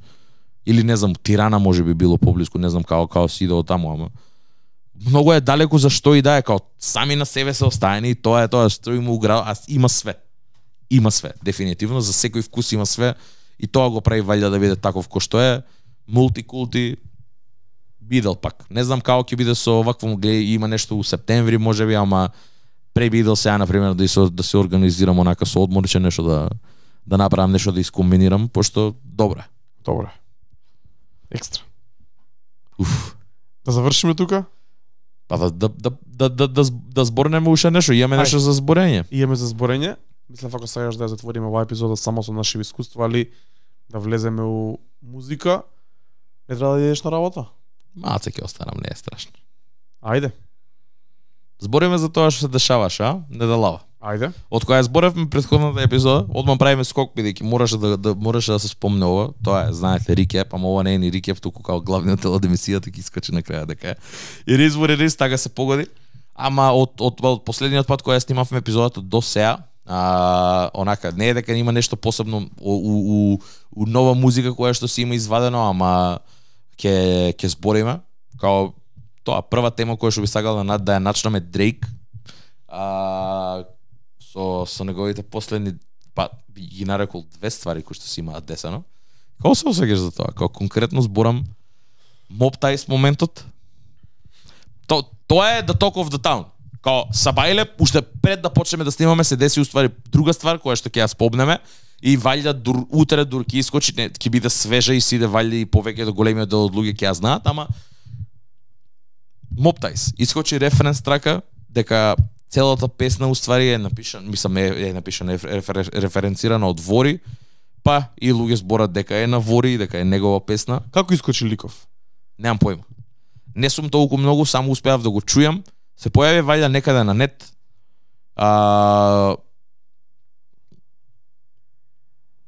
Или не знам, Тирана може би било поблиску, не знам како како си идел таму, ама многу е далеку за што и да е, као сами на себе се остаени и тоа е тоа што има у град, а има све. Има све, дефинитивно, за секој вкус има све и тоа го прави валјда да биде таков кој што е, мултикулти бидел пак. Не знам како ќе биде со овакво гледа, има нешто у септември можеби, ама пребидел сега на пример да се да се организирам онака со одморче нешто да да направам нешто да искомбинирам, пошто добро е. Добро. Екстра. Уф. Да завршиме тука? Па да да да да да, да, да зборнеме уште нешто, имаме нешто за зборење. Имаме за зборење. Мислам ако сакаш да ја затвориме оваа епизода само со наши искуства, али да влеземе у музика, не треба да идеш на работа. Малце ќе останам, не е страшно. Ајде. Збориме за тоа што се дешаваш, а? Не да лава. Ајде. Од која зборевме претходната епизода, одма правиме скок бидејќи мораше да, да мораше да се спомне ова. Тоа е, знаете, рикеп, ама ова не е ни рикеп, туку као главниот дел од емисијата ќе искачи на крај дека е. И риз во риз така се погоди. Ама од од, од последниот пат кога ја снимавме епизодата до сега, а, онака не е дека има нешто посебно у, у, у, у нова музика која што си има извадено, ама ќе ќе збориме. Као тоа прва тема која што би сакал да да ја начнеме Дрейк. А, со со неговите последни, па ги нарекол две ствари кои што си имаат десено. Како се осеќаш за тоа? Како конкретно зборам Mob Ties моментот. То тоа е the talk of the town. Као Сабајле уште пред да почнеме да снимаме се деси уствари друга ствар која што ќе ја спомнеме и валјда дур, утре дур ќе искочи, не, ќе биде свежа и сиде валјда и повеќето големиот дел од луѓе ќе ја знаат, ама Mob Ties искочи референс трака дека целата песна уствари е напишана, мислам е, е напишана е рефер, референцирана од Вори, па и луѓе зборат дека е на Вори, дека е негова песна. Како искочи Ликов? Немам појма. Не сум толку многу, само успеав да го чујам. Се појави вајда некаде на нет. А...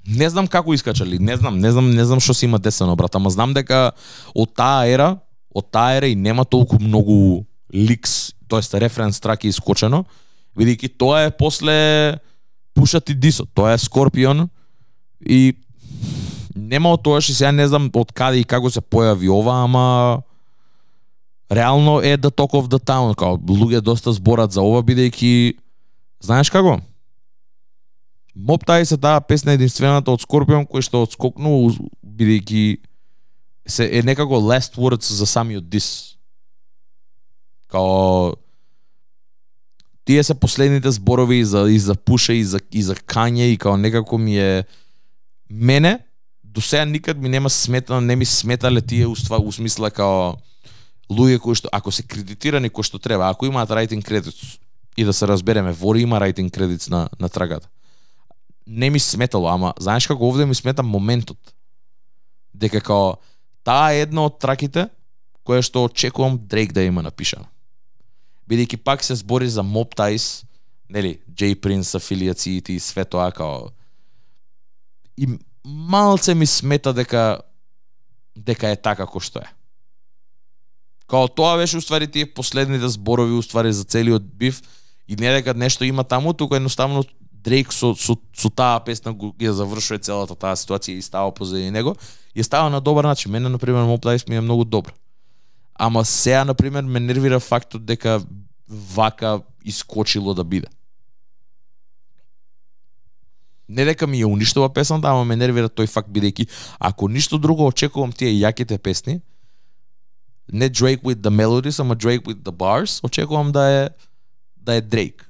Не знам како искачали, не знам, не знам, не знам што се има десено, брат, ама знам дека од таа ера, од таа ера и нема толку многу ликс, тоест референс трак е искочено, бидејќи тоа е после Пушат и Дисот, тоа е Скорпион и нема од тоа, што сега не знам од каде и како се појави ова, ама реално е the talk of the town, као луѓе доста зборат за ова, бидејќи знаеш како? Mob Ties е таа песна единствената од Скорпион кој што одскокнува бидејќи се е некако last words за самиот дис. Као тие се последните зборови и за и за Пуша и за и за Кање и као некако ми е мене до сега никад ми нема сметано, не ми сметале тие уства усмисла као луѓе кои што ако се кредитирани кои што треба, ако имаат writing credits и да се разбереме, Вори има writing credits на на трагата. Не ми сметало, ама знаеш како овде ми смета моментот. Дека као таа е една од траките која што очекувам Дрейк да има напишана. Бидејќи пак се збори за Mob Ties, нели, J Prince афилиациите и све тоа као и малце ми смета дека дека е така кој што е. Као тоа беше уствари тие последните зборови уствари за целиот биф и не дека нешто има таму, туку едноставно Дрейк со, со, со таа песна ја завршува целата таа ситуација и става позади него и става на добар начин. Мене, например, Mob Ties ми е многу добро. Ама сега, например, ме нервира фактот дека вака искочило да биде. Не дека ми ја уништува песната, ама ме нервира тој факт бидејќи ако ништо друго очекувам тие јаките песни, не Drake with the melodies, ама Drake with the bars, очекувам да е да е Drake.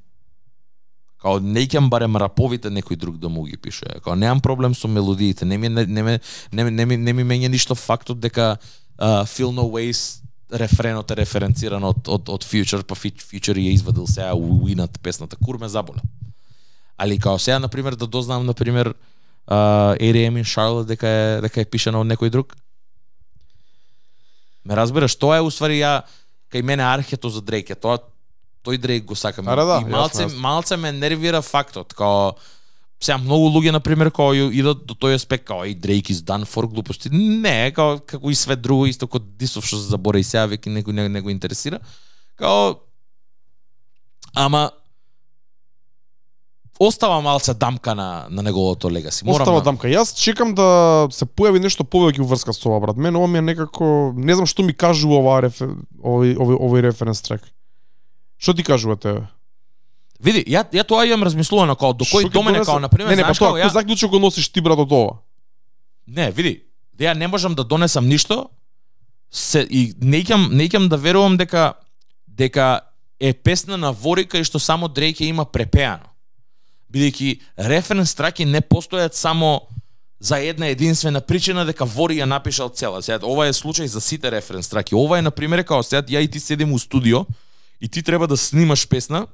Као не ќам барем раповите некој друг да му ги пише. Као немам проблем со мелодиите, не ми не не не не, не, ми, не ми мења ништо фактот дека uh, Feel No Ways рефренот е референциран од од од Future, па Future ја извадил сега уинат песната Курме заболе. Али као сега на пример да дознам на пример uh, A D M in Charlotte дека е дека е пишано од некој друг. Ме разбираш, тоа е уствари ја кај мене архето за Дрейк, е тоа тој Дрейк го сакам. А, да, и малце јасно, јасно. малце ме нервира фактот, као сега многу луѓе на пример као идат до тој аспект као и Дрейк is done for глупости. Не, као како и све друго исто како Дисов што се забора и сега веќе некој не, не го интересира. Као ама остава малце дамка на на неговото легаси. Морам Остава на... дамка. Јас чекам да се појави нешто повеќе уврска со ова, брат. Мен ова ми е некако, не знам што ми кажува ова рефер... овој овој овој референс трек. Што ти кажува тебе? Види, ја ја тоа имам размислувано као до кој Шо ќе до мене донесе? као на пример Не, не, па знаеш тоа, како кој ја заклучок го носиш ти, брат, од ова? Не, види, ја не можам да донесам ништо се и не ќам не ќам да верувам дека дека е песна на Вори кај што само Дрейк ја има препеано. Бидејќи референс траки не постојат само за една единствена причина дека Вори ја напишал цела. Сега ова е случај за сите референс траки. Ова е на пример као сега ја и ти седим у студио и ти треба да снимаш песна.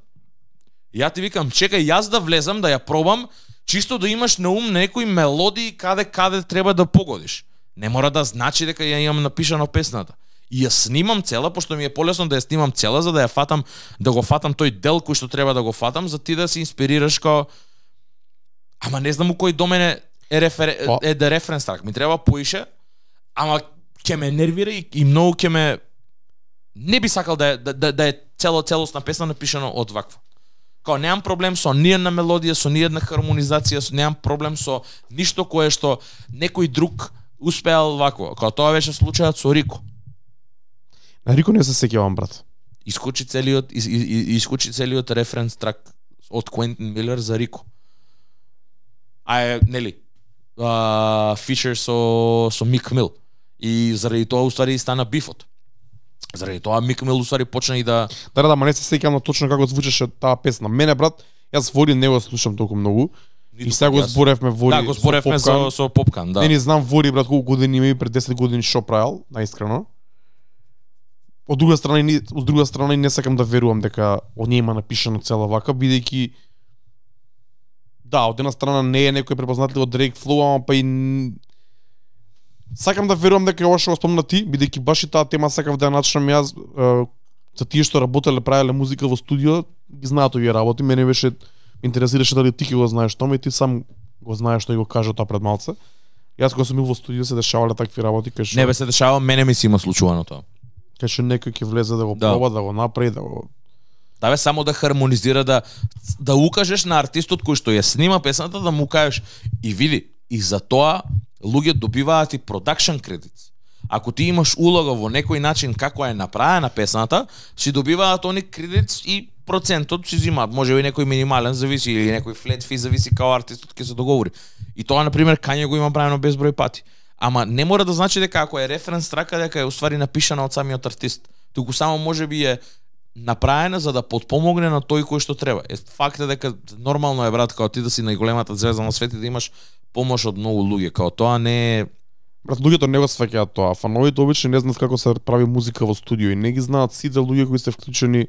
Ја ти викам, чекај јас да влезам, да ја пробам, чисто да имаш на ум некои мелодии каде каде треба да погодиш. Не мора да значи дека ја имам напишано песната. и ја снимам цела, пошто ми е полесно да ја снимам цела за да ја фатам, да го фатам тој дел кој што треба да го фатам, за ти да се инспирираш као ама не знам у кој до мене е рефер... е да референс трак, ми треба поише, ама ќе ме нервира и, и многу ќе ме не би сакал да е, да, да, да е цело целосна песна напишана од ваква. Као немам проблем со ниедна мелодија, со ниедна хармонизација, со, немам проблем со ништо кое што некој друг успеал вакво. Као тоа беше случајот со Рико. На Рико не се сеќавам, брат. Искочи целиот из, из, искочи целиот референс трак од Квентин Милер за Рико. А е, нели, а, фичер со со Мик Мил. И заради тоа уствари стана бифот. Заради тоа Мик Мил уствари почна и да Да, да, ма не се сеќавам на точно како звучеше таа песна. Мене, брат, јас Вори не го слушам толку многу. Ниту и сега го зборевме Вори. Да, го зборевме со, со, со Попкан, да. Не ни знам Вори, брат, колку години има и пред десет години шо правил, наискрено. Од друга страна, не, од друга страна не сакам да верувам дека од неј има напишано цела вака, бидејќи да, од една страна не е некој препознатлив од Drake Flow, ама па и сакам да верувам дека ова што го спомна ти, бидејќи баш и таа тема сакав да ја начнам јас, е, за тие што работеле, правеле музика во студио, ги знаат овие работи, мене беше интересираше дали ти ќе го знаеш тоа, и ти сам го знаеш што и го кажа тоа пред малце. Јас кога сум бил во студио се дешавале такви работи, кај што Не бе се дешава, мене ми си има случувано тоа. кај што некој ќе влезе да го Да. проба, да го направи, да го Да бе, само да хармонизира, да да укажеш на артистот кој што ја снима песната, да му кажеш и види, и за тоа луѓе добиваат и продакшн кредит. Ако ти имаш улога во некој начин како е направена песната, си добиваат они кредит и процентот си земаат. Може би некој минимален зависи или некој флет фи зависи како артистот ќе се договори. И тоа на пример Кање го има правено безброј пати. Ама не мора да значи дека ако е референс трака дека е уствари напишана од самиот артист. Туку само може би е направена за да потпомогне на тој кој што треба. Е факт е дека нормално е, брат, као ти да си најголемата звезда на светот и да имаш помош од многу луѓе, као тоа не е. Брат, луѓето не го сваќаат тоа. Фановите обично не знаат како се прави музика во студио и не ги знаат сите луѓе кои се вклучени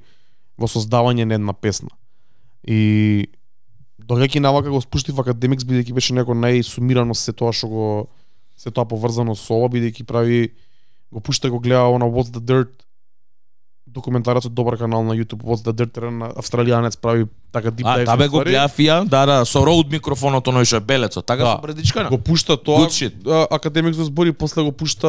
во создавање на една песна. И доаѓајќи навака го спуштив Академикс, бидејќи беше некој најсумирано се тоа што го се тоа поврзано со ова, бидејќи прави го пушта го гледа она What's the Dirt документарецот, добар канал на YouTube, What's the Dirt, на австралијанец прави така deep dive. А, да бе го гледа фија, да, да, со роуд микрофонот оној што е белецот, така Да. со предичкана. Го пушта тоа, Good shit. а, Академикс го збори, после го пушта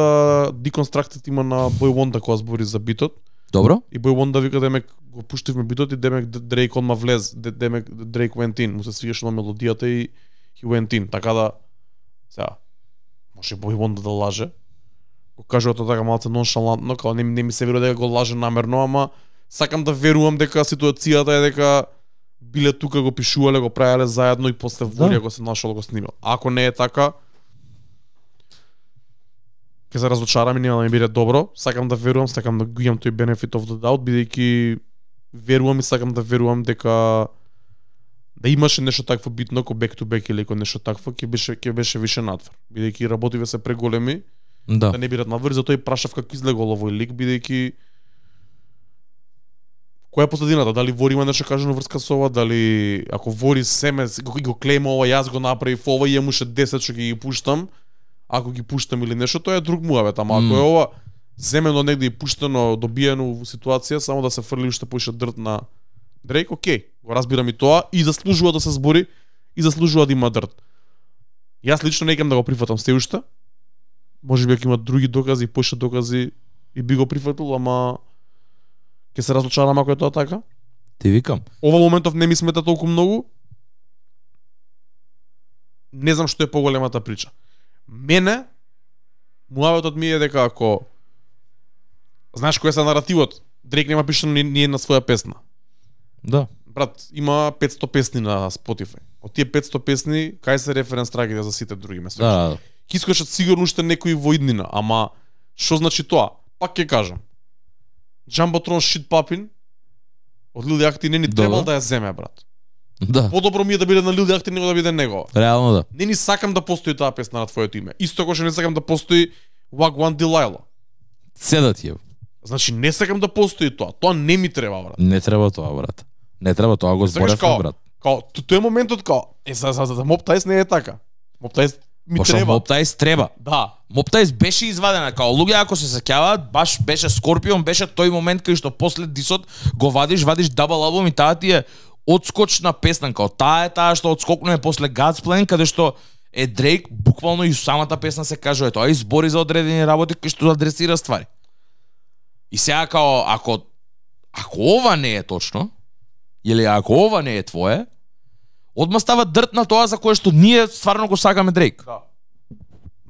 Deconstructed има на Boy Wonder кога збори за битот. Добро? И Boy Wonder вика демек го пуштивме битот и демек Дрейк одма влез, де- демек Дрейк went in, му се свигаше на мелодијата и he went in, така да сега може Boy Wonder да лаже. Го кажува тоа така малце ноншалантно, као не, не ми се верува дека го лаже намерно, ама сакам да верувам дека ситуацијата е дека биле тука, го пишувале, го правеле заедно и после Вори го се нашол да го снимал. Ако не е така, ќе се разочарам и нема да ми биде добро. Сакам да верувам, сакам да го имам тој benefit of the doubt, бидејќи верувам и сакам да верувам дека да имаше нешто такво битно, ко back to back или ко нешто такво, ќе беше ќе беше више надвор. Бидејќи работиве се преголеми, Да. да не бидат надвор, затоа и прашав како излегол овој лик, бидејќи која е последината? Дали Вори има нешто кажано врска со ова, дали ако Вори семе го, го клейма ова, јас го направив ова и имаше десет што ќе ги пуштам, ако ги пуштам или нешто, тоа е друг муавет, ама ако Mm. е ова земено негде и пуштено, добиено во ситуација, само да се фрли уште поише дрт на Дрейк, окей, го разбирам и тоа, и заслужува да се збори, и заслужува да има дрт. Јас лично не икам да го прифатам се уште, може би ако има други докази, поише докази, и би го прифатил, ама ќе се разочарам ако е тоа така. Ти викам. Ова моментов не ми смета толку многу. Не знам што е поголемата прича. Мене, муаветот ми е дека ако знаеш кој е се наративот, Дрейк нема пишано ни, ни една своја песна. Да. Брат, има петсто песни на Spotify. Од тие петсто песни, кај се референс трагите за сите други места? Да. Ќе искочат сигурно уште некои во иднина, ама што значи тоа? Пак ќе кажам. Jumbotron Shit Poppin од Lil Yachty не ни Добро. требал да ја земе, брат. Да. Подобро ми е да биде на Lil Yachty него да биде негова. Реално да. Не ни сакам да постои таа песна на твоето име. Исто како што не сакам да постои Wagwan Delilah. Седат ја. Значи не сакам да постои тоа. Тоа не ми треба, брат. Не треба тоа, брат. Не треба тоа, го Сакаш зборевме, као- брат. Као, т- тој е моментот као, е за за за Mob Ties не е така. Mob Ties ми Пошто треба. Моптайс треба. Да. Моптайс беше извадена, као луѓе ако се сеќаваат, баш беше Скорпион, беше тој момент кај што после дисот го вадиш, вадиш дабл албум и таа ти е одскочна песна, као таа е таа што одскокнува после God's Plan, каде што е Дрейк, буквално и самата песна се кажува, тоа избори за одредени работи кои што адресира ствари. И сега као ако ако ова не е точно, или ако ова не е твое, одма става дрт на тоа за кое што ние стварно го сакаме Дрейк. Да.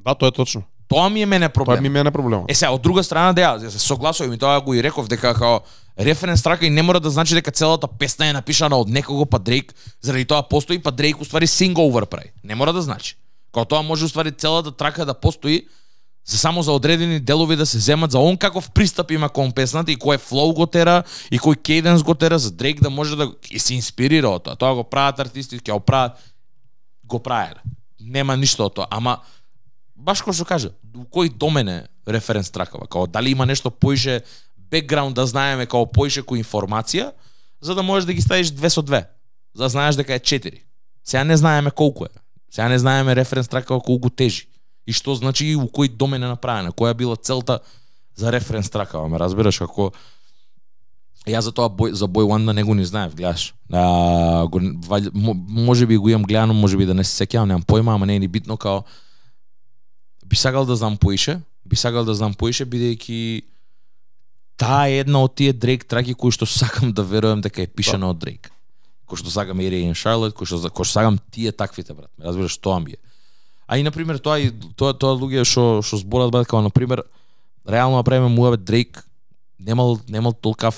Да, тоа е точно. Тоа ми е мене проблем. Тоа ми е мене проблем. Е сега од друга страна да ја се согласувам и тоа го и реков дека као референс трака и не мора да значи дека целата песна е напишана од некого, па Дрейк заради тоа постои, па Дрейк уствари синговер прави. Не мора да значи. Као тоа може уствари целата трака да постои за само за одредени делови да се земат за он каков пристап има кон песната и кој флоу го тера и кој кейденс го тера за Дрейк да може да и се инспирира од тоа. Тоа го прават артисти, ќе го прават го правеле. Нема ништо од тоа, ама баш кој што кажа, у кој домене референс тракава, као дали има нешто поише бекграунд да знаеме као поише кој информација, за да можеш да ги ставиш две со две, за да знаеш дека е четири. Сега не знаеме колку е. Сега не знаеме референс тракава колку тежи. И што значи и у кој домен е направена, која била целта за референс тракава, ме разбираш, како јас за тоа бој, за Boy One не го не знаев, гледаш. А, го, може би го имам гледано, може би да не се сеќавам, немам појма, ама не е ни битно, као би сакал да знам поише, би сакал да знам поише, бидејќи таа е една од тие Дрейк траки кои што сакам да верувам дека е пишана од Дрейк. Кој што сакам Area in Charlotte, кој што кој што сакам тие таквите, брат. Ме разбираш, тоа ми е. А и на пример тоа и тоа тоа луѓе што што зборат, брат, како на пример реално направиме муабет Дрейк немал немал толкав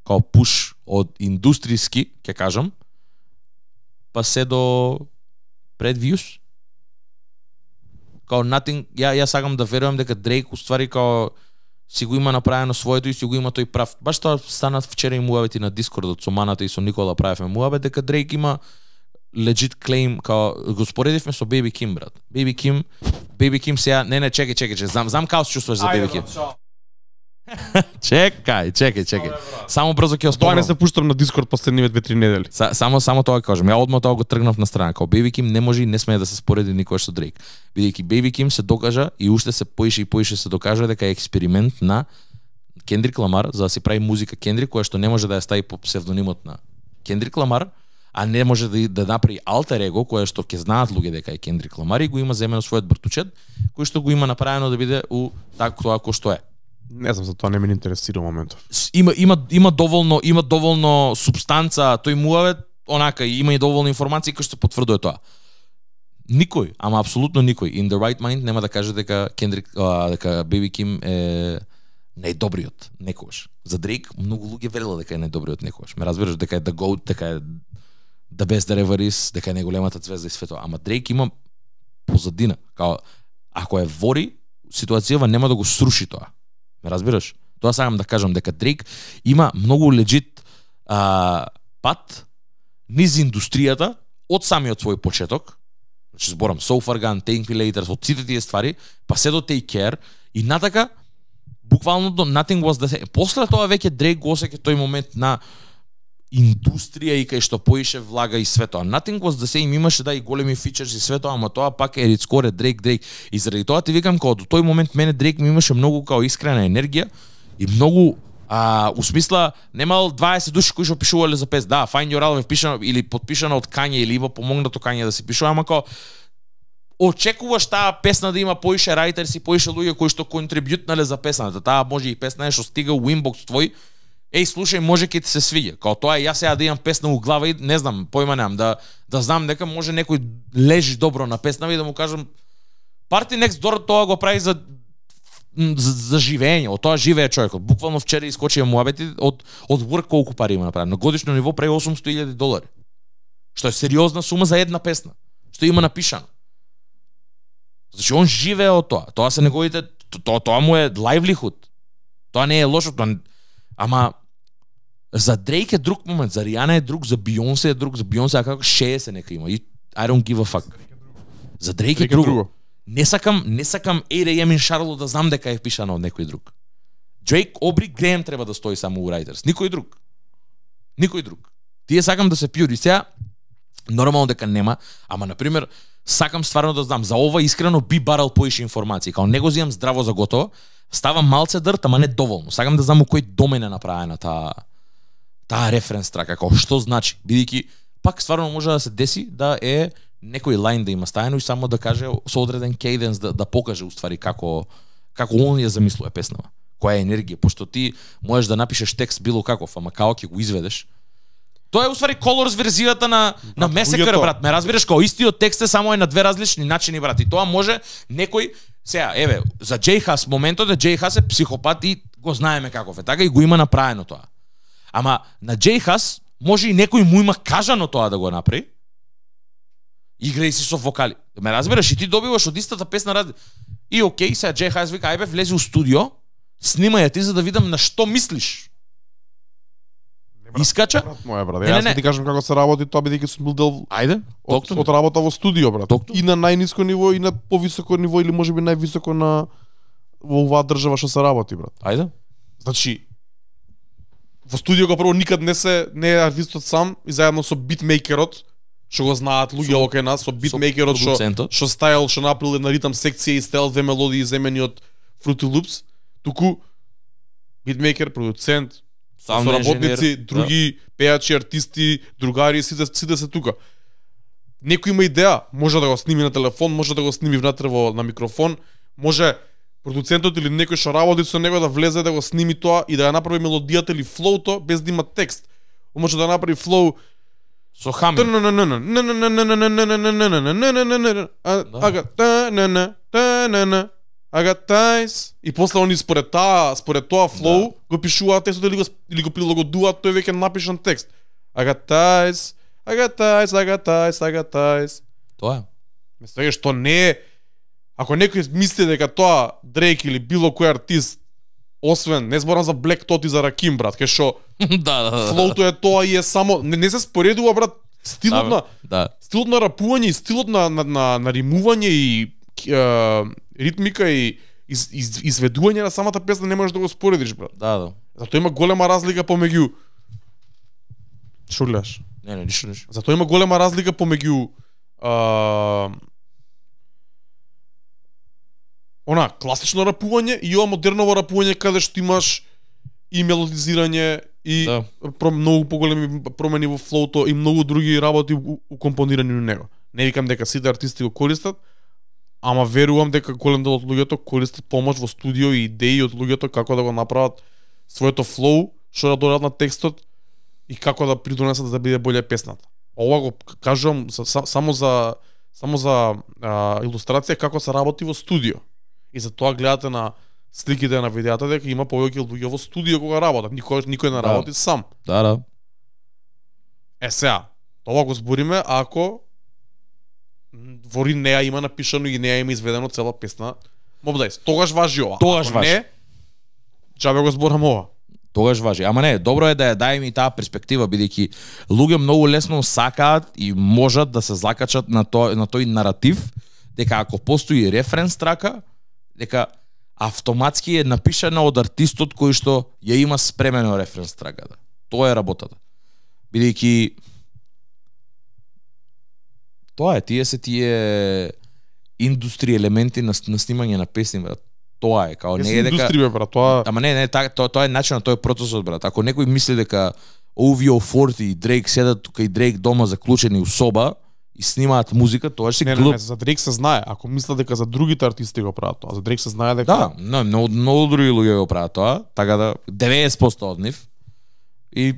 као пуш од индустријски, ќе кажам, па се до пред Views. Као nothing, ја ја сакам да верувам дека Дрейк уствари као си го има направено своето и си го има тој прав. Баш тоа станат вчера и муабети на Дискордот со Маната и со Никола правевме муабет дека Дрейк има legit claim, као го споредивме со Baby Kim, брат. Baby Kim, Baby Kim сега, не не, чекај, чекај, чекај, знам, знам како се чувствуваш за Baby Kim. Чекај, чекај, чекај. Само брзо ќе Тоа оспомнам. не се пуштам на Дискорд последниве две-три недели. Са, само само тоа ќе кажам. Ја одма тоа го тргнав на страна. Као Baby Kim не може и не смее да се спореди никош со Дрейк. Бидејќи Baby Kim се докажа и уште се поише и поише се докажа дека е експеримент на Кендрик Ламар за да си прави музика Кендрик, која што не може да ја стави по псевдонимот на Кендрик Ламар, а не може да, да направи алтер его, кое што ќе знаат луѓе дека е Кендрик Ламар и го има земено својот бртучет, кој што го има направено да биде у така тоа кој што е. Не знам, за тоа не ме интересира моментов. Има има има доволно има доволно супстанца, тој муавет, онака има и доволно информации кои што потврдува тоа. Никој, ама апсолутно никој in the right mind нема да каже дека Кендрик а, дека Baby Kim е најдобриот некогаш. За Дрейк многу луѓе велела дека е најдобриот некогаш. Ме разбираш дека е the goat, дека е the best that ever is, дека е најголемата звезда и свето. Ама Дрейк има позадина, као ако е вори, ситуацијава нема да го сруши тоа. Ме разбираш? Тоа сакам да кажам дека Дрейк има многу легит а, пат низ индустријата од самиот свој почеток. Значи зборам So Far Gone, Thank Me Later, од сите тие ствари, па се до Take Care и натака буквално до Nothing Was The Same. После тоа веќе Дрейк го осеќа тој момент на индустрија и кај што поише влага и све тоа. Nothing Was The Same имаше да и големи фичерс и све тоа, ама тоа пак е рицкоре Дрейк Дрейк. И заради тоа ти викам као до тој момент мене Дрейк ми имаше многу као искрена енергија и многу а у смисла немал дваесет души кои што пишувале за пес. Да, Find Your Album пишано или потпишано од Кање или има помогнато Кање да се пишува, ама као очекуваш таа песна да има поише рајтерси, поише луѓе кои што контрибјутнале за песната. Таа може и песна е што стига у инбокс твој. Еј, слушај, може ќе ти се свиѓа. Као тоа е, јас сега да имам песна у глава и не знам, појма немам, да да знам дека може некој лежи добро на песна и да му кажам Party Next Door тоа го прави за за, за живење, од тоа живее човекот. Буквално вчера искочија муабети од од work колку пари има направено. На годишно ниво прави осумсто илјади долари. Што е сериозна сума за една песна. Што има напишано. Значи он живее од тоа. Тоа се неговите тоа тоа му е livelihood. Тоа не е лошо, тоа ама за Дрейк е друг момент, за Ријана е друг, за Бионсе е друг, за Бионсе како шеесет нека има. И I don't give a fuck. За Дрейк е друго. друго. Не сакам, не сакам eight a m in Charlotte да знам дека е пишано од некој друг. Дрейк, Обри, Греем треба да стои само у Writers. Никој друг. Никој друг. Тие сакам да се пиури. Сега нормално дека нема, ама на пример сакам стварно да знам, за ова искрено би барал поише информации, као не го земам здраво за готово, ставам малце дрт, ама не доволно. Сакам да знам у кој домен е направена таа таа референс трака, како што значи, бидејќи пак стварно може да се деси да е некој лајн да има стајано и само да каже со одреден кейденс да, да покаже уствари како како он ја замислува песнава, која е енергија, пошто ти можеш да напишеш текст било каков, ама како ќе го изведеш. Тоа е уствари Colors верзијата на на Месекер, брат. Ме разбираш, као истиот текст е само е на две различни начини, брат. И тоа може некој сега, еве, за Джей Хас моментот е Джей Хас е психопат и го знаеме каков е, така и го има направено тоа. Ама на Джей Хас може и некој му има кажано тоа да го направи. Играј си со вокали. Ме разбираш, и ти добиваш од истата песна раз... И окей, сега Джей Хас вика, ајбе, влези у студио, снимај ја ти за да видам на што мислиш. Брат, Искача? Брат, моја брат. Не, Јас не, ќе ти кажам како се работи тоа, бидејќи сум бил дел Ајде, од, токту. од работа во студио, брат. Токту. И на најниско ниво и на повисоко ниво или можеби највисоко на во оваа држава што се работи, брат. Ајде. Значи во студио прво никад не се не е артистот сам и заедно со битмейкерот, што го знаат луѓе Со- окај нас, со битмейкерот што продуцентот. што стајал, што направил една ритам секција и стајал две мелодии земени од Fruity Loops, туку битмейкер, продуцент, Саунд соработници, инженер, други пејачи, артисти, другари, сите сите се тука. Некој има идеја, може да го сними на телефон, може да го сними внатре во на микрофон, може продуцентот или некој што работи со него да влезе да го сними тоа и да ја направи мелодијата или флоуто без да има текст. Он може да направи флоу Со хаминг. Ага, та-на-на, ага, тајс. И после они според таа, според тоа флоу го пишуваат текстот или го или го прилагодуваат тој веќе напишан текст. Ага, тајс, ага, тајс, ага, тајс, ага, тајс. Тоа е. Мислеге што не е. Ако некој мисли дека тоа Дрейк или било кој артист, освен, не зборам за Black Thought и за Раким, брат, кај што Да, да, да. флоуто е тоа и е само не, не се споредува, брат, стилот Да, на да. стилот на рапување и стилот на на на, на римување и е, ритмика и из, из, изведување на самата песна не можеш да го споредиш, брат. Да, да. Затоа има голема разлика помеѓу Што гледаш? Не, не, ништо, ништо. Затоа има голема разлика помеѓу а, она класично рапување и ова модерново рапување каде што имаш и мелодизирање и Да. про, многу поголеми промени во флоуто и многу други работи у- укомпонирани на него. Не викам дека сите артисти го користат, ама верувам дека голем дел од луѓето користат помош во студио и идеи од луѓето како да го направат своето флоу, што да додадат на текстот и како да придонесат да биде боле песната. Ова го кажувам за, са, само за само за а, илустрација како се работи во студио. И за тоа гледате на сликите на видеата дека има повеќе луѓе во студио кога работат. Никој никој не Да. работи сам. Да, да. Е сега, тоа го збориме ако во неа има напишано и неа има изведено цела песна Mob Dice. Тогаш важи ова. Тогаш Ако важи. не, џабе го зборам ова. Тогаш важи. Ама не, добро е да ја дај ми таа перспектива, бидејќи луѓе многу лесно сакаат и можат да се закачат на тој на тој наратив дека ако постои референс трака, дека автоматски е напишана од артистот кој што ја има спремено референс траката. Тоа е работата. Бидејќи тоа е, тие се тие индустри елементи на, на снимање на песни, брат. Тоа е, као не е дека индустрија, брат, тоа Ама не, не, та, тоа, тоа е начинот, тоа е процесот, брат. Ако некој мисли дека о ви о форти и Дрейк седат тука и Дрейк дома заклучени у соба и снимаат музика, тоа ще не, не, глуп. не, за Дрейк се знае. Ако мисля дека за другите артисти го прават тоа, за Дрейк се знае дека Да, но, многу, многу други луѓе го прават тоа, така да деветдесет проценти од нив. И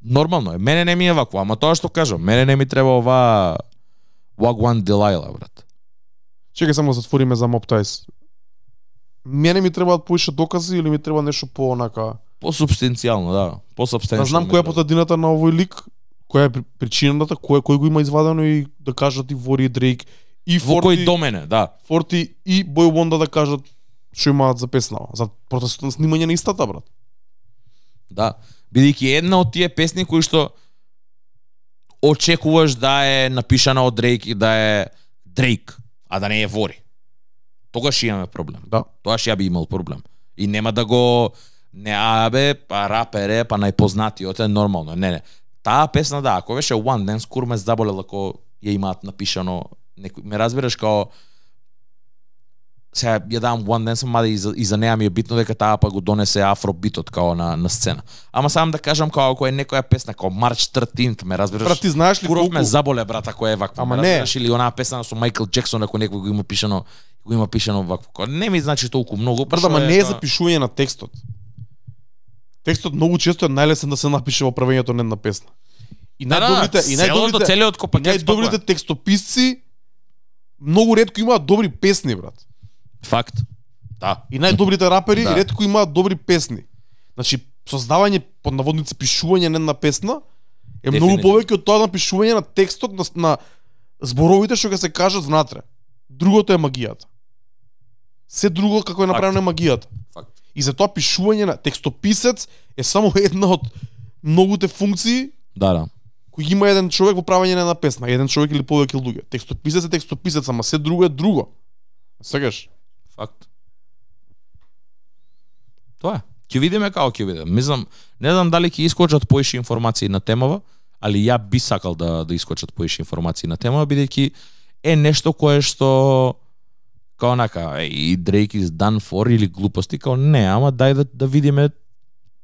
нормално е. Мене не ми е вакво, ама тоа што кажам, мене не ми треба ова Wagwan Delilah, брат. Чекај само да затвориме за Mob Dice. Мене ми требаат поише докази или ми треба нешто по онака. По-субстанцијално, да. По-субстанцијално. Да знам која е потадината на овој лик, која е при- причината, кој кој го има извадено и да кажат и Вори и Дрейк и Во кој Форти, домене, да. Форти и Бој Вонда да кажат што имаат за песнава, за процесот на снимање на истата, брат. Да. Бидејќи една од тие песни кои што очекуваш да е напишана од Дрейк и да е Дрейк, а да не е Вори. Тогаш имаме проблем. Да. Тогаш ја би имал проблем. И нема да го не абе, па рапер е, па најпознатиот е нормално. Не, не. Таа песна да, ако беше One Dance, кур ме заболела ако ја имаат напишано некој ме разбираш као сега ја давам One Dance, мада и за, и за неа ми е битно дека таа па го донесе афробитот као на на сцена. Ама сам да кажам као ако е некоја песна као March thirteenth, ме разбираш? Брат, ти знаеш ли Куров колку ме заболе брат ако е вакво. Ама ме не. разбираш или онаа песна со Майкл Джексон ако некој го има пишано го има пишано вакво. Као, не ми значи толку многу, Брат, ама не е запишување на текстот. Текстот многу често е најлесен да се напише во правењето на една песна. И Да, да, најдобрите и најдобрите целиот и копакет најдобрите текстописци многу ретко имаат добри песни, брат. Факт. Да. И најдобрите рапери Да. ретко имаат добри песни. Значи, создавање под наводници пишување на една песна е многу Дефинитивно. повеќе од тоа на пишување на текстот на, на зборовите што ќе се кажат внатре. Другото е магијата. Се друго како е направено е магијата. Факт. И затоа пишување на текстописец е само една од многуте функции Да, да. кои има еден човек во правење на една песна, еден човек или повеќе луѓе. Текстописец е текстописец, ама се друго е друго. Сегаш? Факт. Тоа е. Ќе видиме како ќе биде. Мислам, не знам дали ќе искочат поише информации на темава, али ја би сакал да да искочат поише информации на темава, бидејќи е нешто кое што као нака, и Drake is done for или глупости, као не, ама дај да да видиме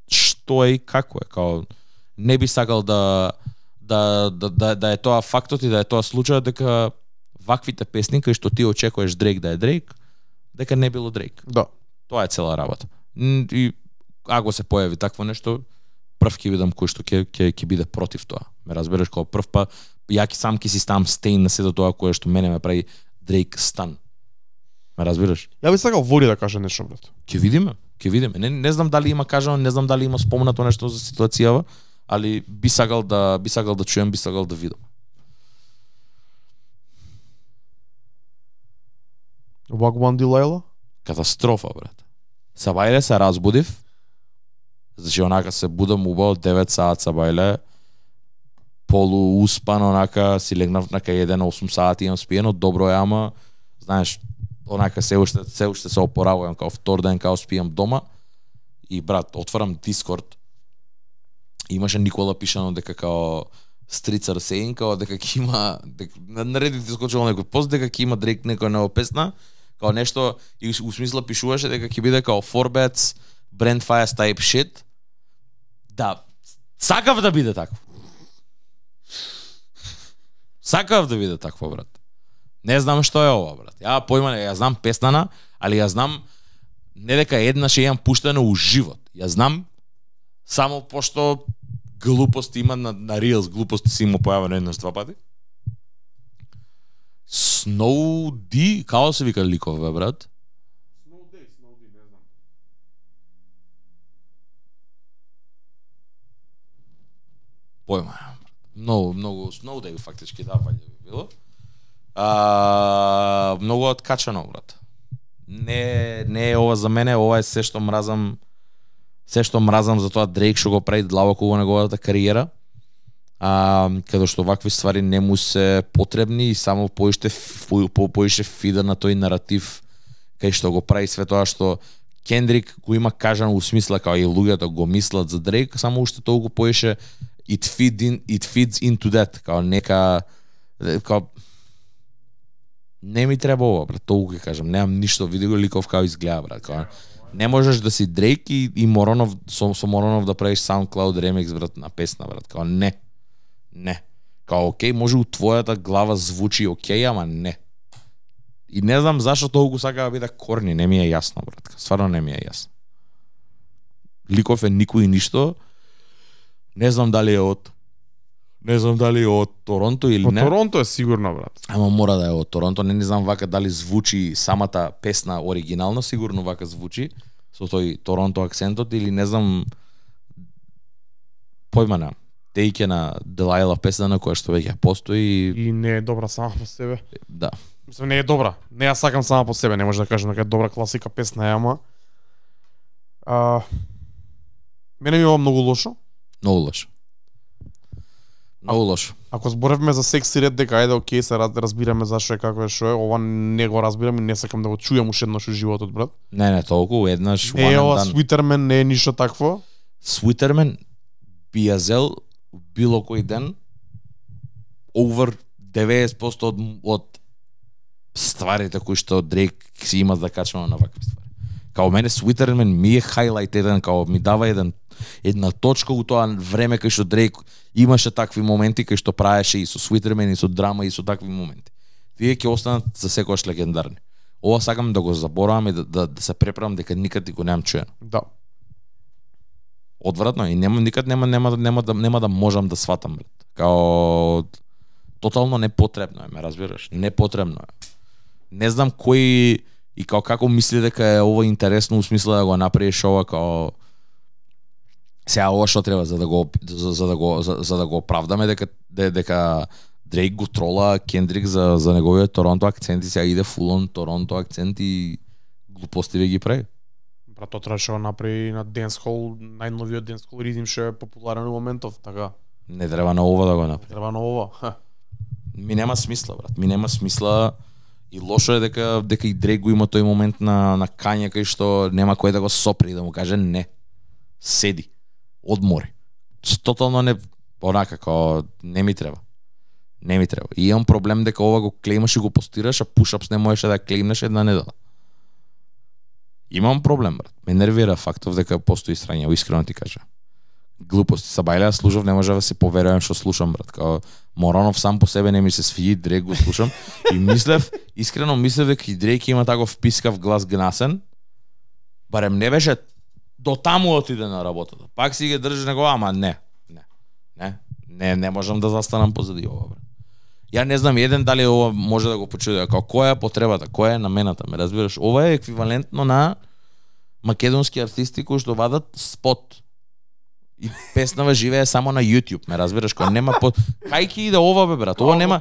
што е и како е, као не би сакал да да да да, да е тоа фактот и да е тоа случајот дека ваквите песни кои што ти очекуваш Drake да е Drake, дека не било Drake. Да. Тоа е цела работа. М, И ако се појави такво нешто, прв ќе видам кој што ќе ќе ќе биде против тоа. Ме разбереш како прв па ја ќе сам ќе си ставам стейн на сето тоа кое што мене ме прави Drake стан. Ме разбираш? Ја би сакал Вори да каже нешто, брат. Ќе видиме, ќе видиме. Не не знам дали има кажано, не знам дали има спомнато нешто за ситуацијава, али би сакал да би сакал да чуем, би сакал да видам. Вагван Дилайла? Катастрофа, брат. Сабајле се разбудив. Значи онака се будам убаво девет саат сабајле. Полу успан онака си легнав на кај еден осум сати имам спиено, добро е, ама знаеш, онака се уште се уште се опоравувам као втор ден као спиам дома и брат, отварам Дискорд. Имаше Никола пишано дека као Стрицар Сейн као дека ќе има дека на Reddit искочило некој пост дека ќе има Drake некоја нова песна, као нешто и у смисла пишуваше дека ќе биде као Forbats Brand Fires type shit. Да, сакав да биде такво. Сакав да биде такво, брат. Не знам што е ова, брат. Ја појма не, ја знам песнана, али ја знам не дека еднаш ја имам пуштено у живот. Ја знам само пошто глупости има на, на Reels, глупости си има појавено еднаш два пати. Snow D, како се вика ликов, бе, брат? Snow Day, Snow Day, не знам. Појма. Многу, многу Snow Day фактички да ваѓа би било. А, многу откачано, брат. Не не е ова за мене, ова е се што мразам. Се што мразам за тоа Дрейк што го прави длабоко во неговата кариера. А, каде што вакви ствари не му се потребни и само поише по, по, поише фида на тој наратив кај што го прави све тоа што Кендрик го има кажано у смисла као и луѓето го мислат за Дрейк, само уште толку поише it feed in, it feeds into that, као нека као не ми треба ова, брат, толку ќе кажам, немам ништо, види го ликов како изгледа, брат, као не можеш да си Дрейк и, и Моронов со, со Моронов да правиш SoundCloud ремикс, брат, на песна, брат, као не. Не. Као окей, може у твојата глава звучи окей, ама не. И не знам зашто толку сака да биде корни, не ми е јасно, брат. Стварно не ми е јасно. Ликов е никој ништо. Не знам дали е од Не знам дали е од Торонто или По не. Торонто е сигурно, брат. Ама мора да е од Торонто, не, не знам вака дали звучи самата песна оригинално, сигурно вака звучи со тој Торонто акцентот или не знам појма на тејке на Делайла песна на која што веќе постои. И не е добра сама по себе. Да. Мислам, не е добра. Не ја сакам сама по себе, не може да кажам дека е добра класика песна е, ама. А, мене ми е ова многу лошо. Многу лошо. Многу лошо. Ако зборевме за секси ред, дека ајде окей, се раз- разбираме зашо е како е шо е, ова не го разбирам и не сакам да го чујам уште еднаш у животот, брат. Не, не, толку, еднаш, Не е one ова and done. Sweeterman, не е ништо такво. Sweeterman би ја зел било кој ден over деветдесет проценти од, од стварите кои што Дрейк си има да качува на вакви ствари. Као мене Sweeterman ми е хайлайт еден, као ми дава еден една точка у тоа време кај што Дрейк имаше такви моменти кај што правеше и со Sweeterman и со драма и со такви моменти. Тие ќе останат за секогаш легендарни. Ова сакам да го заборавам и да, да, да се преправам дека никад го немам чуено. Да. Одвратно и нема никад нема нема нема да нема да можам да сватам брат. Као тотално непотребно е, ме разбираш? Непотребно е. Не знам кој и као како мисли дека е ова интересно у смисла да го направиш ова као сега ова што треба за да го за, за да го за, за да го оправдаме дека дека Дрейк го трола Кендрик за за неговиот Торонто акцент и сега иде фулон Торонто акцент и глупости ве ги прави. Брат, тоа требаше да направи на Dancehall, најновиот Dancehall ритм што е популарен во моментов, така. Не треба на ова да го направи. Треба на ова. Ха. Ми нема смисла, брат. Ми нема смисла и лошо е дека дека и Дрейк го има тој момент на на кања кај што нема кој да го сопри да му каже не. Седи. Одмори. Тотално не онака како не ми треба. Не ми треба. И имам проблем дека ова го клеймаш и го постираш, а push-ups не можеше да клеймнеш една недела. Имам проблем, брат. Ме нервира фактов дека постои срање, искрено ти кажа. Глупости. Сабајлеа слушав, не може да се поверувам што слушам, брат. Као Моронов сам по себе не ми се свиѓа, Дрейк го слушам и мислев, искрено мислев дека и Дрейк има таков пискав глас гнасен. Барем не беше до таму отиде на работата. Пак си ги држи него, ама не. Не. Не, не, не можам да застанам позади ова, брат. Ја не знам еден дали ова може да го почуди, како која е потребата, која е намената, ме разбираш? Ова е еквивалентно на македонски артисти кои што вадат спот. И песнава живее само на YouTube, ме разбираш, кој нема по кај ќе иде ова бе брат? Ова нема.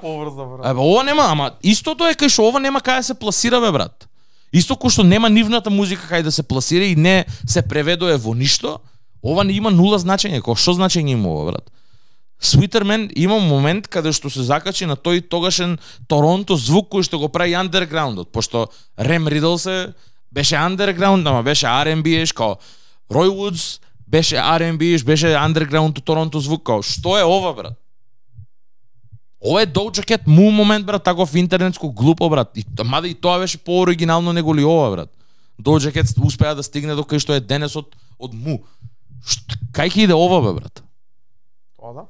Абе ова нема, ама истото е кај што ова нема кај да се пласира бе брат. Исто кој што нема нивната музика кај да се пласира и не се преведува во ништо, ова не има нула значење, кој што значење има ова брат? Sweeterman има момент каде што се закачи на тој тогашен Торонто звук кој што го прави андерграундот, пошто Рем Ридл се беше андерграунд, ама беше Ар енд Би, као Рој Вудс беше Ар енд Би, беше андерграунд Торонто звук, као што е ова брат? Ова е Doja Cat му момент брат, таков интернетско глупо брат. И мада и тоа беше пооригинално него ли ова брат. Doja Cat успеа да стигне до кај што е денес од од му. Шт, кај ќе иде ова бе брат? Тоа да.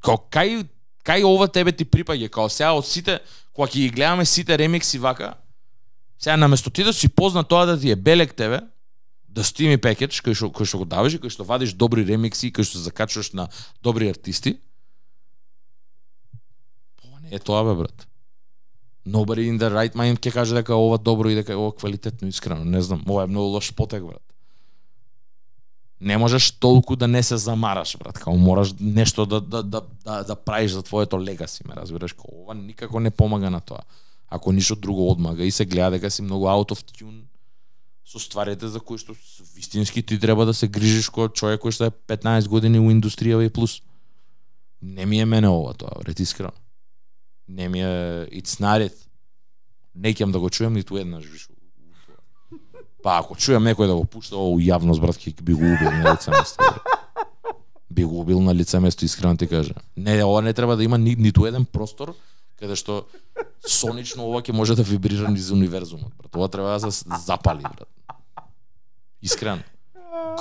Као кај кај ова тебе ти припаѓа, као сега од сите кога ќе ги гледаме сите ремикси вака, сега наместо ти да си позна тоа да ти е белек тебе, да стими пекедж кој што кој што го даваш и кој што вадиш добри ремикси, кој што закачуваш на добри артисти. Ова не е тоа бе брат. Nobody in the right mind ќе каже дека ова добро и дека ова квалитетно, искрено, не знам, ова е многу лош потек брат. Не можеш толку да не се замараш, брат. Као мораш нешто да да да да, да правиш за твоето легаси, ме разбираш? Као ова никако не помага на тоа. Ако ништо друго одмага и се гледа дека си многу out of tune со стварите за кои што вистински ти треба да се грижиш кој човек кој што е петнаесет години во индустријава и плюс. Не ми е мене ова тоа, брат, искрено. Не ми е it's not it. Не ќе да го чуем ниту еднаш више. Па ако чуjem некој да го пушта ово јавност, брат, ќе би го убил на лице место. Би го убил на лице место, искрено ти кажа. Не, ова не треба да има ни, ниту еден простор каде што сонично ова ќе може да вибрира низ универзумот, брат. Ова треба да се запали, брат. Искрено.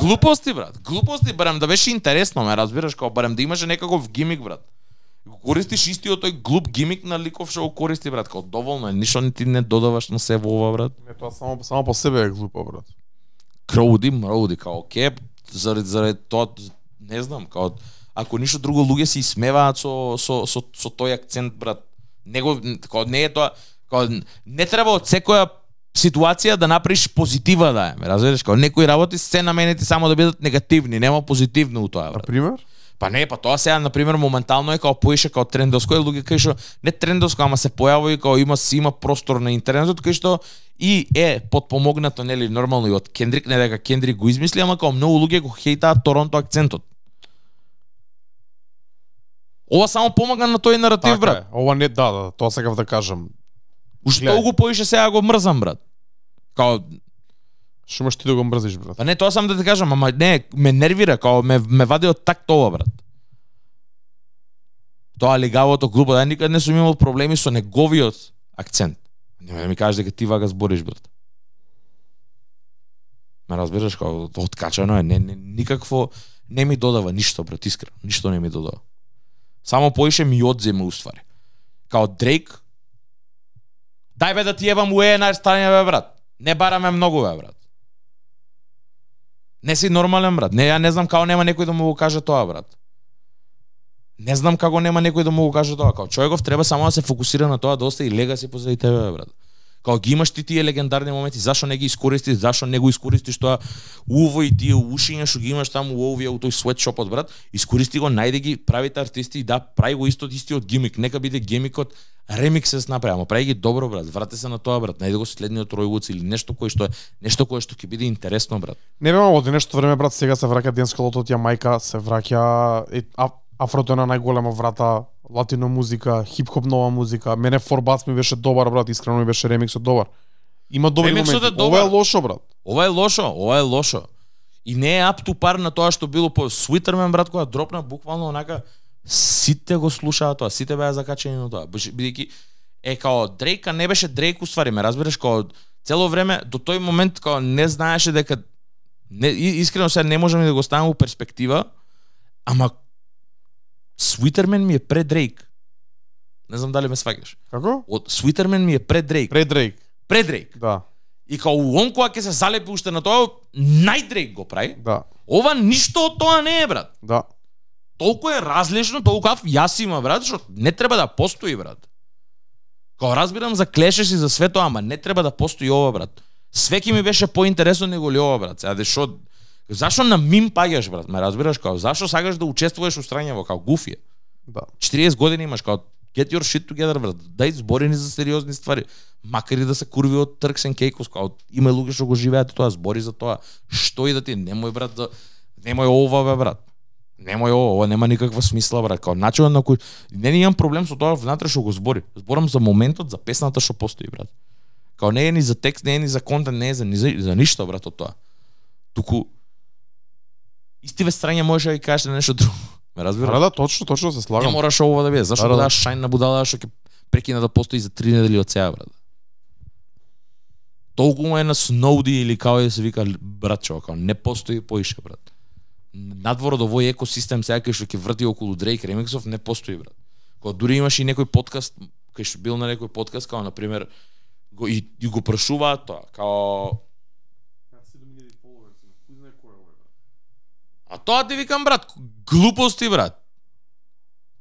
Глупости, брат. Глупости, барем да беше интересно, ме разбираш, као барем да имаше некаков гимик, брат. Го користиш истиот тој глуп гимик на ликов што го користи, брат, као доволно е, ништо ни ти не додаваш на се во ова, брат. Не, тоа само само по себе е глупо, брат. Кроуди, мроуди, као кеп, заради заради тоа, не знам, као ако ништо друго луѓе се исмеваат со со со со тој акцент, брат. Него као не е тоа, као не треба од секоја ситуација да направиш позитива да е, разбираш, као некои работи се наменети само да бидат негативни, нема позитивно у тоа, брат. На пример? Па не, па тоа сега на пример моментално е као поише као трендовско, е луѓе кај што не трендовско, ама се појавува и као има си има простор на интернетот кај што и е подпомогнато нели нормално и од Кендрик, не дека Кендрик го измисли, ама као многу луѓе го хейтаат Торонто акцентот. Ова само помага на тој наратив, Така брат. е. Ова не, да, да, тоа сакав да кажам. Уште Гледај. толку поише сега го мрзам, брат. Као Што имаш ти да го мрзиш, брат? па не, тоа сам да ти кажам, ама не, ме нервира, као ме ме вади од такт ова, брат. тоа легавото глупо, да никад не сум имал проблеми со неговиот акцент. Нема да ми кажеш дека ти вака збориш, брат. Ме разбираш, као откачано е, не, не, никакво не ми додава ништо, брат, искрено, ништо не ми додава. Само поише ми одземе уствари. Као Дрейк, дај бе да ти ебам уе на стане бе, брат. Не бараме многу бе, брат. Не си нормален, брат. Не, ја не знам како нема некој да му го каже тоа, брат. Не знам како нема некој да му го каже тоа. Као човеков треба само да се фокусира на тоа да остави легаси позади тебе, бе, брат. Као ги имаш ти тие легендарни моменти, зашо не ги искористиш, зашо не го искористиш тоа уво и тие ушиња што ги имаш таму у овие у тој sweatshopот, брат, искористи го, најде ги правите артисти и да прави го исто истиот гимик, нека биде гимикот ремиксес направи, ама прави ги добро, брат, врати се на тоа, брат, најде го следниот Ројвуц или нешто кое што е нешто кое што ќе биде интересно, брат. Не бе, од нешто време, брат, сега се враќа денскалото од Јамајка, се враќа е, а, афрото на најголема врата, латино музика, хип-хоп нова музика. Мене Форбац ми беше добар, брат, искрено ми беше ремиксот добар. Има добри Ремиксот моменти. е Ова е добар. лошо, брат. Ова е лошо, ова е лошо. И не е up to par на тоа што било по Sweeterman, брат, кога дропна буквално онака сите го слушаа тоа, сите беа закачени на тоа. Бидејќи е као Дрейка не беше Дрейк уствари, ме разбираш, као цело време до тој момент као не знаеше дека не, искрено сега не можам да го ставам во перспектива, ама Sweeterman ми е пред Дрейк. Не знам дали ме сваќаш. Како? Од Sweeterman ми е пред Дрейк. Пред Дрейк. Пред Дрейк. Да. И као он кога ќе се залепи уште на тоа, нај Дрейк го прави. Да. Ова ништо од тоа не е, брат. Да. Толку е различно, толку аф јас има, брат, што не треба да постои, брат. Као разбирам за клешеш и за све тоа, ама не треба да постои ова, брат. Све ќе ми беше поинтересно него ли ова, брат. Сега дешо зашо на мим паѓаш, брат? Ме разбираш, као зашо сакаш да учествуваш у страњево, као гуфија? Да. четириесет години имаш, као get your shit together, брат. Дај збори ни за сериозни ствари. Макар и да се курви од Turks and Caicos, као има луѓе што го живеат тоа, збори за тоа. Што и да ти, немој, брат, да немој ова, бе, брат. Немој ова, ова нема никаква смисла, брат. Као начинот на кој не имам проблем со тоа внатре што го збори. Зборам за моментот, за песната што постои, брат. Као не е ни за текст, не е ни за контент, не е за ни за, за ништо, брат, од тоа. Туку истиве страње можеш да ги кажеш нешто друго. Ме разбираш? Да, да, точно, точно се Не слагам. мораш ова да биде. Зашто Да, да, да. даш шајн на будала што ќе прекина да постои за три недели од сега, брат. Толку му е на Сноуди или као да се вика братчо, као не постои поише, брат. Надвор од овој екосистем сега кај што ќе врти околу Дрейк ремиксов не постои, брат. Кога дури имаш и некој подкаст, кај што бил на некој подкаст, као на пример го и, и го прашуваат тоа, као а тоа ти викам, брат, глупости, брат.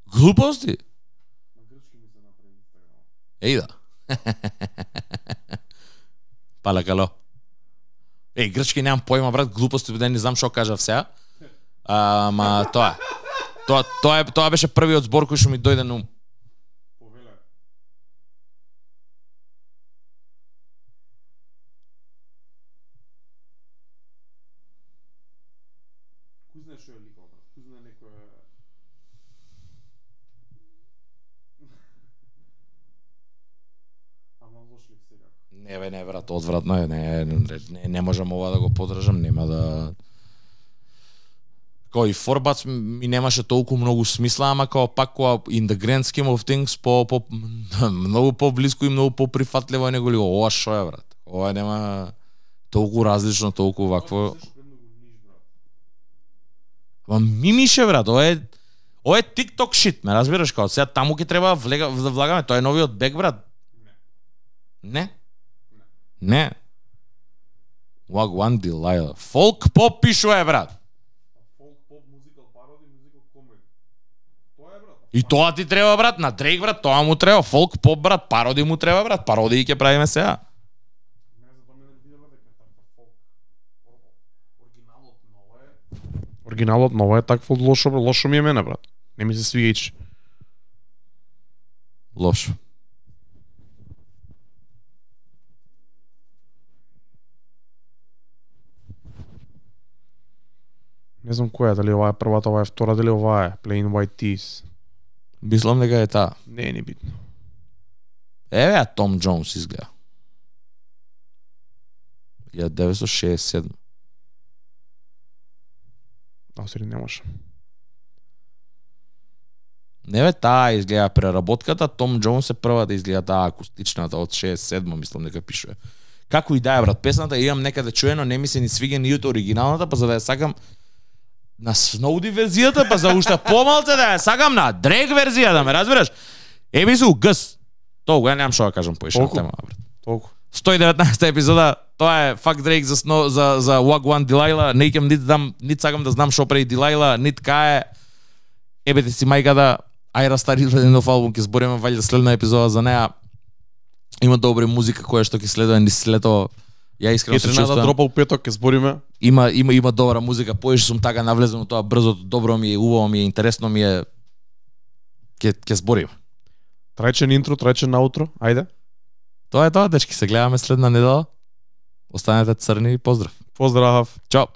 Глупости. Еј да. Палакало. Еј, грчки немам појма, брат, глупости, да не знам што кажав сега. Ама тоа. Тоа тоа е тоа беше првиот збор кој што ми дојде на ум. Не бе, не брат, одвратно е, не, не, не, не можам ова да го подржам, нема да кој Форбац ми немаше толку многу смисла, ама као пак кога in the grand scheme of things по, по многу поблиску и многу поприфатливо него ли ова шо е, брат. Ова нема толку различно, толку вакво. Ама мимише, брат, ова е ова е TikTok shit, ме разбираш, као сега таму ќе треба влега, да влагаме, тоа е новиот бек, брат. Не. Не. Wagwan Delilah. Folk pop пишува, брат. Folk pop музикал пароди, музикал комеди. Тоа е, брат. И тоа ти треба, брат, на Дрейк, брат, тоа му треба. Folk pop, брат, пароди му треба, брат. Пароди ќе правиме сега. Не за тоа мене видела дека така фолк. Оригиналот ново е. Оригиналот ново е такво лошо, лошо ми е мене, брат. Не ми се свига ич. Лошо. Не знам која е, дали ова е првата, ова е втора, дали ова е Plain White Tees. Мислам дека е таа. Не е ни битно. Еве, а Том Джонс изгледа. илјада деветстотини шеесет и седма. А, сери не може. Не бе, таа изгледа преработката, Том Джонс е првата изгледа таа акустичната од шеесет и седма, мислам дека пишува. Како и да е, брат, песната имам некаде чуено, не ми се ни свига ни од оригиналната, па за да ја сакам на Сноуди верзијата, па за уште помалце да ја сакам на Дрейк верзија, да ме разбираш. Еби су гс. Толку, ја немам што да кажам поише на тема, брат. Толку. сто и деветнаесета епизода, тоа е Fuck Drake за сно, за за Wagwan Delilah, не икам нит дам, нит сакам да знам што прави Delilah, нит кај е. Ебете си мајката, ајра стари еден нов албум, ќе збориме валјда следна епизода за неа. Има добра музика која што ќе следува низ лето. Ја искрено се чувствувам. Кетрина дропал петок, ќе збориме. Има има има добра музика, поише сум така навлезен во тоа брзото, добро ми е, убаво ми е, интересно ми е. Ќе ќе збориме. Трајчен интро, трајчен аутро, ајде. Тоа е тоа, дечки, се гледаме следна недела. Останете црни и поздрав. Поздрав. Чао.